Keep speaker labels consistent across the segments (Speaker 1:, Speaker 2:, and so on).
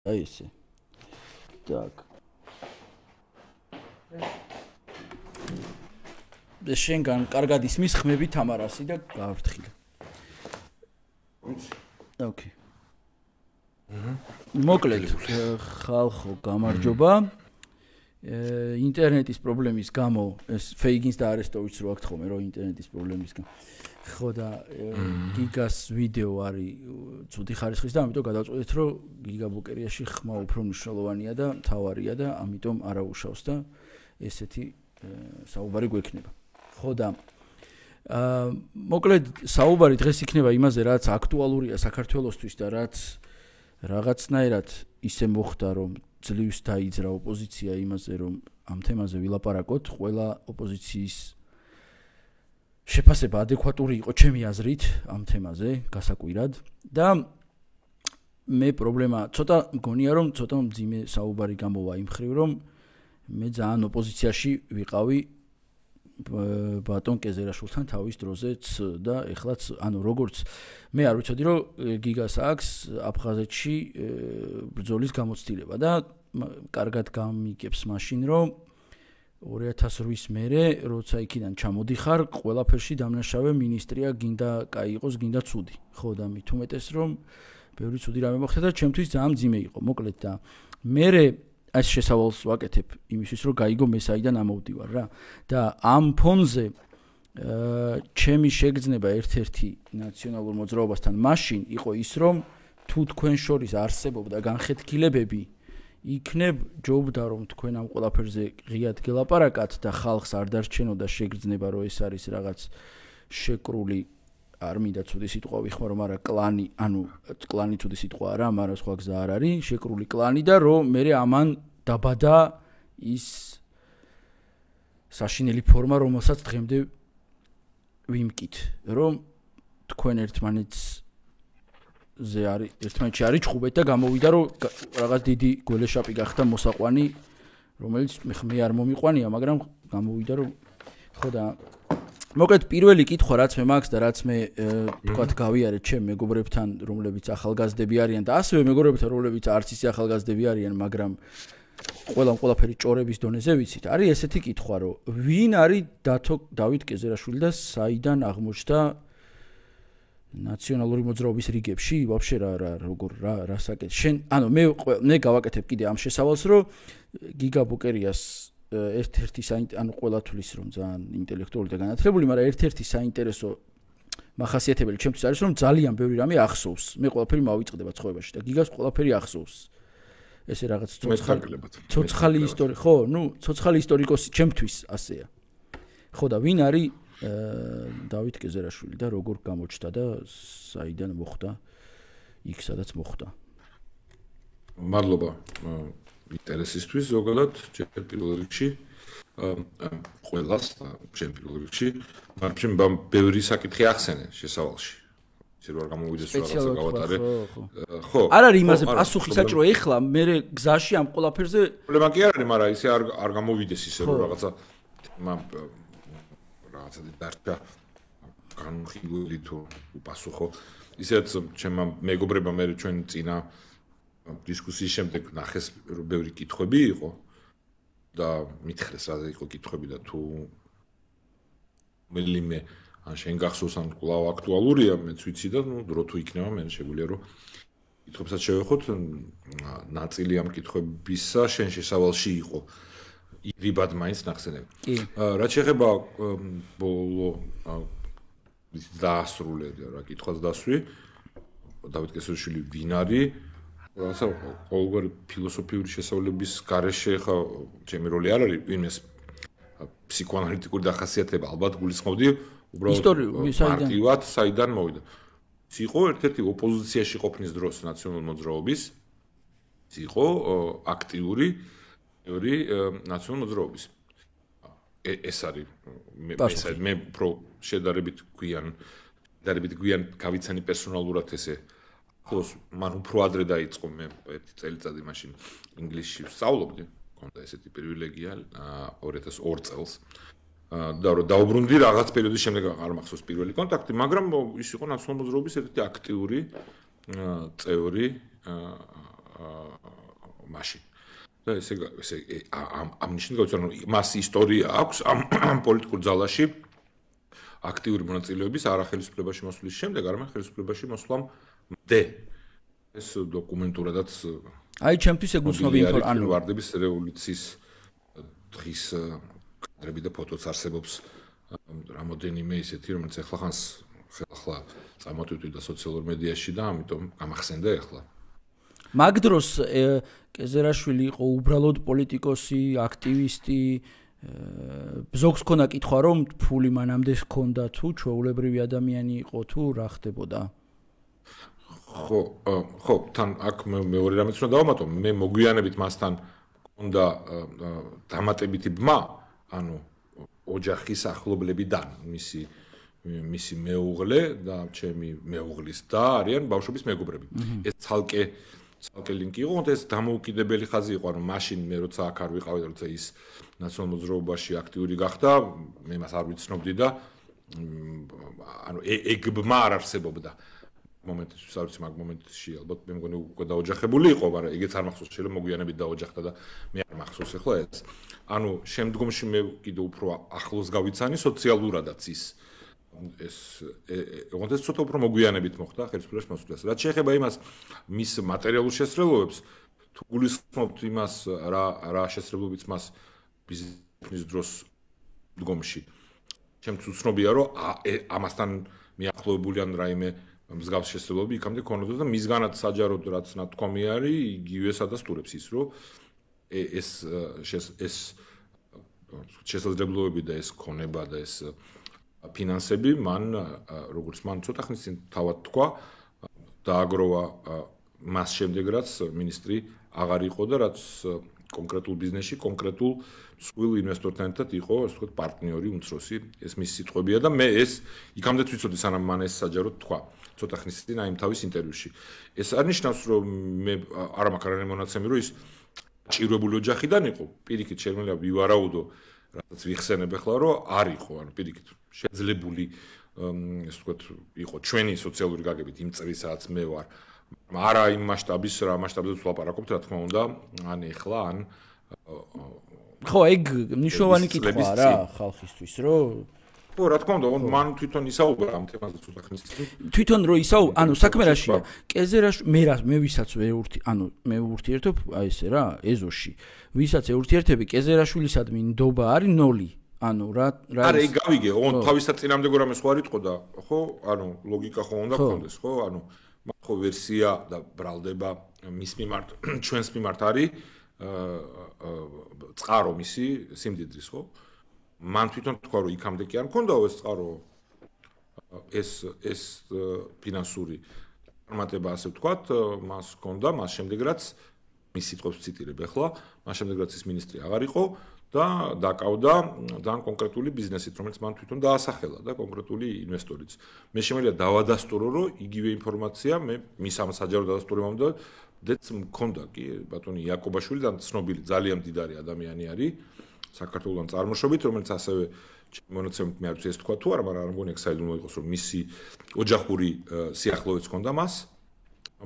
Speaker 1: აი ესე. Так. შენგან კარგად ისმის ხმები თამარასი და გავფრთხილე. ოკეი. მოკლედ ხალხო გამარჯობა. ინტერნეტის პრობლემის გამო ეს ფეიგინს და არესტოვიჩს რო აქ თქომე რომ ინტერნეტის პრობლემის გამო ხო და გიგას ვიდეო არის ცუდი ხარისხის და ამიტომ გადავწყვეტეთ რომ გიგა ბუკერიაში ხმა უფრო მნიშვნელოვანია და მთავარია და ამიტომ არა უშავს და ესეთი საუბარი გვექნება. ხო და მოკლედ საუბარი დღეს იქნება იმაზე რაც აქტუალურია საქართველოსთვის და რაც რაღაცნაირად ისე მოხდა რომ ძლივს დაიძრა ოპოზიცია იმაზე რომ ამ თემაზე ვილაპარაკოთ ყველა ოპოზიციის შეფასება ადეკვატური იყო ჩემი აზრით ამ თემაზე გასაკვირად და მე პრობლემა ცოტა მგონია რომ ცოტა მძიმე საუბარი გამოვა იმ ხრივ რომ მე ძალიან ოპოზიციაში ვიყავი ბატონ კეზერაშვილთან თავის დროზეც და ეხლაც ანუ როგორც მე არ ვიცოდი რომ გიგას აქვს აფხაზეთში ბრძოლის გამოცდილება და კარგად გამიგებს მაშინ რომ 2008-ის მერე როცა იქიდან ჩამოდიხარ ყველაფერში დამნაშავე მინისტრია გინდა კაი იყოს გინდა ცუდი ხო და მით უმეტეს რომ ბევრი ცუდი რამე მოხდა და ჩემთვის ძალიან მძიმე იყო მოკლედ და მერე ეს შესავალს ვაკეთებ იმისთვის რომ გაიგო მე საიდან ამოვდივარ რა და ამ ფონზე ჩემი შეგრძნება ერთ-ერთი ნაციონალურ მოძრაობასთან მაშინ იყო ის რომ თუ თქვენ შორის არსებობდა განხეთქილებები იქნებ ჯობდა რომ თქვენ ამ ყველაფერზე ღიად გელაპარაკათ და ხალხს არ დარჩენოდა შეგრძნება რომ ეს არის რაღაც შეკრული არ მინდა ცუდი სიტყვა ვიხმარო მაგრამ კლანი ანუ კლანი ცუდი სიტყვა არა მაგრამ სხვა გზა არ არის შეკრული კლანი და რომ მე ამან დაბადა ის საშინელი ფორმა რომელსაც დღემდე ვიმკით რომ თქვენ ერთმანეთზე არის ერთმანეთში არის ჭხუბეთ და გამოვიდა რომ რაღაც დიდი გველეშაპი გახდა მოსაყვანი რომელიც მე არ მომიყვანია მაგრამ გამოვიდა რომ ხო და მოკლედ პირველი კითხვა რაც მე მაქვს და რაც მე თქვათ გავიარეთ ჩემ მეგობრებთან რომლებიც ახალგაზრდები არიან და ასევე მეგობრებთან რომლებიც არც ისე ახალგაზრდები არიან მაგრამ ყველაფერი ჭორების დონეზე ვიცით არის ესეთი კითხვა რომ ვინ არის დავით კეზერაშვილი და საიდან აღმოჩნდა ნაციონალური მოძრაობის რიგებში ვაფშე როგორ რა საკეთე შენ ანუ მე გავაკეთებ კიდე ამ შესავალს რომ გიგა ბუკერიას ერთ-ერთი ანუ ყველა თulis რომ ძალიან ინტელექტუალური და განათლებული, მაგრამ ერთ-ერთი საინტერესო მახასიათებელი ჩემთვის არის რომ ძალიან ბევრი რამე ახსოვს. მე ყველაფერი მავიწყდება ცხოვრებაში და გიგას ყველაფერი ახსოვს. ესე რაღაც ცოცხალი ისტორია, ხო, ცოცხალი ისტორიკოსი ჩემთვის ასეა. ხო და ვინ არის დავით კეზერაშვილი და როგორ გამოჩნდა და საიდან მოხდა იქ სადაც მოხდა.
Speaker 2: მადლობა. ინტერესისთვის ზოგადად ჩემ პირველ რიგში ყველას და ჩემ პირველ რიგში მაგრამ ბევრი საკითხი ახსენე შესავალში ისე რომ არ გამოვიდეს რაღაცა გავატარე
Speaker 1: ხო არ არის იმაზე პასუხი საჭირო ეხლა მე გზაში ამ ყველაფერზე
Speaker 2: პრობლემა კი არ არის მაგრამ ისე არ გამოვიდეს ისე რომ რაღაცა დარჩა განხილული თუ პასუხო ისეც ჩემმა მეგობრებმა მე ჩვენ წინა დისკუსიის შემდეგ ნახეს რომ ბევრი კითხვები იყო და მითხრეს რა იყო კითხვები და თუ მელიმე ან შენ გახსოვს ან კვლავ აქტუალურია მეც ვიცი და დრო თუ იქნება მე შეგვიძლია რომ კითხვებსაც შევეხოთ ნაწილი ამ კითხვებისა შენ შესავალში იყო ირიბად მაინც ნახსენები რაც შეეხება ბოლო დაასრულე რა კითხვას დასვი დავით კეზერაშვილი ვინ არის რაღაცა ყოველგვარი ფილოსოფიური შესწავლების გარეშე ხა ჩემი როლი არ არის ვინმეს ფსიქოანალიტიკური დახასიათება ალბათ გულისხმობდი უბრალოდ მარტივად საიდან მოვიდა ის იყო ერთ-ერთი ოპოზიციაში ყოფნის დროს ნაციონალურ მოძრაობის ის იყო აქტიური ნაციონალურ მოძრაობის ეს არის მე უფრო შედარებით გვიან გავიცანი პერსონალურად ესე ხოს მან უფრო ადრე დაიწყო მე ერთი წელიწადი მაშინ ინგლისში ვსწავლობდი, მქონდა ესეთი პრივილეგია 2002 წელს. და რომ დაუბრუნდი რაღაც პერიოდის შემდეგ არ მახსოვს პირველი კონტაქტი, მაგრამ ის იყო ნაციონალურ მოძრაობის ერთ-ერთი აქტიური წევრი მაშინ. და ესე ამ ნიშნით გავიცან, რომ მას ისტორია აქვს ამ პოლიტიკურ ძალაში აქტიური მონაწილეობის არა ხელისუფლებაში მოსვლის შემდეგ, არამედ ხელისუფლებაში მოსვლამდე. ეს დოკუმენტურადაც
Speaker 1: აი ჩემთვის ეგუცნობი ინფორმაცია
Speaker 2: ვარდების რევოლუციის დღის კადრები და ფოტოც არსებობს რამოდენიმე ისეთი, რომელიც ახლა წამოთვით და სოციალურ მედიაში და ამიტომ გამახსენდა ახლა.
Speaker 1: მაგ დროს კეზერაშვილი იყო უბრალოდ პოლიტიკოსი, აქტივისტი, ზოგს ქონა კითხვა რომ ფული მანამდე ჰქონდა თუ ჩვეულებრივი ადამიანი იყო თუ რა ხდებოდა?
Speaker 2: ხო, თან აქ მეორე რამეც უნდა დავამატო, მე მოგვიანებით მასთან მქონდა დამატებითი ბმა, ანუ ოჯახის ახლობლებიდან, მისი მეუღლე და ჩემი მეუღლის და არიან ბავშვობის მეგობრები. ეს ცალკე ლინკი იყო, ეს დამოუკიდებელი ხაზი იყო, ანუ მაშინ მე როცა აქ არ ვიყავი და როცა ის ნაციონალურ მოძრაობაში აქტიური გახდა, მე მას არ ვიცნობდი და ანუ ეგ ბმა არ არსებობდა. მომენტში არ ვიცი, მაგ მომენტში ალბათ მე მგონი უკვე დაოჯახებული იყო, მაგრამ ეგეც არ მახსოვს, შეიძლება მოგვიანებით დაოჯახდა და მე არ მახსოვს ახლა ეს. ანუ შემდგომში მე კიდევ უფრო ახლოს გავიცანი სოციალურადაც ეს ცოტა უფრო მოგვიანებით მოხდა ხელისუფლებაში მოსვლას. რაც შეეხება იმას მის მატერიალურ შესრულებებს, თუ გულისხმობთ იმას რა შესრულებიც მას ბიზნეს დროს დგომში. ჩემთვის უცნობია, რომ ამასთან მიახლოებული ან რაიმე მსგავს შესრულებები იქამდე ქონოდა და მისგანაც საჯაროდ რაც ნათქვამი არის, იგივე სადასტურებს ის, რომ ეს შესაძლებლობები და ეს ქონება და ეს ფინანსები მან როგორც მან ცოტა ხნის წინ თავად თქვა დააგროვა მას შემდეგ რაც მინისტრი აღარ იყო და რაც კონკრეტულ ბიზნესში კონკრეტულ მსხვილ ინვესტორთან ერთად იყო ასე ვთქვათ პარტნიორი უმცროსი ეს მისი სიტყვებია და მე ეს იქამდე ვიცოდი სანამ მან ეს საჯაროდ თქვა ცოტა ხნის წინ აი თავის ინტერვიუში ეს არ ნიშნავს რომ მე არ მაქვს არანაირი მონაცემი რომ ის ჭირვებული ოჯახიდან იყო პირიქით შეიძლება ვივარაუდო რაც ვიხსენებ ახლა რომ არ იყო ანუ პირიქით შეძლებული ასე ვთქვათ იყო ჩვენი სოციალური გაგებით იმ წრისაც მე ვარ არა იმ მასშტაბის რა მასშტაბზე ვლაპარაკობთ რა თქმა უნდა ან ეხლა ან
Speaker 1: ხო ეგ ნიშნავანი კითხვაა რა ხალხისთვის რომ
Speaker 2: ხო რა თქმა უნდა მან თვითონ ისაუბრა ამ თემაზე ცოტა ხნის წინ
Speaker 1: თვითონ რო ანუ საქმე რაშია კეზერაში მე ვისაც მე ურთიერთობ აი ესე რა ეზოში ვისაც ეურთიერთები კეზერაშვილისადმი ნდობა არის 0 ანუ რა
Speaker 2: არა ეგ გავიგე ოღონდ თავისად წინამდე გორამე სხვა რიტყო და ხო ანუ ლოგიკა ხო უნდა გქონდეს ხო ანუ ხო ვერსია და ბრალდება მის მიმართ ჩვენს მიმართ არის წყარო მისი სიმდიდრის ხო მან თვითონ თქვა რომ იქამდე კი არ მქონდაო ეს წყარო ეს ფინანსური წარმატება ასე ვთქვათ მას ჰქონდა მას შემდეგ რაც მის სიტყვებს ვციტირებ ახლა მას შემდეგ რაც ის მინისტრი აღარ იყო და დაკავდა ძალიან კონკრეტული ბიზნესით რომელიც მან თვითონ დაასახელა და კონკრეტული ინვესტორიც მე შემიძლია დავადასტურო რომ იგივე ინფორმაცია მე მის ამ საჯარო დადასტურებამდე დეც მქონდა კი ბატონი იაკობაშვილი და ცნობილი ძალიან მდიდარი ადამიანი არის საქართველოსთან წარმოშობით რომელიც ასევე მონაცემით მე არ ვიცი ეს თქვა თუ არა მაგრამ არ მგონია საიდუმლო იყოს რომ მისი ოჯახური სიახლოვეც ჰქონდა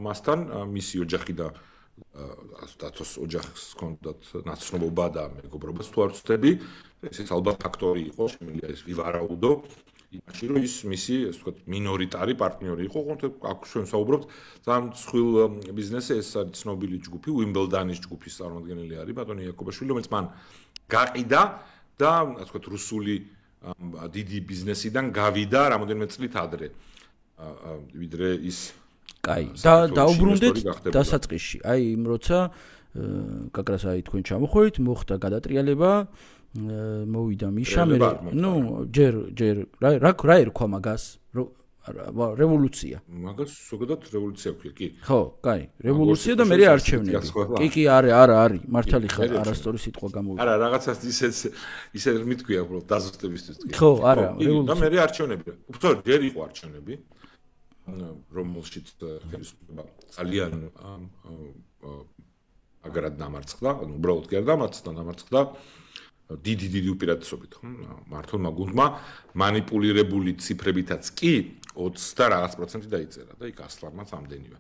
Speaker 2: მასთან მისი ოჯახი და სტატუს ოჯახს ჰქონდათ ნაცნობობა და მეგობრობას თუ არ ვცდები ეს ალბათ ფაქტორი იყო შემიძლია ეს ვივარაუდო იმაში რომ ის მისი ასე ვთქვათ მინორიტარი პარტნიორი იყო ხონდ აქ ჩვენ საუბრობთ ძალიან მსხვილ ბიზნესზე ეს არის ცნობილი ჯგუფი უიმბლდანის ჯგუფის წარმომადგენელი არის ბატონი იაკობაშვილი რომელიც მან გაყიდა და ასე ვთქვათ რუსული დიდი ბიზნესიდან გავიდა რამოდენიმე წლით ადრე ვიდრე ის
Speaker 1: კაი და დაუბრუნდეთ დასაწყისში აი იმ როცა გაკრას აი თქვენ ჩამოხვედით მოხდა გადატრიალება მოვიდა მიშა მე ნუ ჯერ რა ერქვა მაგას რევოლუცია
Speaker 2: მაგას ზოგადად რევოლუცია ქვია კი
Speaker 1: ხო კაი რევოლუცია და მე არჩევნები კი არის მართალი ხარ არასწორი სიტყვა გამოვიდა
Speaker 2: არა რაღაცას ისე მithქვია უბრალოდ დაზუსტებისთვის
Speaker 1: ხო არა
Speaker 2: რევოლუცია და მე არჩევნები უბრალოდ ჯერ იყო არჩევნები რომელშიც ხელისუფლება ძალიან აგრად დამარცხდა, უბრალოდ კი არ დამარცხდა, დიდი უპირატესობით, ხო? მართლმა გუნდმა მანიპულირებული ციფრებითაც კი 20 და რაღაც პროცენტი დაიწერა და იქ ასლანმაც ამდენივე.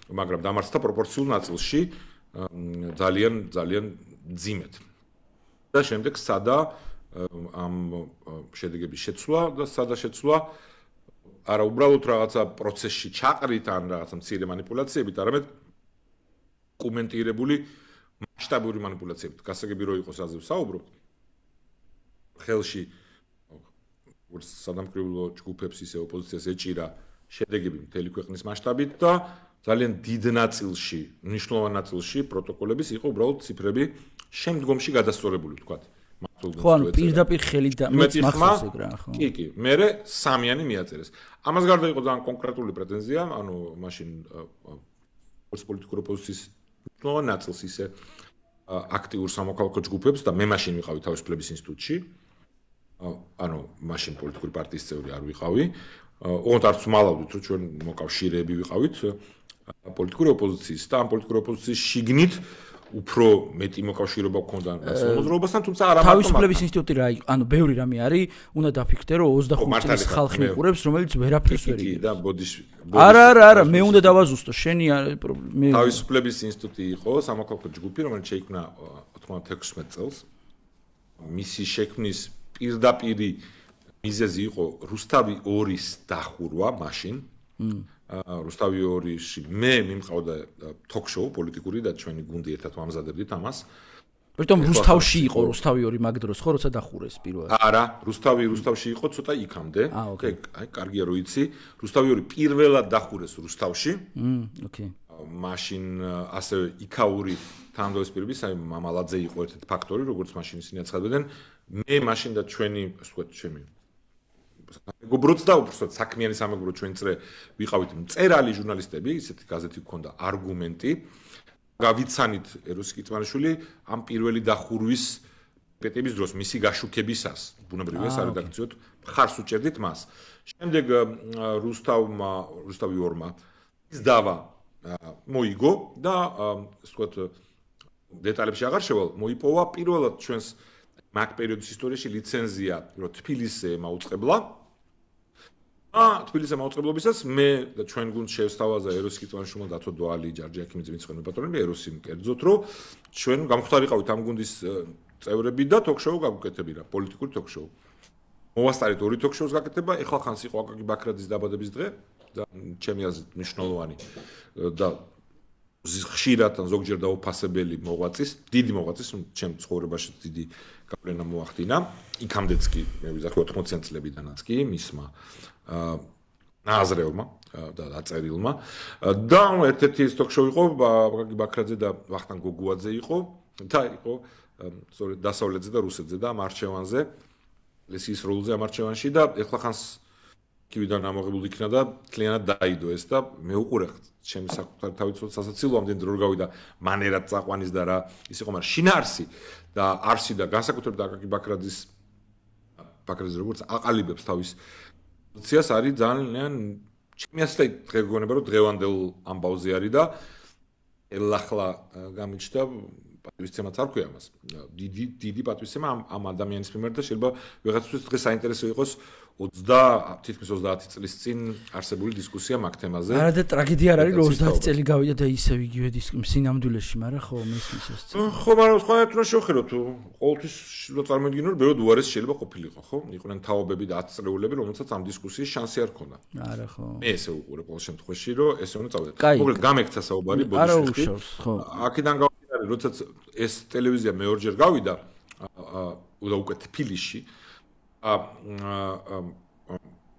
Speaker 2: მაგრამ დამარცხდა პროპორციულ ნაწილში ძალიან ძიმედ. და შემდეგ სადა ამ შედეგების შეცვლა და სადა შეცვლა არა უბრალოდ რაღაცა პროცესში ჩაყრით ან რაღაცა მცირე манипуляციებით, არამედ კომენტირებული მასშტაბური манипуляციებით. გასაგები რო იყოს აზე ვსაუბრობ. ხელში სადამკვირვებლო ჯგუფებს ისე ოპოზიციას ეჭირა შედეგები მთელი ქვეყნის მასშტაბით და ძალიან დიდ ნაწილში, მნიშვნელოვან ნაწილში პროტოკოლების იყო უბრალოდ ციფრები შემდგომში გადასწორებული, ვთქვათ.
Speaker 1: ხო, ანუ პირდაპირ ხელი და მეც მახსოვს ეგ რა, ხო.
Speaker 2: კი, მერე სამიანი მიაწერეს. ამას გარდა იყო ძალიან კონკრეტული პრეტენზია, ანუ მაშინ პოლიტიკური ოპოზიციის მნიშვნელოვან ნაწილს ისე აქტიურ სამოქალაქო ჯგუფებს და მე მაშინ ვიყავი თავისუფლების ინსტიტუტში. ანუ მაშინ პოლიტიკური პარტიის წევრი არ ვიყავი. ოღონდ არც მალავდით, რომ ჩვენ მოკავშირეები ვიყავით პოლიტიკური ოპოზიციის და ამ პოლიტიკური ოპოზიციის შიგნით უფრო მეტი მოკავშირეობა გქონდა მოძრაობასთან, თუმცა არა მარტო
Speaker 1: თავისუფლების ინსტიტუტი რა იყო, ანუ ბევრი რამე არის, უნდა დაფიქრდე, რომ 25 წლის ხალხი მიყურებს, რომელიც ვერაფერს ვერ იგებს.
Speaker 2: და ბოდიშ
Speaker 1: არა, მე უნდა დავაზუსტო, შენი მე
Speaker 2: თავისუფლების ინსტიტუტი იყო სამოქალაქო ჯგუფი, რომელიც შეიქმნა 96 წელს. მისი შექმნის პირდაპირი მიზეზი იყო რუსთავი 2-ის დახურვა მაშინ. რუსთავი 2-ში მე მიმყავდა ток-შოუ პოლიტიკური და ჩვენი გუნდი ერთად ვამზადებდით ამას.
Speaker 1: პრიტომ რუსთავში იყო რუსთავი 2 მაგ დროს ხო როცა დახურეს პირველად.
Speaker 2: არა, რუსთავში იყო ცოტა იქამდე. აი, კარგია რომ იცი. რუსთავი 2 პირველად დახურეს რუსთავში.
Speaker 1: ოკეი.
Speaker 2: მაშინ ასევე იქაური თანამდებობის პირების, აი მამალაძე იყო ერთ-ერთი ფაქტორი, როგორც მაშინ ისინი აცხადებდნენ. მე მაშინ და ჩვენი, ასე ვთქვათ, ჩემი მეგობროც და უბრალოდ საქმიანი სამეგობრო ჩვენ წრე ვიყავით მწერალი ჟურნალისტები, ისეთი გაზეთი გქონდა არგუმენტი. გავიცანით ეროსი კიწმანიშვილი ამ პირველი დახურვის პეტების დროს მისი გაშუქებისას, ბუნებრივია სარედაქციოდ მხარს უჭერდით მას. შემდეგ რუსთავი 2-მა ის დავა მოიგო და ასე ვთქვათ დეტალებში აღარ შევალ, მოიპოვა პირველად ჩვენს მაგ პერიოდის ისტორიაში ლიცენზია, რომ თბილისზე მაუწყებლა. თბილისზე მაუწყებლობისას მე და ჩვენ გუნდს შევსთავაზა ეროსი კიწმანიშვილმა, დათო დვალი, ჯარჯი აქიმიძე, ვინც პატრონები ეროსი კერძოთ, რომ ჩვენ გამხდარიყავით ამ გუნდის წევრები და ток-შოუ გაგუკეთები რა, პოლიტიკური ток-შოუ. მოვასწარეთ 2 ток-შოუს გაკეთება, ეხლა ხანს იყო აკაკი ბაქრაძის დაბადების დღე და ჩემი აზრით მნიშვნელოვანი და ხშირად ან ზოგჯერ დაუფასებელი მოღვაწის, დიდი მოღვაწის, ჩემ ცხოვრებაში დიდი გავლენა მოახდინა. იქამდეც კი მე ვიზახე 80-იან წლებიდანაც კი მისმა ნაზრევმა და დაწერილმა და ერთ-ერთი ეს ток-შოუ იყო აკაკი ბაქრაძე და ვახტანგ გოგუაძე იყო და იყო სწორედ დასავლეთზე და რუსეთზე და ამ არჩევანზე ლესის როლზე ამ არჩევანში და ეხლა ხანს კივიდან ამოღებული იქნა და კლიენტად დაიდო ეს და მე უყურე ჩემი საკუთარი თავისუფლად სასაცილო ამდენ დრო გავიდა მანერად წაყვანის და რა ის იყო მაგრამ შინაარსი და არსი და განსაკუთრებით აკაკი ბაქრაძის როგორც აყალიბებს თავის პოზიციას არის ძალიან ჩემი ასეთი დღე გგონება რომ დღევანდელ ამბავზე არის და ელახლა გამიჩნდა პატივისცემაც არ ქვია მას დიდი პატივისცემა ამ ადამიანის მიმართ და შეიძლება ვიღაცისთვის დღეს საინტერესო იყოს 30 წლის წინ არსებული დისკუსია მაგ თემაზე.
Speaker 1: არა და ტრაგედია არ არის რომ 30 წელი გავიდა და ისევ იგივე სინამდვილეში, მაგრამ ხო მესმის ეს.
Speaker 2: ხო, მაგრამ სხვანაირად უნდა შევხედოთ თუ ყოველთვის რო წარმოვიდგინო რომ ბევრად უარესი შეიძლება ყოფილიყო, ხო? იყვნენ თაობები და 10 წრეულები, რომელსაც ამ დისკუსიის შანსი არ ჰქონდა.
Speaker 1: არა ხო.
Speaker 2: მე ესე უყურე ყოველ შემთხვევაში რომ ესე უნდა წავიდე. მოკლედ გამექცა საუბარი ბოდიში.
Speaker 1: ხო.
Speaker 2: აქედან გავიდა როდესაც ეს ტელევიზია მეორჯერ გავიდა უკვე თბილისში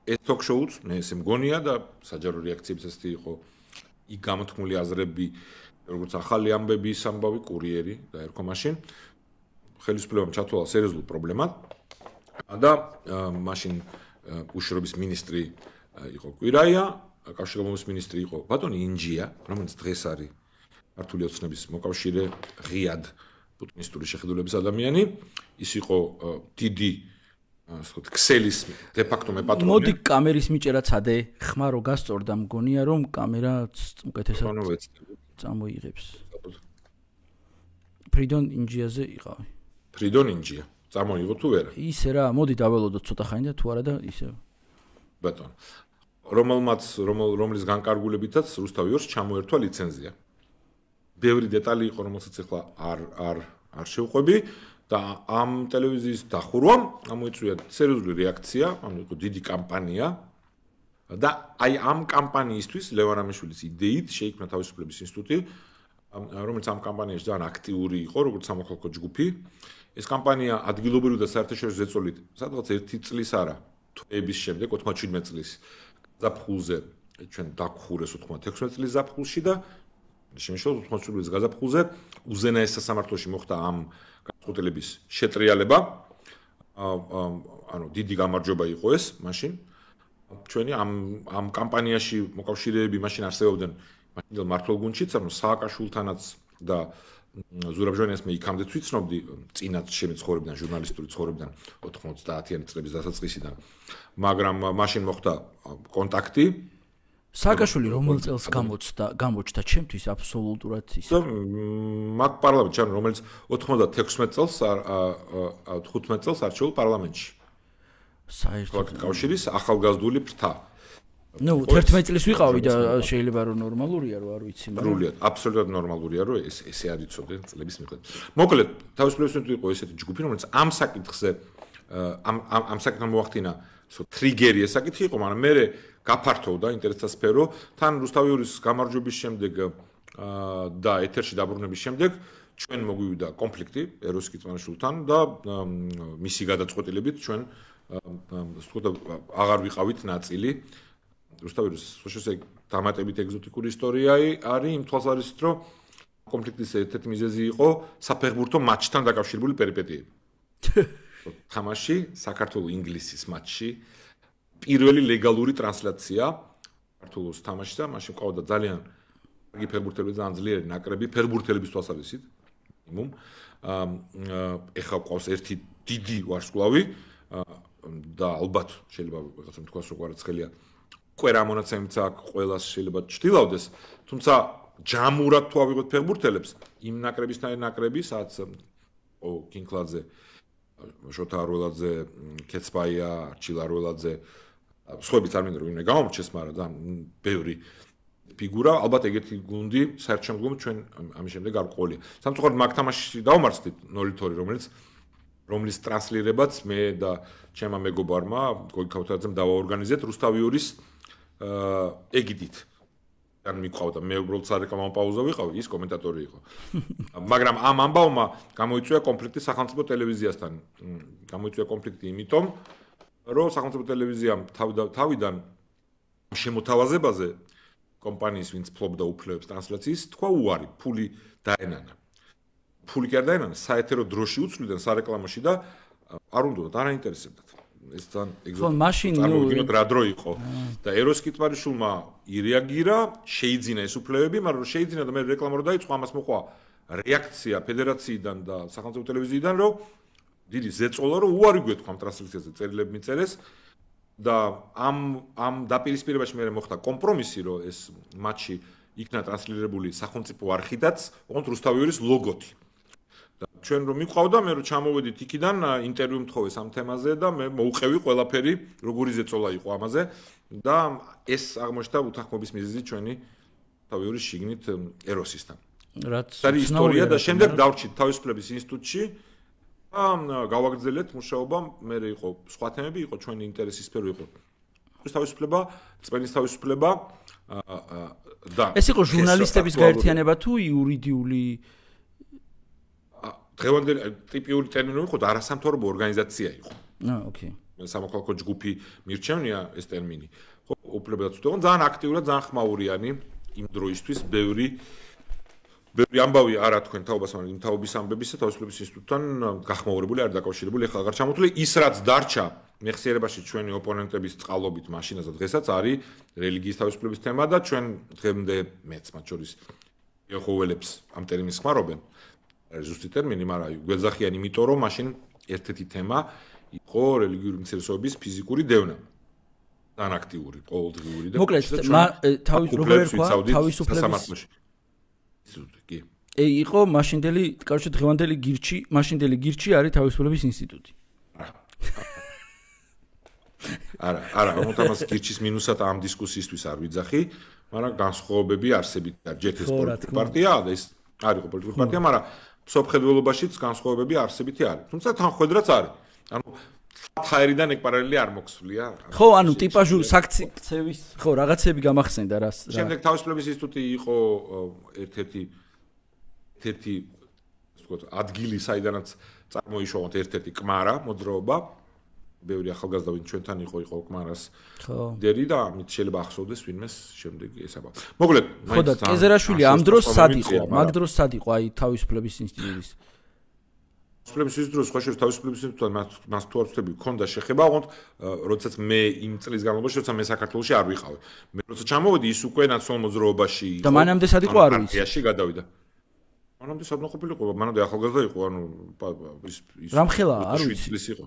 Speaker 2: ეს ток-შოუც მე ესე მგონია და საჯარო რეაქციებიც ესეთი იყო იქ გამოთქმული აზრები როგორც ახალი ამბების ამბავი კურიერი და ერქვა მაშინ ხელისუფლებამ ჩათვალა სერიოზულ პრობლემად და მაშინ უშიშროების მინისტრი იყო კვირაია კავშირგაბმობის მინისტრი იყო ბატონი ინჯია რომელიც დღეს არის ქართული ოცნების მოკავშირე ღიად პუტინისტური შეხედულების ადამიანი ის იყო დიდი ასე ქსელის დე-ფაქტო მეპატრონი.
Speaker 1: მოდი კამერის მიჭერა ცადე, ხმა რო გასწორდა მგონია რომ კამერა უკეთესად წამოიღებს. ფრიდონ ინჯიაზე იყავი.
Speaker 2: ფრიდონ ინჯია. წამოიღო თუ ვერა?
Speaker 1: ისე რა, მოდი დაველოდოთ ცოტა ხანი და თუ არა და ისე.
Speaker 2: ბატონო. რომლის განკარგულებითაც რუსთავიორს ჩამოერთვა ლიცენზია. ბევრი დეტალი იყო, რომელსაც ახლა არ შევყვები და ამ ტელევიზიის დახურვამ გამოიწვია სერიოზული რეაქცია, იყო დიდი კამპანია და აი ამ კამპანიისთვის ლევან ამიშვილის იდეით შეიქმნა თავისუფლების ინსტიტუტი, რომელიც ამ კამპანიაში ძალიან აქტიური იყო, როგორც სამოქალაქო ჯგუფი. ეს კამპანია ადგილობრივი და საერთაშორისო ზეწოლით სადღაც 1 წლის არა, თვეების შემდეგ 97 წლის ზაფხულზე ჩვენ დაგხურეს 96 წლის ზაფხულში და შემიშლო 87 წლის გაზაფხულზე უზენაეს სასამართლოში მოხდა ამ გადაწყვეტილების შეტრიალება. ანუ დიდი გამარჯვება იყო ეს მაშინ. ჩვენი ამ კამპანიაში მოკავშირეები მაშინ არსებობდნენ მაშინდელ მართლგუნდშიც, ანუ სააკაშვილთანაც და ზურაბ ჟვანიას მე იქამდე ვიცნობდი წინათ ჩემი ცხოვრებიდან, ჟურნალისტური ცხოვრებიდან 90-იანი წლების დასაწყისიდან. მაგრამ მაშინ მოხდა კონტაქტი.
Speaker 1: სააკაშვილი რომელ წელს გამოჩნდა ჩემთვის აბსოლუტურად ის.
Speaker 2: მაგ პარლამენტში, რომელიც 96 წელს 15 წელს არჩეულ პარლამენტში. საერთოდ კავშირის ახალგაზრდული ფრთა.
Speaker 1: ნუ 11 წლის ვიყავი და შეიძლება რომ ნორმალურია რომ არ ვიცი, მაგრამ
Speaker 2: ნორმალურია, აბსოლუტურად ნორმალურია რომ ესე არ იცოდე წლების მიხედვით. მოკლედ, თავისუფლების ინსტიტუტი იყო ესეთი ჯგუფი, რომელიც ამ საკითხზე ამ საკითხთან მოახდინა ტრიგერი ეს საკითხი იყო, მაგრამ მე გაფართოვდა ინტერესთა სფერო, თან რუსთავიორის გამარჯვების შემდეგ და ეთერში დაბრუნების შემდეგ ჩვენ მოგვივიდა კონფლიქტი ეროს კიწმანაშვილთან და მისი გადაწყვეტილებით ჩვენ აღარ ვიყავით ნაწილი. რუსთავიორის სოციალისტი დამატებით ეგზოტიკური ისტორია არის იმ თვალსაზრისით, რომ კონფლიქტის ერთ-ერთი მიზეზი იყო საფეხბურთო მატჩთან დაკავშირებული პერიპეტიები. თამაში საქართველოს-ინგლისის მატჩში პირველი ლეგალური ტრანსლაცია საქართველოს თამაშში და მაშინ ყავდა ძალიან კარგი ფეხბურთელები, ძალიან ძლიერი ნაკრები ფეხბურთელების თვალსაზრისით. მინიმუმ ეხლა ყავს ერთი დიდი ვარსკვლავი და ალბათ შეიძლება რაღაცა თქვას როგორ ცხელია უკვე რა მონაცემიც აქვს ყველას შეიძლება ჩtildeავდეს, თუმცა ჯამურად თუ ავიღოთ ფეხბურთელებს იმ ნაკრებისთან ნაკრები, სადაც კინკლაძე, შოთა არველაძე, კეცბაია, არჩილ არველაძე, სხვაებიც არ მინდა რომ იმე გამომრჩეს, მაგრამ ძალიან ბევრი ფიგურა, ალბათ ეგეთი გუნდი საერთაშორისო ჩვენ ამის შემდეგ არ ყოლია. სამწუხაროდ მაგ თამაშში დავმარცხდით 0-2, რომლის ტრანსლირებაც მე და ჩემმა მეგობარმა გოგი ქავთარაძემ დავაორგანიზეთ რუსთავიორის ეგიდით. ან მიყვავდა მე უბრალოდ სარეკლამო პაუზა ვიყავი, ის კომენტატორი იყო. მაგრამ ამ ამბავმა გამოიწვია კონფლიქტი სახელმწიფო ტელევიზიასთან. გამოიწვია კონფლიქტი იმიტომ, რომ სახელმწიფო ტელევიზიამ თავიდან შემოთავაზებაზე კომპანიის ვინც ფლობდა უფლებებს ტრანსლაციის თქვა უარი, ფული დაენანა. ფული კი არ დაენანა, საეთერო დროში უცვლიდან სარეკლამოში და არ უნდათ, არ აინტერესებდათ. ეს თან ეგზოტიკურად რა დრო იყო და ეროს კიტმარიშვილმა ირეაგირა, შეიძინა ეს უფლებები, მაგრამ შეიძინა და მე რეკლამა რო დაიწყო, ამას მოყვა რეაქცია ფედერაციიდან და სახელმწიფო ტელევიზიიდან, რომ დიდი ზეწოლა რომ უარი გვეთქვა ამ ტრანსლაციაზე წერილები მიწერეს და ამ დაპირისპირებაში მე მოხდა კომპრომისი, რომ ეს მატჩი იქნა ტრანსლირებული სახელმწიფო არხიდაც, ოღონდ რუსთავიორის ლოგოთი. ჩვენ რომ მიყვავდა, მე რომ ჩამოვედით იქიდან, ინტერვიუ მთხოვეს ამ თემაზე და მე მოუყევი ყველაფერი, როგორი ზეწოლა იყო ამაზე და ეს აღმოჩნდა უთანხმობის მიზეზი ჩვენი თავიური შიგნით ეროსისთან.
Speaker 1: რაც
Speaker 2: არის ისტორია და შემდეგ დავრჩით თავისუფლების ინსტიტუტში და გავაგრძელეთ მუშაობა, მე იყო სხვა თემები, იყო ჩვენი ინტერესის სფერო იყო. თავისუფლება, წმენის თავისუფლება და
Speaker 1: ეს იყო ჟურნალისტების გაერთიანება თუ იურიდიული
Speaker 2: დღევანდელი ტიპიური ტერმინი იყო და არასამთავრობო ორგანიზაცია იყო.
Speaker 1: ოკეი.
Speaker 2: სამოქალაქო ჯგუფი მირჩევნია ეს ტერმინი. ხო, უფლებადაც ვთქვი, ძალიან აქტიურად, ძალიან ხმაურიანი იმ დროისთვის ბევრი ამბავი არა თქვენ თაობას, მაგრამ იმ თაობის ამბებისა თავისუფლების ინსტიტუტთან გახმაურებული არ დაკავშირებული, ეხლა აღარ ჩამოთვლი. ის რაც დარჩა მეხსიერებაში ჩვენი ოპონენტების წყალობით მაშინაც და დღესაც არის რელიგიის თავისუფლების თემა და ჩვენ დღემდე მეც მათ შორის ეხოველებს ამ ტერმინს ხმარობენ. ზუსტი ტერმინი, მაგრამ გვეძახიან იმიტომ, რომ მაშინ ერთ-ერთი თემა იყო რელიგიური უმცირესობების ფიზიკური დევნა. ძალიან აქტიური, ყოველდღიური და
Speaker 1: მოკლედ, თავისუფლების
Speaker 2: კი.
Speaker 1: იყო მაშინდელი, კაროჩე დღევანდელი გირჩი, მაშინდელი გირჩი არის თავისუფლების ინსტიტუტი.
Speaker 2: არა, ამას გირჩის მინუსად ამ დისკუსიისთვის არ ვიძახი, მაგრამ განსხვავებები არსებითი არის. ჯერ ეს პოლიტიკური პარტია და ეს არ იყო პოლიტიკური პარტია, მაგრამ სოფხედველობაშიც განსხვავებები არსებითი არის. თუმცა თანხმედრაც არის. ანუ ფაერიდან ეგ პარალელი არ მოხსვლია.
Speaker 1: ხო, ანუ ტიპაჟური საქციების, ხო, რაღაცები გამახსენდა რა.
Speaker 2: შემდეგ თავისუფლების ინსტიტუტი იყო ერთ-ერთი ვთქვათ, ადგილი, საიდანაც წარმოიშვა ერთ-ერთი კმარა, მოძრაობა. ბევრი ახალგაზრდა ვინ ჩვენთან იყო კმარას ლიდერი და ამით შეიძლება ახსოვდეს ვინმეს შემდეგ ესაბა. მოკლედ,
Speaker 1: ხო და კეზერაშვილი ამ დროს სად იყო? მაგ დროს სად იყო აი თავისუფლების ინსტიტუტის?
Speaker 2: თავისუფლების ინსტიტუტის სხვა შეიძლება თავისუფლების ინსტიტუტთან მას თუ არ ვწდები, ქონდა შეხება, ოღონდ როდესაც მე იმ წლის განმავლობაში, როცა მე საქართველოში არ ვიყავი. მე როცა ჩამოვედი, ის უკვე ნაციონალურ მოძრაობაში იყო.
Speaker 1: და მანამდე სად იყო არ ვიცი.
Speaker 2: პარტიაში გადავიდა. მანამდე სად ყოფილიყო? მანამდე ახალგაზრდა იყო, ანუ ის
Speaker 1: რამხელა არ ვიცი.
Speaker 2: წლის იყო.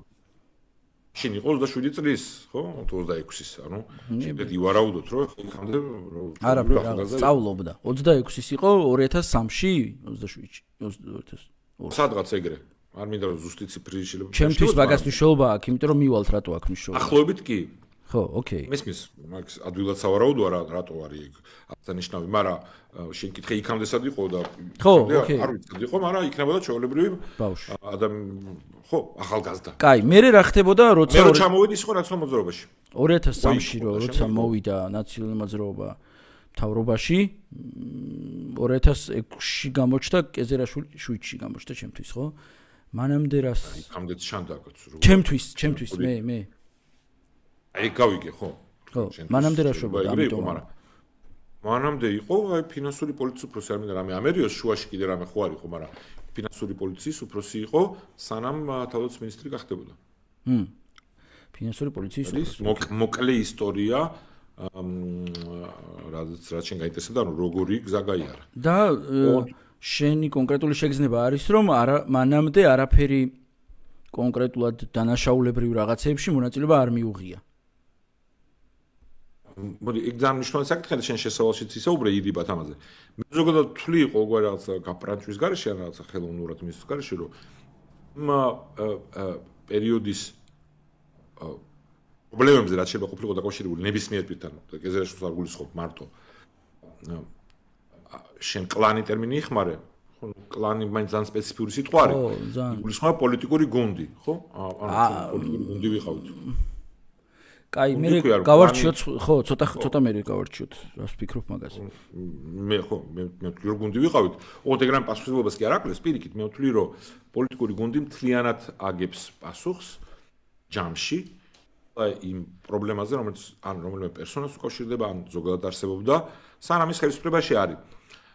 Speaker 2: შენ იყო 27 წლის, ხო? 26-ის, ანუ შემდეგ ივარაუდოთ, რომ იქამდე
Speaker 1: არა, სწავლობდა. 26-ის იყო 2003-ში, 27-ში, 2002.
Speaker 2: სადღაც ეგრე. არ მინდა რომ ზუსტი ციფრი შეიძლება.
Speaker 1: ჩემთვის მაგას მნიშვნელობა აქვს, იმიტომ რომ მივალთ რატო აქვს მნიშვნელობა.
Speaker 2: ახლობით კი.
Speaker 1: ხო, ოკეი.
Speaker 2: მესმის, მაგ ადვილად სავარაუდოა რატო არის ეგ აღსანიშნავი, მაგრამ შენ კითხე იქამდე სად იყო და
Speaker 1: ხო, ოკეი.
Speaker 2: არ ვიცი, იყო, მაგრამ იქნებოდა ჩვეულებრივი
Speaker 1: ბავშვი.
Speaker 2: ხო, ახალგაზრდა.
Speaker 1: კაი, მე რა ხდებოდა, როცა
Speaker 2: მე ჩამოვედი სხვა ნაციონალურ მოძრაობაში.
Speaker 1: 2003-ში როცა მოვიდა ნაციონალური მოძრაობა მთავრობაში, 2006-ში გამოჩნდა კეზერაშვილი, 7-ში გამოჩნდა ჩემთვის, ხო? მანამდე რას?
Speaker 2: იქამდე შანდაკაც.
Speaker 1: ჩემთვის მე.
Speaker 2: აი გავიგე, ხო?
Speaker 1: ხო, მანამდე რა შვებოდა, ამიტომ.
Speaker 2: მანამდე იყო, აი ფინანსური პოლიციის უფროსი, არ მინდა რამე ამერიოს შუაში კიდე რამე ხო არ იყო, მაგრამ ფინანსური პოლიციის უფროსი იყო, სანამ თავდაცვის მინისტრი გახდებოდა.
Speaker 1: ფინანსური პოლიციის
Speaker 2: უფროსი. მოკლე ისტორია, რაც შენ გაინტერესებდა, ანუ როგორი გზა გაიარა.
Speaker 1: და შენი კონკრეტული შეგრძნება არის, რომ მანამდე არაფერი კონკრეტულად დანაშაულებრივ რაღაცებში მონაწილეობა არ მიუღია.
Speaker 2: მოდი, ეგ ძალიან მნიშვნელოვანი საკითხია, შენ შესავალშიც ისაუბრე იდიბათ ამაზე. მე ზოგადად თვლი ყოველ რაღაცა გაპრანჩვის გარეშე, ან რაღაცა ხელოვნურად მისთვის გარეშე, რომ პერიოდის პრობლემებზე რაც შეიძლება ყოფილიყო დაკავშირებული ნებისმიერ პირთან, კეზერაშვილს არ გულისხმობ მარტო. შენ კლანი ტერმინი იხმარე, ხო, კლანი მაინც ძალიან სპეციფიური სიტყვა არის. გულისხმობა პოლიტიკური გუნდი, ხო? ანუ პოლიტიკური გუნდი ვიყავით.
Speaker 1: კაი, მე გავარჩიოთ, ხო, ცოტა მე გავარჩიოთ, რას ვფიქრობ მაგაზე.
Speaker 2: მე ვთვლი რომ გუნდი ვიყავით. ოღონდ ეგრამ პასუხისმგებლობას კი არ აკლეს, პირიქით, მე ვთვლი რომ პოლიტიკური გუნდი მთლიანად აგებს პასუხს ჯამში იმ პრობლემაზე, რომელიც ან რომელიმე პერსონას უკავშირდება, ან ზოგადად არსებობდა, სანამ ის ხელისუფლებაში არის.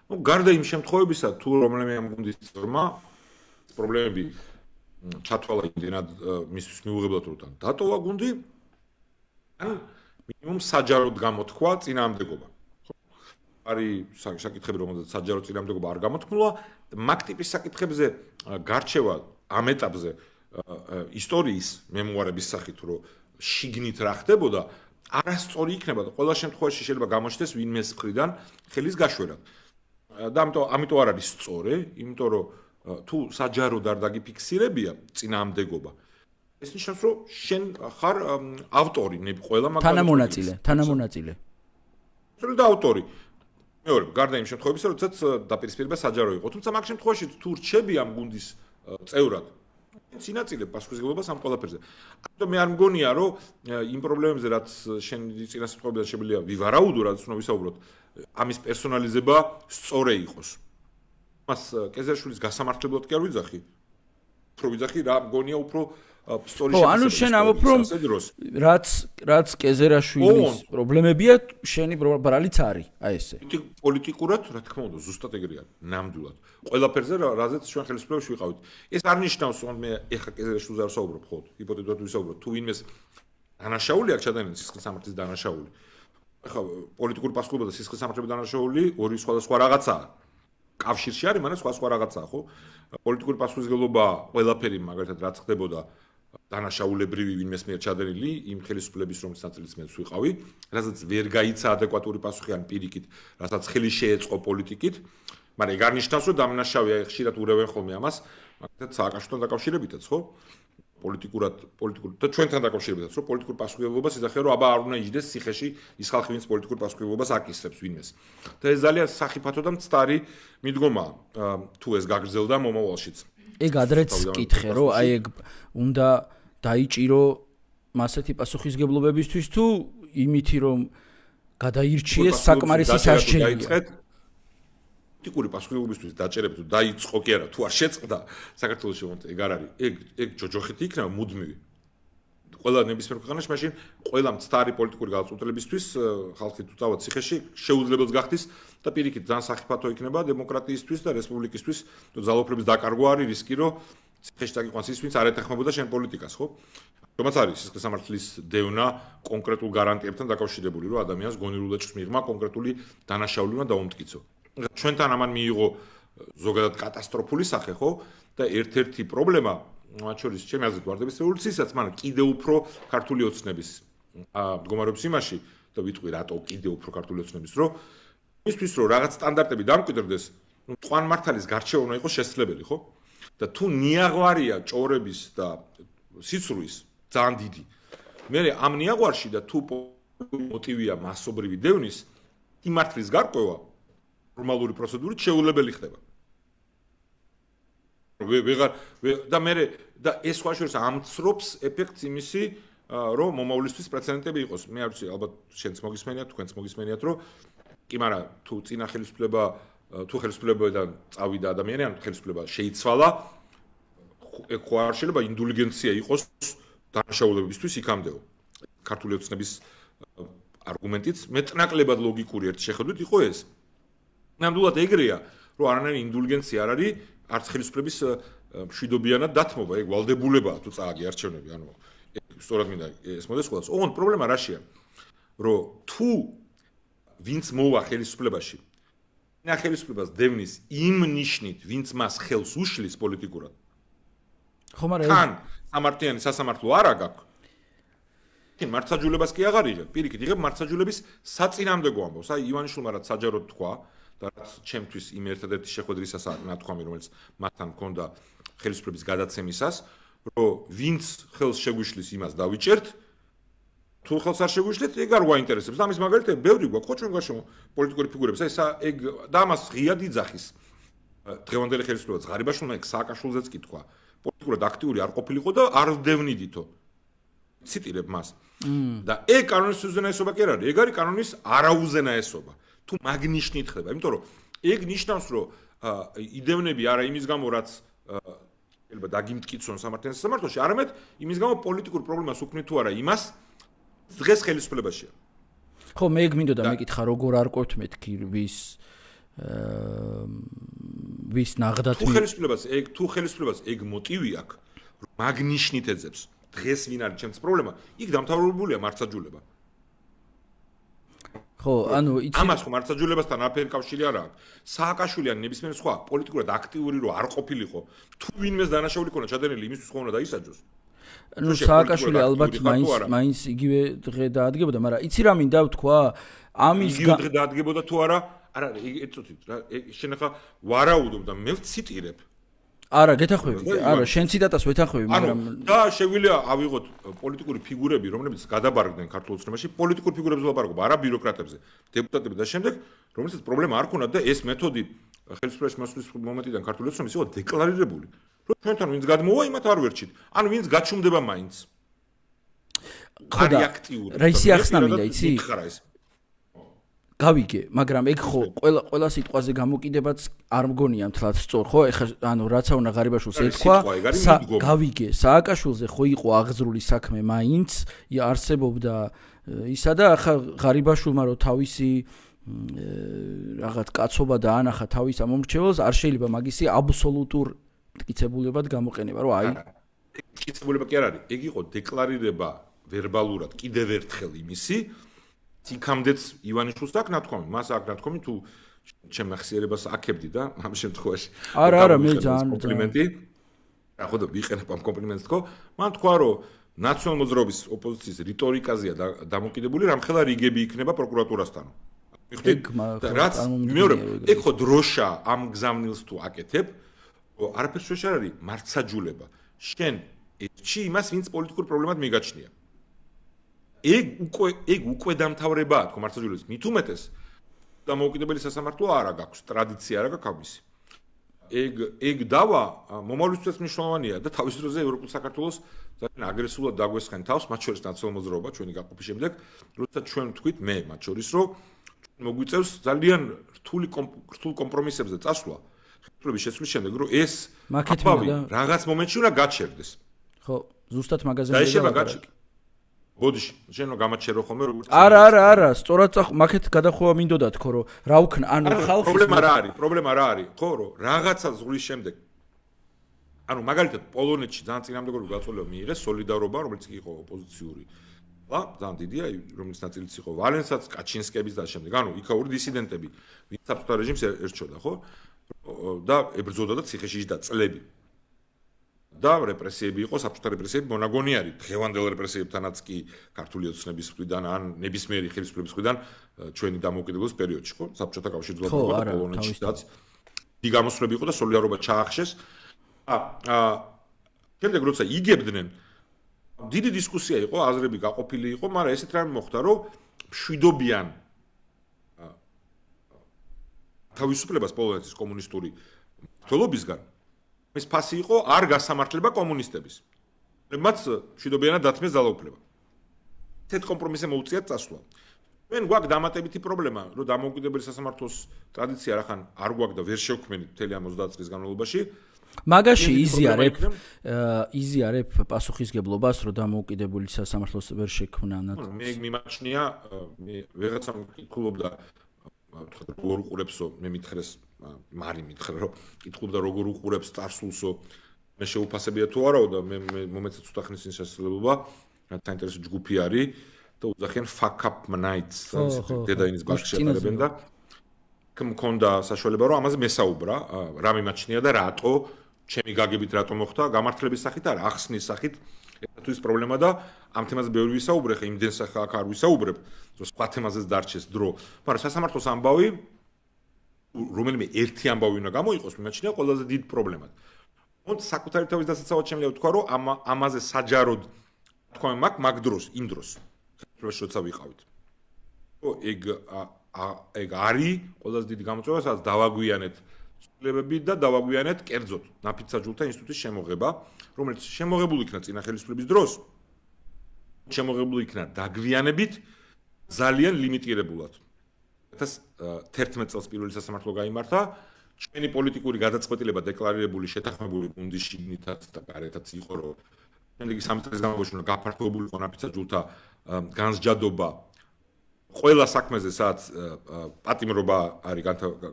Speaker 2: ნუ გარდა იმ შემთხვევებისა, თუ რომელიმე ამ გუნდის წევრმა პრობლემები ჩათვალა იმდენად მისთვის მიუღებლად რომ დატოვა გუნდი, ან მინიმუმ საჯაროდ გამოთქვა წინააღმდეგობა. ხო? არის საკითხები, რომელზეც საჯარო წინააღმდეგობა არ გამოთქმულა, მაგ ტიპის საკითხებზე გარჩევა ამ ეტაპზე ისტორიის მემუარების სახით, რომ შიგნით რა ხდებოდა, არასწორი იქნება და ყველა შემთხვევაში შეიძლება გამოჩნდეს ვინმეს მხრიდან ხელის გაშვერად. და ამიტომ არ არის სწორი, იმიტომ რომ თუ საჯაროდ არ დაგიფიქსირებია წინააღმდეგობა, ეს ნიშნავს, რომ შენ ხარ ავტორი, ყველა
Speaker 1: მაგალითად თანამონაწილე.
Speaker 2: სწორედ ავტორი. მეორე, გარდა იმ შემთხვევებისა, როდესაც დაპირისპირება საჯარო იყო, თუმცა მაგ შემთხვევაში თუ რჩები ამ გუნდის წევრად, წინაწილებ პასუხისმგებლობას ამ ყველაფერზე. ამიტომ მე არ მგონია, რომ იმ პრობლემებზე, რაც შენ წინასწრებიდან შეიძლება ვივარაუდო, რაც უნდა ვისაუბროთ, ამის პერსონალიზება სწორი იყოს. მას კეზერაშვილის გასამართლებლად კი არ ვიძახი. უფრო ვიძახი რა მგონია უფრო სწორი
Speaker 1: შემოსავალი. ანუ შენ ამბობ, რომ რაც კეზერაშვილის პრობლემებია, შენი ბრალიც არის, აი ესე.
Speaker 2: პოლიტიკურად, რა თქმა უნდა, ზუსტად ეგრეა, ნამდვილად. ყველაფერზე, რაზეც ჩვენ ხელისუფლებაში ვიყავით. ეს არ ნიშნავს, რომ მე ეხა კეზერაშვილზე არ ვსაუბრობ, ხო? ჰიპოთეტურად ვისაუბროთ, თუ ვინმეს დანაშაული აქვს ჩადენილი სისხლის სამართლის დანაშაული. ეხა პოლიტიკური პასუხისმგებლობა და სისხლის სამართლების დანაშაული ორი სხვადასხვა რაღაცაა. კავშირში არის, მაგრამ სხვა რაღაცაა, ხო? პოლიტიკური პასუხისმგებლობა ყველაფერი, მაგალითად, რაც ხდებოდა დანაშაულებრივი ვინმეს მიერ ჩადენილი იმ ხელისუფლების რომლის ნაწილიც მეც ვიყავი, რასაც ვერ გაიცა ადეკვატური პასუხი ან პირიქით, რასაც ხელი შეეწყო პოლიტიკით, მაგრამ ეგ არ ნიშნავს, რომ დამნაშავეა, ხშირად ურევენ ხოლმე ამას, მაგალითად სააკაშვილთან დაკავშირებითაც, ხო? პოლიტიკურად და ჩვენთან დაკავშირებითაც რომ პოლიტიკურ პასუხისმგებლობას იზახია რომ აბა არ უნდა იჯდეს ციხეში ის ხალხი ვინც პოლიტიკურ პასუხისმგებლობას აკისრებს ვინმეს და ეს ძალიან სახიფათო და მცდარი მიდგომაა თუ ეს გაგრძელდა მომავალშიც
Speaker 1: ეგ ადრეც კითხე რომ აი ეგ უნდა დაიჭირო მასეთი პასუხისმგებლობებისთვის თუ იმითი რომ გადაირჩიეს საკმარისი სასჯელია
Speaker 2: პოლიტიკური პასუხისმგებლობისთვის დაჭერებით თუ დაიწყო კი არა თუ არ შეწყდა საქართველოს შემოწმება ეგ არ არის ეგ ჯოჯოხეთი იქნება მუდმივი ყველა ნებისმიერ ქვეყანაში მაშინ ყველა მცდარი პოლიტიკური გადაწყვეტილებისთვის ხალხი თუ წავა ციხეში შეუძლებელს გახდის და პირიქით ძალიან სახიფათო იქნება დემოკრატიისთვის და რესპუბლიკისთვის თუ ძალაუფლების დაკარგვა არის რისკი რომ ციხეში დაგიყვანს ის ვინც არ ეთანხმებოდა შენ პოლიტიკას ხო რომაც არის სისხლის სამართლის დევნა კონკრეტულ გარანტიებთან დაკავშირებული რომ ადამიანს გონივრულ ეჭვს მიღმა კონკრეტული დანაშაული უნდა დაუმტკიცო ჩვენთან ამან მიიღო ზოგადად კატასტროფული სახე ხო და ერთ-ერთი პრობლემა მათ შორის ჩემი აზრით ვარდების რევოლუციისას მაგრამ კიდე უფრო ქართული ოცნების მდგომარეობს იმაში და ვიტყვი რატო კიდე უფრო ქართული ოცნების რომ იმისთვის რომ რაღაც სტანდარტები დამკვიდრდეს ნუ მტკვარ-მართალის გარჩევა უნდა იყოს შესაძლებელი ხო და თუ ნიაღვარია ჭორების და სიცრუის ძალიან დიდი მე ამ ნიაღვარში და თუ მოტივია მასობრივი დევნის იმართლის გარკვევა ნორმალური პროცედურით შეუძლებელი ხდება. და მე და ეს სხვა შორის ამცრობს ეფექტს იმისი, რომ მომავლისთვის პრეცედენტები იყოს. მე არ ვიცი, ალბათ შენც მოგისმენიათ, თქვენც მოგისმენიათ, რომ კი, მაგრამ თუ წინა ხელისუფლება თუ ხელისუფლებიდან წავიდა ადამიანი, ან ხელისუფლება შეიცვალა, ეგ ხო არ შეიძლება ინდულგენცია იყოს დანაშაულებებისთვის იქამდეო. ქართული ოცნების არგუმენტიც მეტნაკლებად ლოგიკური ერთ შეხედვით იყო ეს. ნამდვილად ეგრეა, რომ არანაირი ინდულგენცია არ არის არც ხელისუფლების მშვიდობიანად დათმობა, ეგ ვალდებულებაა თუ წააგი არჩევნები, ანუ სწორად მინდა ეს მოდეს ყველას. ოღონდ პრობლემა რაშია? რომ თუ ვინც მოვა ხელისუფლებაში, და ხელისუფლებას დევნის იმ ნიშნით, ვინც მას ხელს უშლის პოლიტიკურად.
Speaker 1: ხო, მაგრამ
Speaker 2: თან სამართლიანი სასამართლო არა გაქვს. კი მართლმსაჯულებას კი აღარ იღებ, პირიქით იღებ მართლმსაჯულების საწინააღმდეგო ამბავს. აი ივანიშვილმა რაც საჯაროდ თქვა და რაც ჩემთვის იმ ერთადერთი შეხვედრისას ნათქვამი, რომელიც მათთან მქონდა ხელისუფლების გადაცემისას, რომ ვინც ხელს შეგვიშლის იმას დავიჭერთ, თუ ხელს არ შეგვიშლეთ, ეგ არ გვაინტერესებს. და ამის მაგალითები ბევრი გვაქვს, ხო ჩვენ გარშემო პოლიტიკური ფიგურებს. აი ეგ და ამას ღიად იძახის დღევანდელი ხელისუფლება ღარიბაშვილმა ეგ სააკაშვილზეც კი თქვა. პოლიტიკურად აქტიური არ ყოფილიყო და არ ვდევნიდითო. ციტირებ მას. და ეგ კანონის უზენაესობა კი არ არის, ეგ არის კანონის არაუზენაესობა. თუ მაგნიშნით ხდება, იმიტომ რომ ეგ ნიშნავს, რომ იდევნები არა იმის გამო, რაც შეიძლება დაგიმტკიცონ სამართლიან სასამართლოში, არამედ იმის გამო პოლიტიკურ პრობლემას უქმნით თუ არა იმას დღეს ხელისუფლებაშია.
Speaker 1: ხო, მე ეგ მინდოდა მეკითხა, როგორ არ ყოფთ მეთქი ვის ნაღდათ
Speaker 2: თუ ხელისუფლებას ეგ მოტივი აქვს, რომ მაგნიშნით ეძებს დღეს ვინ არის ჩემს პრობლემა, იქ დამთავრებულია მართლმსაჯულება.
Speaker 1: ხო, ანუ იცი
Speaker 2: ამას ხო მართლმსაჯულებასთან არაფერი კავშირი არ აქვს. სააკაშვილი ან ნებისმიერ სხვა პოლიტიკურად აქტიური რო არ ყოფილიყო, თუ ვინმეს დანაშაული ქონა ჩადენილი, იმისთვის ხო უნდა დაისაჯოს.
Speaker 1: ნუ სააკაშვილი ალბათ მაინც იგივე დღე დაადგებოდა, მაგრამ იცი რა მინდა ვთქვა? ამის
Speaker 2: იგივე დღე დაადგებოდა თუ არა? არა, ეცოთით რა, შენ ახლა ვარაუდობ და მე ვციტირებ.
Speaker 1: არა, გეთანხმები, არა, შენ ციტატას ვეთანხმები, მაგრამ
Speaker 2: და შეგვიძლია ავიღოთ პოლიტიკური ფიგურები, რომლებიც გადაბარგდნენ ქართულ ოცნებაში, პოლიტიკურ ფიგურებზე ვლაპარაკობ, არა ბიუროკრატებზე, დეპუტატები და შემდეგ, რომელსაც პრობლემა არ ქონდათ და ეს მეთოდი ხელისუფლებაში მოსვლის მომენტიდან ქართული ოცნების იყო დეკლარირებული. რომ ჩვენთან ვინც გადმოვა, იმათ არ ვერჩით. ანუ ვინც გაჩუმდება მაინც.
Speaker 1: ხოდა რა ისი ახსნა მინდა, იცი? გავიგე, მაგრამ ეგ ხო ყველა სიტყვაზე გამოკიდებაც არ მგონია მთლად სწორ, ხო? ეხლა ანუ რაცა უნდა ღარიბაშვილს ეთქვა, გავიგე, სააკაშვილზე ხო იყო აღზრული საქმე მაინც, არსებობდა ისა და ახლა ღარიბაშვილმა რო თავისი რაღაც კაცობა და ანახა თავის ამომრჩეველს, არ შეიძლება მაგისი აბსოლუტურ მტკიცებულებად გამოყენება, რომ აი
Speaker 2: მტკიცებულება კი არ არის, ეგ იყო დეკლარირება ვერბალურად კიდევ ერთხელ იმისი იქამდეც ივანიშვილს აქვს ნათქვამი, მას აქვს ნათქვამი თუ ჩემ ახსიერებას აქებდი და ამ შემთხვევაში
Speaker 1: არა მე ძალიან
Speaker 2: კომპლიმენტი რა ხო და ვიყენებ ამ კომპლიმენტს თქო მან თქვა რომ ნაციონალ მოძრაობის ოპოზიციის რიტორიკაზეა დამოკიდებული რამხელა რიგები იქნება პროკურატურასთან რაც მეორე ეგ ხო დროშა ამ გზავნილს თუ აკეთებ არაფერს შეშ არ არის მართლმსაჯულება შენ ეთში იმას, ვინც პოლიტიკურ პრობლემად მიგაჩნია. ეგ უკვე დამთავრებაა, თქო მართლაც მით უმეტეს დამოუკიდებელი სასამართლო არა გაქვს, ტრადიცია არა გაქვს ამისი. ეგ დავა მომავლისთვის მნიშვნელოვანია და თავის დროზე ევროპულ საქართველოს ძალიან აგრესიულად დაგვესხენ თავს, მათ შორის ნაციონალურ მოძრაობა ჩვენი გაყოფის შემდეგ, როდესაც ჩვენ ვთქვით მე მათ შორის, რომ მოგვიწევს ძალიან რთულ კომპრომისებზე წასვლა, ხელისუფლების შესვლის შემდეგ, რომ ეს აბავი რაღაც მომენტში უნდა გაჩერდეს.
Speaker 1: ხო, ზუსტად მაგაზე მიდაგვარაკე.
Speaker 2: ბოდიში, შენ რომ გამაჩერო ხოლმე როგორც
Speaker 1: არა, სწორად მაგეთ გადახოვა მინდოდა თქო, რომ რა უქნა, ანუ ხალხის
Speaker 2: პრობლემა რა არის, ხო, რომ რაღაცა ზღვის შემდეგ ანუ მაგალითად პოლონეთში ძალიან წინამდებობრივი გაწოლება მიიღეს სოლიდარობა, რომელიც იყო ოპოზიციური. ძალიან დიდია, რომელიც ნაწილიც იყო ვალენსაც, კაჩინსკების და შემდეგ. ანუ იქაური დისიდენტები, ვინც საბჭოთა რეჟიმს ერჩოდა, ხო? და ებრძოდა და ციხეში იჯდა წლები. და რეპრესიები იყო, საბჭოთა რეპრესიები მონაგონი არის. დღევანდელ რეპრესიებთანაც კი ქართული ოცნების მხრიდან ან ნებისმიერი ხელისუფლების მხრიდან ჩვენი დამოუკიდებლობის პერიოდში, ხო? საბჭოთა კავშირის ძლებობა და პოლონეთშიც დიდი გამოსვლები იყო და სოლიდარობა ჩაახშეს. შემდეგ როცა იგებდნენ დიდი დისკუსია იყო, აზრები გაყოფილი იყო, მაგრამ ესეთ რამე მოხდა, რომ მშვიდობიან თავისუფლებას პოლონეთის კომუნისტური მმართველობისგან ეს ფასი იყო არ გასამართლება კომუნისტების. მათ მშვიდობიანად დათმეს ძალაუფლება. ესეთ კომპრომისზე მოუწიათ წასვლა. ჩვენ გვაქვს დამატებითი პრობლემა, რომ დამოუკიდებელი სასამართლოს ტრადიცია რახან არ გვაქვს და ვერ შევქმნით მთელი ამ 30 წლის განმავლობაში.
Speaker 1: მაგაში იზიარებ პასუხისგებლობას, რომ დამოუკიდებელი სასამართლოს ვერ შექმნანათ.
Speaker 2: მე მიმაჩნია, ვიღაცა მკითხულობდა როგორ უყურებსო, მე მითხრეს, მარი მითხრა, რომ კითხულობდა როგორ უყურებს წარსულსო, მე შეუფასებია თუ არაო და მე მომეცე ცოტა ხნის წინ შესაძლებლობა, საინტერესო ჯგუფი არის და უძახიან fuck up nights, დედაინის ბაღში ატარებენ და მქონდა საშუალება, რომ ამაზე მესაუბრა, რა მიმაჩნია და რატო ჩემი გაგებით რატო მოხდა, გამართლების სახით არა, ახსნის სახით, თუ ის პრობლემა და ამ თემაზე ბევრი ვისაუბრე, ხა იმდენს აქ არ ვისაუბრებ, რომ სხვა თემაზეც დარჩეს დრო, მაგრამ სასამართლოს ამბავი რომელიმე ერთი ამბავი უნდა გამოიყოს, მიმაჩნია ყველაზე დიდ პრობლემად. მოდ საკუთარი თავის დასაცავად შემიძლია ვთქვა, რომ ამაზე საჯაროდ თქვა მაგ დროს, იმ დროს, როცა ვიყავით. ეგ არის ყველაზე დიდი გამოწვევა, სადაც დავაგვიანეთ ცვლილებები და დავაგვიანეთ კერძოდ ნაფიც საჯულთა ინსტიტუტის შემოღება, რომელიც შემოღებული იქნა წინა ხელისუფლების დროს, შემოღებული იქნა დაგვიანებით ძალიან ლიმიტირებულად. 2011 წელს პირველი სასამართლო გაიმართა, ჩვენი პოლიტიკური გადაწყვეტილება დეკლარირებული შეთანხმებული გუნდის შიგნითაც და გარეთაც იყო, რომ შემდეგი 3 წლის განმავლობაში უნდა გაფართოებული იყო ნაფიც საჯულთა განსჯადობა ყველა საქმეზე, სადაც პატიმრობა არის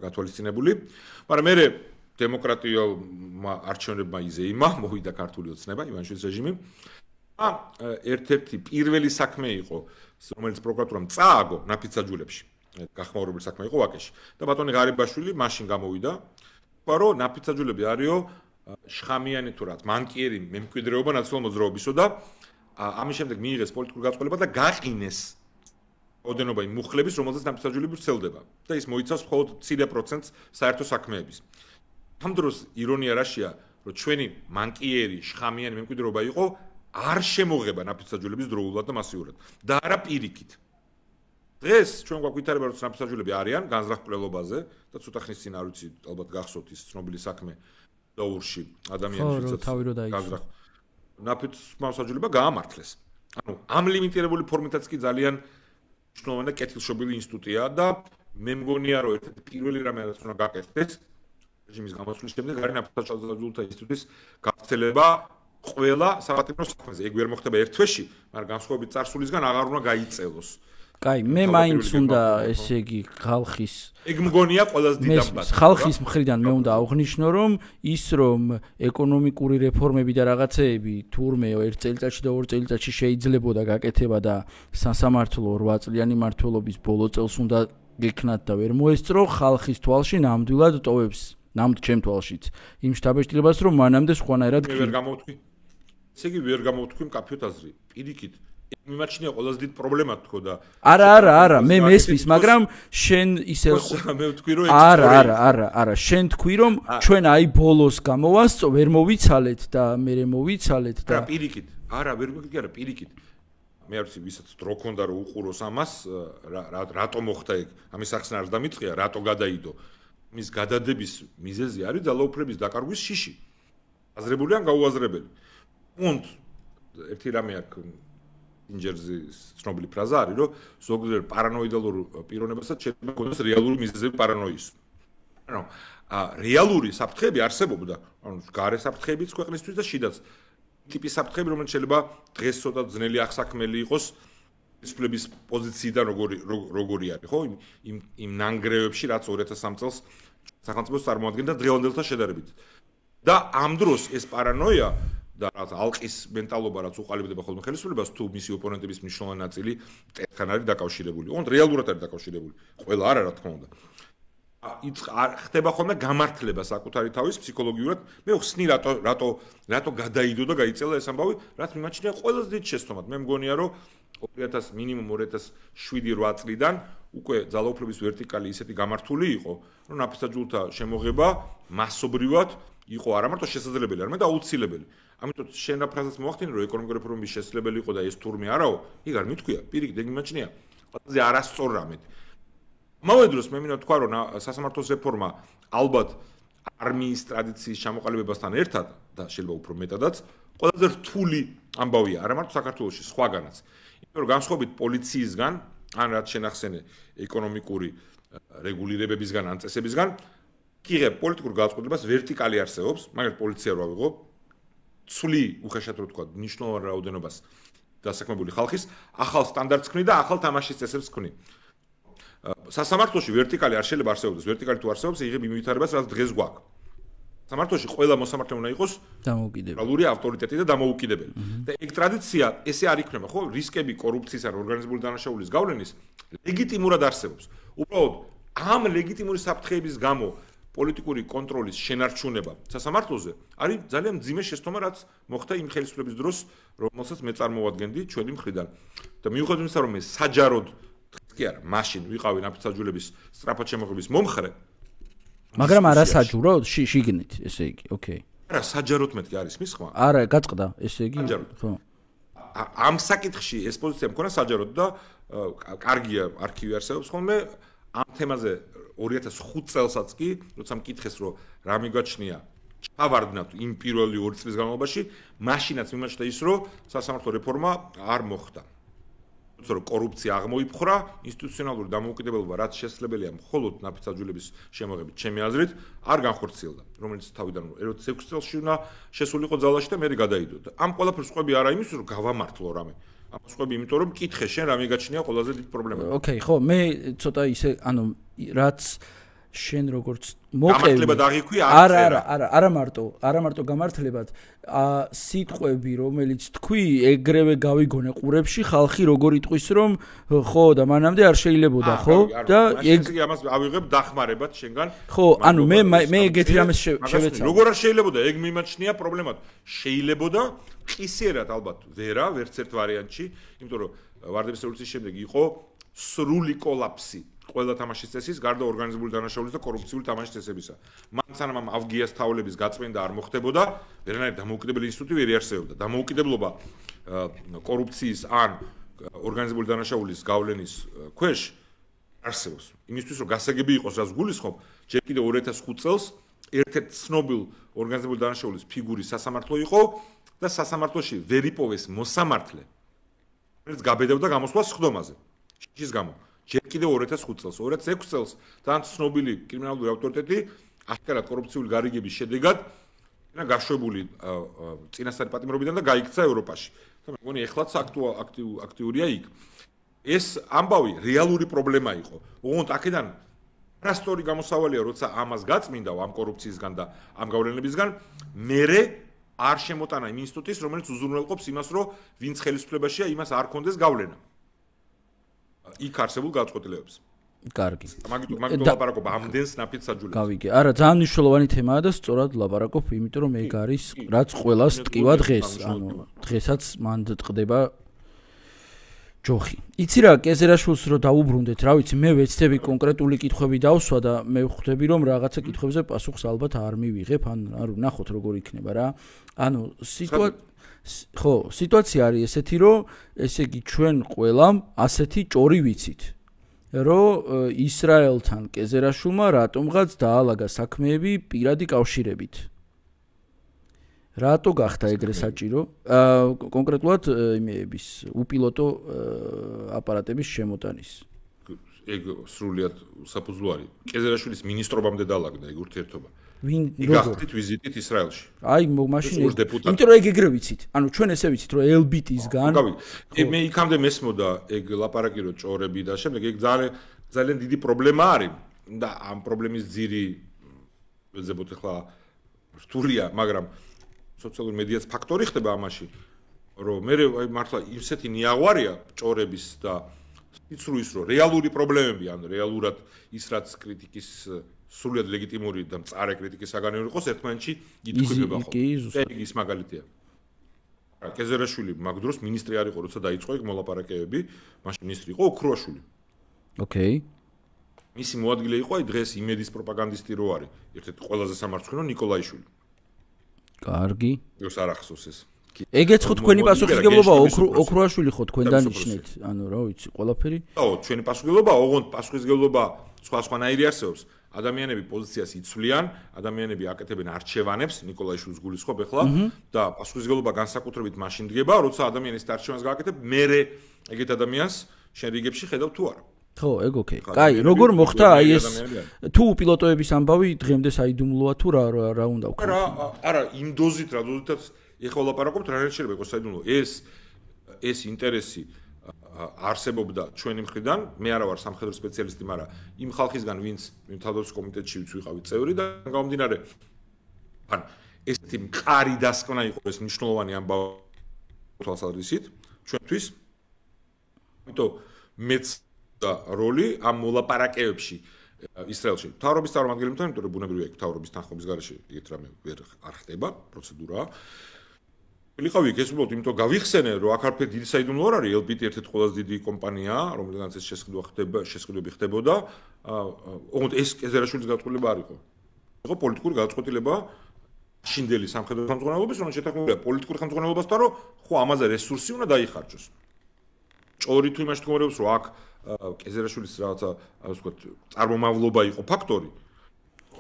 Speaker 2: გათვალისწინებული, მაგრამ მე დემოკრატიულმა არჩევნებმა იზეიმა, მოვიდა ქართული ოცნება, ივანიშვილის რეჟიმი. ერთ-ერთი პირველი საქმე იყო, რომელიც პროკურატურამ წააგო ნაფიც საჯულებში. გახმაურებული საქმე იყო ვაკეში. და ბატონი ღარიბაშვილი მაშინ გამოვიდა, თქვა რომ ნაფიც საჯულები არისო შხამიანი თუ რაც, მანკიერი მემკვიდრეობა ნაციონალურ მოძრაობისო და ამის შემდეგ მიიღეს პოლიტიკური გაწყვეტილება და გაყინეს ოდენობა იმ მუხლების, რომელზეც ნაფიც საჯულები ვრცელდება და ის მოიცავს მხოლოდ მცირე პროცენტს საერთო საქმეების. ამ დროს ირონია რაშია, რომ ჩვენი მანკიერი შხამიანი მემკვიდრეობა იყო არ შემოღება ნაფიც საჯულების დროულად და მასიურად და არა პირიქით. დღეს ჩვენ გვაქვს ვითარება, რომ ნაფიც საჯულები არიან განზრახ კვლევაზე და ცოტა ხნის წინ არ ვიცი, ალბათ გახსოვთ ის ცნობილი საქმე დაურში ადამიანის განზრახ ნაფიც საჯულება გაამართლეს. ანუ ამ ლიმიტირებული ფორმითაც კი ძალიან მნიშვნელოვანი და კეთილშობილი ინსტიტუტია და მე მგონია, რომ ერთ-ერთი პირველი რამე რაც უნდა გაკეთდეს რეჟიმის გამოსვლის შემდეგ არის ნაფიც საჯულთა ინსტიტუტის გავრცელება ყველა საპატიმრო საქმეზე. ეგ ვერ მოხდება ერთ თვეში, მაგრამ განსხვავებით წარსულისგან აღარ უნდა გაიწელოს.
Speaker 1: კაი, მე მაინც უნდა ესე იგი ხალხის
Speaker 2: ეგ მგონია ყველაზე დიდ ამბავი.
Speaker 1: ხალხის მხრიდან მე უნდა აღვნიშნო, რომ ის რომ ეკონომიკური რეფორმები და რაღაცეები თურმე ერთ წელიწადში და ორ წელიწადში შეიძლებოდა გაკეთება და სასამართლო 8 წლიანი მმართველობის ბოლო წელს უნდა გექნათ და ვერ მოესწრო, ხალხის თვალში ნამდვილად ტოვებს, ჩემ თვალშიც იმ შთაბეჭდილებას, რომ მანამდე სხვანაირად
Speaker 2: ვერ გამოვთქვი. ესე იგი ვერ გამოვთქვი მკაფიოდ აზრი. პირიქით მიმაჩნია ყველაზე დიდი პრობლემა თქო და
Speaker 1: არა, მე მესმის, მაგრამ შენ ისე
Speaker 2: მე ვთქვი რომ
Speaker 1: არა, შენ თქვი რომ ჩვენ აი ბოლოს გამოვასწო, ვერ მოვიცალეთ და მე მოვიცალეთ და
Speaker 2: პირიქით, ვერ მოგიგე არა, პირიქით. მე არ ვიცი, ვისაც დრო ქონდა რომ უყუროს ამას, რატო მოხდა ეგ? ამის ახსნა არ დამიწყია, რატო გადაიდო? მის გადადების მიზეზი არის ძალაუფლების დაკარგვის შიში. აზრებული ან გაუაზრებელი. und ერთი რამე აქვს ინჯერზი ცნობილი ფრაზა არის, რომ ზოგიერთ პარანოიდალურ პიროვნებასაც შეიძლება ჰქონდეს რეალური მიზეზები პარანოიის. ანუ რეალური საფრთხეები არსებობდა, ანუ გარე საფრთხეებიც ქვეყნისთვის და შიდაც ტიპის საფრთხეები, რომელიც შეიძლება დღეს ცოტა ძნელი ახსაქმელი იყოს ხელისუფლების პოზიციიდან როგორი არის, ხო? იმ ნანგრევებში, რაც 2003 წელს სახელმწიფოს წარმოადგენდა დღევანდელთან შედარებით. და ამ დროს ეს პარანოია და რაც ალყის მენტალობა რაც უყალიბდება ხოლმე ხელისუფლებას თუ მისი ოპონენტების მნიშვნელოვანი ნაწილი მტერთან არის დაკავშირებული. ოღონდ რეალურად არის დაკავშირებული. ყველა არა, რა თქმა უნდა. ხდება ხოლმე გამართლება საკუთარი თავის ფსიქოლოგიურად. მე ვხსნი რატო გადაიდო და გაიწელა ეს ამბავი, რაც მიმაჩნია ყველაზე დიდ შეცდომად. მე მგონია რომ 2000 მინიმუმ 2007-8 წლიდან უკვე ძალაუფლების ვერტიკალი ისეთი გამართული იყო, რომ ნაფისაჯულთა შემოღება მასობრივად იყო არა მარტო შესაძლებელი, არამედ აუცილებელი. ამიტომ შენ რა ფრაზას მოახდინე, რომ ეკონომიკური რეფორმის შესაძლებელი იყო და ეს თურმე არაო, იქ არ მithქვია, პირიქით ეგ მიმაჩნია. ყველაზე არასწორ რამედ. ამავე დროს მე მინდა თქვა, რომ სასამართლოს რეფორმა ალბათ არმიის ტრადიციის ჩამოყალიბებასთან ერთად და შეიძლება უფრო მეტადაც ყველაზე რთული ამბავია, არა მარტო საქართველოში, სხვაგანაც. იმიტომ რომ განსხვავებით პოლიციისგან, ან რაც შენახსენე ეკონომიკური რეგულირებებისგან, ან წესებისგან, კიღებ პოლიტიკურ გადაწყვეტილებას ვერტიკალი არსებობს, მაგალითად პოლიცია რა ვიღო, ცვლი უხეშად რო თქვა, მნიშვნელოვან რაოდენობას დასაქმებული ხალხის ახალ სტანდარტს ქმნი და ახალ თამაშის წესებს ქმნი. სასამართლოში ვერტიკალი არ შეიძლება არსებობდეს, ვერტიკალი თუ არსებობს, იღებ იმ ვითარებას, რაც დღეს გვაქვს. სამართლოში ყველა მოსამართლე უნდა იყოს დამოუკიდებელი, ავტორიტეტი და დამოუკიდებელი. და ეგ ტრადიცია ესე არ იქნება, ხო? რისკები კორუფციის ან ორგანიზებული დანაშაულის გავლენის ლეგიტიმურად არსებობს. უბრალოდ ამ ლეგიტიმური საფრთხეების გამო პოლიტიკური კონტროლის შენარჩუნება სასამართლოზე არის ძალიან მძიმე შეცდომა, რაც მოხდა იმ ხელისუფლების დროს, რომელსაც მე წარმოვადგენდი ჩვენი მხრიდან. და მიუხედავად იმისა, რომ მე საჯაროდ კი არა, მაშინ ვიყავი ნაფისაჯულების სწრაფად შემოღების მომხრე.
Speaker 1: მაგრამ არა საჯუროდ, შიგნით, ესე იგი, ოკეი.
Speaker 2: არა, საჯაროდ მეთქი არის მის ხმა?
Speaker 1: არა, გაწყდა, ესე იგი,
Speaker 2: ხო. ამ საკითხში ეს პოზიცია მქონა საჯაროდ და კარგია არქივი არსებობს ხოლმე ამ თემაზე 2005 წელსაც კი, როცა მკითხეს, რომ რა მიგაჩნია ჩავარდნათ იმ პირველი 2 წლის განმავლობაში, მაშინაც მიმაჩნდა ის, რომ სასამართლო რეფორმა არ მოხდა. რომ კორუფცია აღმოიფხვრა, ინსტიტუციონალური დამოუკიდებლობა, რაც შესაძლებელია მხოლოდ ნაფისაჯულების შემოღებით, ჩემი აზრით, არ განხორციელდა, რომელიც თავიდან 2006 წელს უნდა შესულიყო ძალაში და მე გადაიდო. ამ ყველაფერს ყვები არა იმის, რომ გავამართლო რამე. ამას ყვები იმიტომ, რომ მკითხე შენ რა მიგაჩნია ყველაზე დიდი პრობლემა.
Speaker 1: ოკეი, ხო, მე ცოტა ისე, ანუ რაც შენ როგორც მოყევი
Speaker 2: გამართლება დაღიქვი
Speaker 1: არა მარტო გამართლებად სიტყვები რომელიც თქვი ეგრევე გავიგონე ყურებში ხალხი როგორ იტყვის რომ ხო და მანამდე არ შეიძლებოდა ხო და
Speaker 2: ეგ ამას ავიღებ დახმარებად შენგან
Speaker 1: ხო ანუ მე ეგეთი რამეს შევეცავ
Speaker 2: როგორ არ შეიძლებოდა ეგ მიმაჩნია პრობლემად შეიძლებოდა ყისიერად ალბათ ვერც ერთ ვარიანტში იმიტომ რომ ვარდების რევოლუციის შემდეგ იყო სრული კოლაფსი ყველა თამაშის წესის, გარდა ორგანიზებული დანაშაულის და კორუფციული თამაშის წესებისა. მან სანამ ამ ავგიას თაულების გაწმენდა არ მოხდებოდა, ვერანაირი დამოუკიდებელი ინსტიტუტი ვერ იარსებობდა. დამოუკიდებლობა კორუფციის ან ორგანიზებული დანაშაულის გავლენის ქვეშ არსებობს. იმისთვის რომ გასაგები იყოს, რაც გულისხმობ, ჯერ კიდევ 2005 წელს ერთ-ერთ ცნობილ ორგანიზებული დანაშაულის ფიგურის სასამართლო იყო და სასამართლოში ვერ იპოვეს მოსამართლე, რომელიც გაბედავდა გამოსვლას სხდომაზე. შიშის გამო. ჯერ კიდევ 2005 წელს, 2006 წელს ძალიან ცნობილი კრიმინალური ავტორიტეტი აშკარად კორუფციული გარიგების შედეგად გაშვებული წინასწარი პატიმრობიდან და გაიქცა ევროპაში. მე მგონი ეხლაც აქტიურია იქ. ეს ამბავი რეალური პრობლემა იყო. ოღონდ აქედან არასწორი გამოსავალია, როცა ამას გაწმინდა ამ კორუფციისგან და ამ გავლენებისგან, მერე არ შემოტანა იმ ინსტიტუტის, რომელიც უზრუნველყოფს იმას, რომ ვინც ხელისუფლებაშია, იმას არ კონდეს გავლენა. იქ არსებულ გადაწყვეტილებებს.
Speaker 1: კარგი.
Speaker 2: მაგით ლაპარაკობ ამდენს ნაფისაჯულებს.
Speaker 1: გავიგე. არა, ძალიან მნიშვნელოვანი თემაა და სწორად ლაპარაკობ, იმიტომ რომ ეგ არის რაც ყველას ტკივა დღეს. ანუ დღესაც მანდ ტყდება ჯოხი. იცი რა, კეზერაშვილს რო დაუბრუნდეთ, რა ვიცი, მე ვეცდები კონკრეტული კითხვები დავსვა და მე ვხვდები რომ რაღაცა კითხვებზე პასუხს ალბათ არ მივიღებ, ან ნახოთ როგორ იქნება რა. ანუ სიტუაცია არის ესეთი, რომ ესე იგი ჩვენ ყველამ ასეთი ჭორი ვიცით. რომ ისრაელთან კეზერაშვილმა რატომღაც დაალაგა საქმეები პირადი კავშირებით. რატო გახდა ეგრე საჭირო? კონკრეტულად იმეების უპილოტო აპარატების შემოტანის.
Speaker 2: ეგ სრულიად საფუძვლო არის. კეზერაშვილის მინისტრობამდე დაალაგდა ეგ ურთიერთობა.
Speaker 1: ვინ
Speaker 2: გახდით ვიზიტით ისრაელში.
Speaker 1: აი მაშინ იმიტომ რომ ეგ ეგრე ვიცით. ანუ ჩვენ ესე ვიცით რომ ელბიტისგან
Speaker 2: მე იქამდე მესმოდა ეგ ლაპარაკი რომ ჭორები და შემდეგ ეგ ძალიან დიდი პრობლემა არის და ამ პრობლემის ძირი ვეძებოთ ახლა რთულია, მაგრამ სოციალური მედიაც ფაქტორი ხდება ამაში, რომ მე მართლა ისეთი ნიაღვარია ჭორების და იცრუის რომ რეალური პრობლემები, ან რეალურად ის რაც კრიტიკის სრულიად ლეგიტიმური და მწარე კრიტიკის საგანეური იყოს ერთმანეთში ითქმება ხოლმე. ეგ ის მაგალითია. კეზერაშვილი მაგ დროს მინისტრი არ იყო, როცა დაიწყო ეგ მოლაპარაკებები, მაშინ მინისტრი იყო ოქროაშვილი.
Speaker 1: ოკეი.
Speaker 2: მისი მოადგილე იყო აი დღეს იმედის პროპაგანდისტი რო არის, ერთ-ერთი ყველაზე სამარცხვინო ნიკოლაიშვილი.
Speaker 1: კარგი.
Speaker 2: ეს არ ახსოვს ეს.
Speaker 1: ეგეც ხო თქვენი პასუხისგებლობა ოქროაშვილი ხო თქვენ დანიშნეთ, ანუ რა ვიცი, ყველაფერი?
Speaker 2: ხო, ჩვენი პასუხისგებლობა, ოღონდ პასუხისგებლობა სხვანაირი არსებობს. ადამიანები პოზიციას იცვლიან, ადამიანები აკეთებენ არჩევანებს, ნიკოლაიშვილს გულისხმობ ახლა და პასუხისგებლობა განსაკუთრებით მაშინ დგება, როცა ადამიანი ეს არჩევანს გააკეთებ, მერე ეგეთ ადამიანს შენ რიგებში ხედავ თუ არა.
Speaker 1: ხო, ეგ ოკეი. კაი, როგორ მოხდა აი ეს თუ პილოტოების ამბავი დღემდე საიდუმლოა თუ რა უნდა ვქო?
Speaker 2: არა, იმ დოზით რა დოზითაც ეხლა ვლაპარაკობთ, რა შეიძლება იყოს საიდუმლო. ეს ინტერესი არსებობდა ჩვენი მხრიდან, მე არა ვარ სამხედრო სპეციალისტი, მაგრამ იმ ხალხისგან, ვინც თავდაცვის კომიტეტში ვიყავი წევრი და გამომდინარე, ან ესეთი მყარი დასკვნა იყო ეს მნიშვნელოვანი ამბავი თვალსაზრისით ჩვენთვის. ამიტომ მეც და როლი ამ მოლაპარაკებებში ისრაელში. მთავრობის წარმომადგენლებთან, იმიტომ რომ ბუნებრივია იქ მთავრობის თანხმობის გარეშე ეგეთ რამე არ ხდება პროცედურაა. ვიყავი ეს უბრალოდ იმიტომ გავიხსენე რომ აქ არაფერი დიდი საიდუმლო არ არის, ელბიტი ერთ-ერთი ყველაზე დიდი კომპანიაა, რომელთანაც ეს შესყიდვები ხდებოდა. ოღონდ ეს კეზერაშვილის გაწყვეტილება არ იყო. იყო პოლიტიკური გაწყვეტილება შინდელი სამხედრო ხელმძღვანელობის, რომელიც შეთანხმებულია პოლიტიკური ხელმძღვანელობასთან, რომ ხო ამაზე რესურსი უნდა დაიხარჯოს. ჭორი თუ იმაში თქმობს, რომ აქ კეზერაშვილის რაღაცა, ასე ვთქვათ, წარმომავლობა იყო ფაქტორი.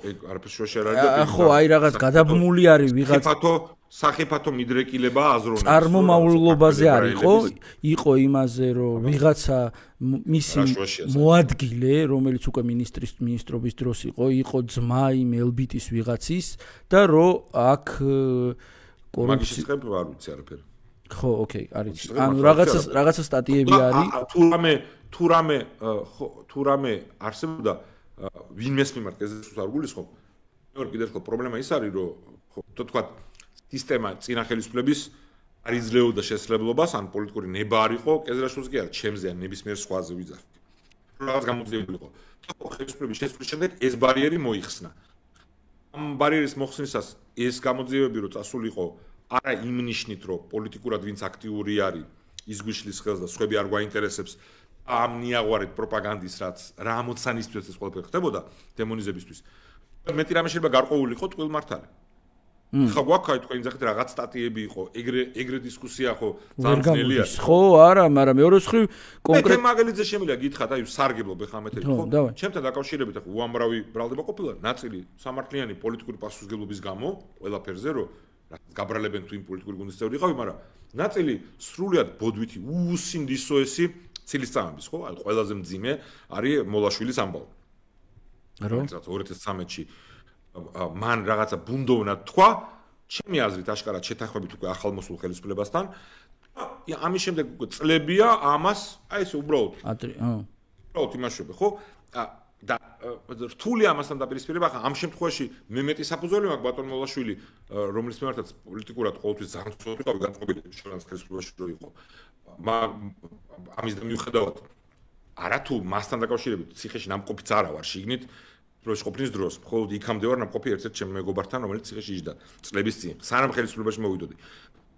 Speaker 2: ეგ არაფერს შუაში არ არის და
Speaker 1: ხო, აი რაღაც გადაბმული არის ვიღაც
Speaker 2: სახიფათო მიდრეკილება აზროვნებს.
Speaker 1: წარმომავლობაზე არ იყო იმაზე, რომ ვიღაცა მისი მოადგილე, რომელიც უკვე მინისტრობის დროს იყო ძმა იმ ელბიტის ვიღაცის და რომ აქ
Speaker 2: კორუფცია არ ვიცი არაფერი.
Speaker 1: ხო, ოკეი, არის. ანუ რაღაცა სტატიები არის.
Speaker 2: თუ რამე არსებობდა ვინმეს მიმართ კეზერაშვილს არ გულისხმობ. მეორე კიდევ ერთხელ პრობლემა ის არის, რომ ხო, თქვა სისტემა წინა ხელისუფლების არ იძლეოდა შესაძლებლობას, ან პოლიტიკური ნება არ იყო, კეზერაშვილს კი არა, ჩემზე ან ნებისმიერ სხვაზე ვიძახი. რაღაც გამოძიებული იყო. ხელისუფლების შესვლის შემდეგ ეს ბარიერი მოიხსნა. ამ ბარიერის მოხსნისას ეს გამოძიებები რო წასულიყო, არა იმ ნიშნით, რომ პოლიტიკურად ვინც აქტიური არის, ის გვიშლის ხელს და სხვები არ გვაინტერესებს ამ ნიაღვარით პროპაგანდის რაც რა ამოცანისთვის ეს ყველაფერი ხდებოდა დემონიზებისთვის. მეტი რამე შეიძლება გარკვეული იყო ტყუილმართალი. ხა გვაქვს თქვენ ძახით რაღაც სტატიები იყო, ეგრე დისკუსია ხო ძალიან ძნელია.
Speaker 1: ხო, არა, მაგრამ მეორე მხრივ
Speaker 2: კონკრეტ მაგალითზე შემიძლია გითხრათ, აი სარგებლობ ახლა მეთერი ხო? ჩემთან დაკავშირებით ახლა უამრავი ბრალდება ყოფილა, ნაწილი სამართლიანი პოლიტიკური პასუხისმგებლობის გამო, ყველაფერზე რომ გაბრალებენ თუ იმ პოლიტიკური გუნდის წევრი იყავი, მაგრამ ნაწილი სრულიად ბოდვითი უსინდისოესი ცილისწამების, ხო? აი ყველაზე მძიმე არის მოლაშვილის ამბავი.
Speaker 1: რომ
Speaker 2: 2013-ში მან რაღაცა ბუნდოვნად თქვა, ჩემი აზრით აშკარად შეთანხმებით უკვე ახალმოსულ ხელისუფლებასთან. ამის შემდეგ უკვე წლებია ამას, აი ესე უბრალოდ. უბრალოდ იმაშობე, ხო? და რთული ამასთან დაპირისპირება, ხა ამ შემთხვევაში მე მეტი საფუძველი მაქვს ბატონ მოლაშვილი, რომლის მიმართაც პოლიტიკურად ყოველთვის ძალიან ცოტა განწყობილი შევანს ხელისუფლებაში რო იყო. ამის მიუხედავად არა თუ მასთან დაკავშირებით ციხეში ნამყოფიც არა ვარ შიგნით დროში ყოფნის დროს, მხოლოდ იქამდე ვარ ნამყოფი ერთ-ერთ ჩემ მეგობართან, რომელიც ციხეში იჯდა წლების წინ, სანამ ხელისუფლებაში მოვიდოდი.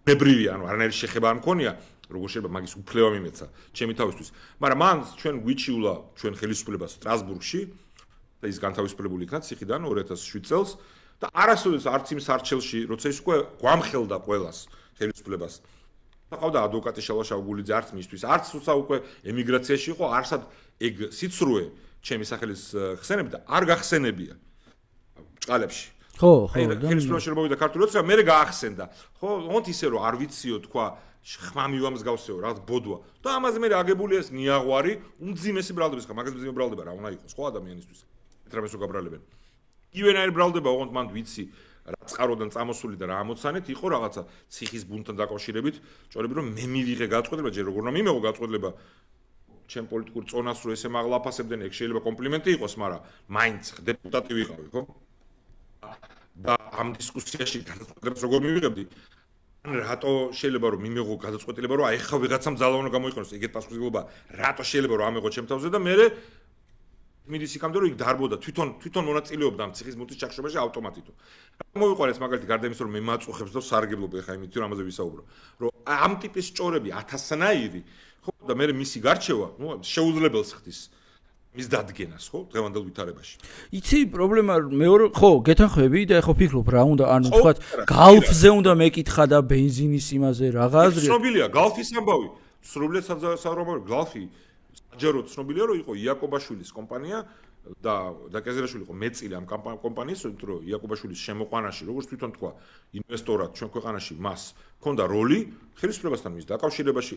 Speaker 2: ნებრივია, ანუ არანაირი შეხება არ მქონია, როგორ შეიძლება მაგის უფლება მიმეცა ჩემი თავისთვის. მაგრამ მან ჩვენ გვიჩიულა ჩვენ ხელისუფლებას სტრასბურგში და ის განთავისუფლებული იქნა ციხიდან 2007 წელს და არასოდეს არც იმ სარჩელში, როცა ის უკვე გვამხელდა ყველას ხელისუფლებას. ყავდა ადვოკატი შალვა შავგულიძე არც მისთვის, არც თუცა უკვე ემიგრაციაში იყო, არსად ეგ სიცრუე ჩემი სახელის ხსენები და არ გახსენებია ჭყალებში.
Speaker 1: ხო,
Speaker 2: ხელისუფლებაში რომ მოვიდა ქართული ოცნება, მე გაახსენდა. ხო, ოღონდ ისე რომ არ ვიციო თქვა ხმა მივამსგავსეო, რაღაც ბოდვა. და ამაზე მე აგებულია ეს ნიაღვარი, უმძიმესი ბრალდების ხა, მაგას მძიმე ბრალდება რა უნდა იყოს, ხო ადამიანისთვის. ეტრამესო გაბრალებენ. ივენაირი ბრალდება, ოღონდ მანდ ვიცი რა წყაროდან წამოსული და რა ამოცანით იყო რაღაცა ციხის ბუნტთან დაკავშირებით, ჭორები რომ მე მივიღე გაწყვეტილება, ჯერ როგორ უნდა მიმეღო გაწყვეტილება ჩემ პოლიტიკურ წონას რო ესე მაღლაფასებდნენ, ეგ შეიძლება კომპლიმენტი იყოს, მაგრამ მაინც დეპუტატი ვიყავი, ხო? და ამ დისკუსიაში გადაწყვეტილებას როგორ მივიღებდი? ან რატო შეიძლება რომ მიმეღო გადაწყვეტილება, რომ აი ხა ვიღაცამ ძალა უნდა გამოიყენოს, ეგეთ პასუხისმგებლობა, რატო შეიძლება რომ ამეღო ჩემ თავზე და მე მიდის იქამდე რომ იქ დარბოდა თვითონ მონაწილეობდა ამ ციხის ბუნტის ჩახშობაში ავტომატით. მოვიყვანეს მაგალითი გარდა იმისა რომ მე მაწუხებს და სარგებლობ ეხა იმით რომ ამაზე ვისაუბრო. რომ ამ ტიპის ჭორები 1000-ნაირი, ხო და მე მისი გარჩევა, ნუ შეუძლებელს ხდის მის დადგენას, ხო, დღევანდელ ვითარებაში.
Speaker 1: იცი პრობლემა მეორე, ხო, გეთანხმები და ეხო ფიქრობ რა უნდა, ანუ თქვა გალფზე უნდა მეკითხა და ბენზინის იმაზე რაღა აზრი.
Speaker 2: ცნობილია გალფის ამბავი. სრულიად საზოგადოებრივი გალფი საჯარო ცნობილია რომ იყო იაკობაშვილის კომპანია და კეზერაშვილი იყო მეწილი ამ კომპანიის, იმიტომ რომ იაკობაშვილის შემოყვანაში, როგორც თვითონ თქვა, ინვესტორად ჩვენ ქვეყანაში მას ჰქონდა როლი ხელისუფლებასთან მის დაკავშირებაში.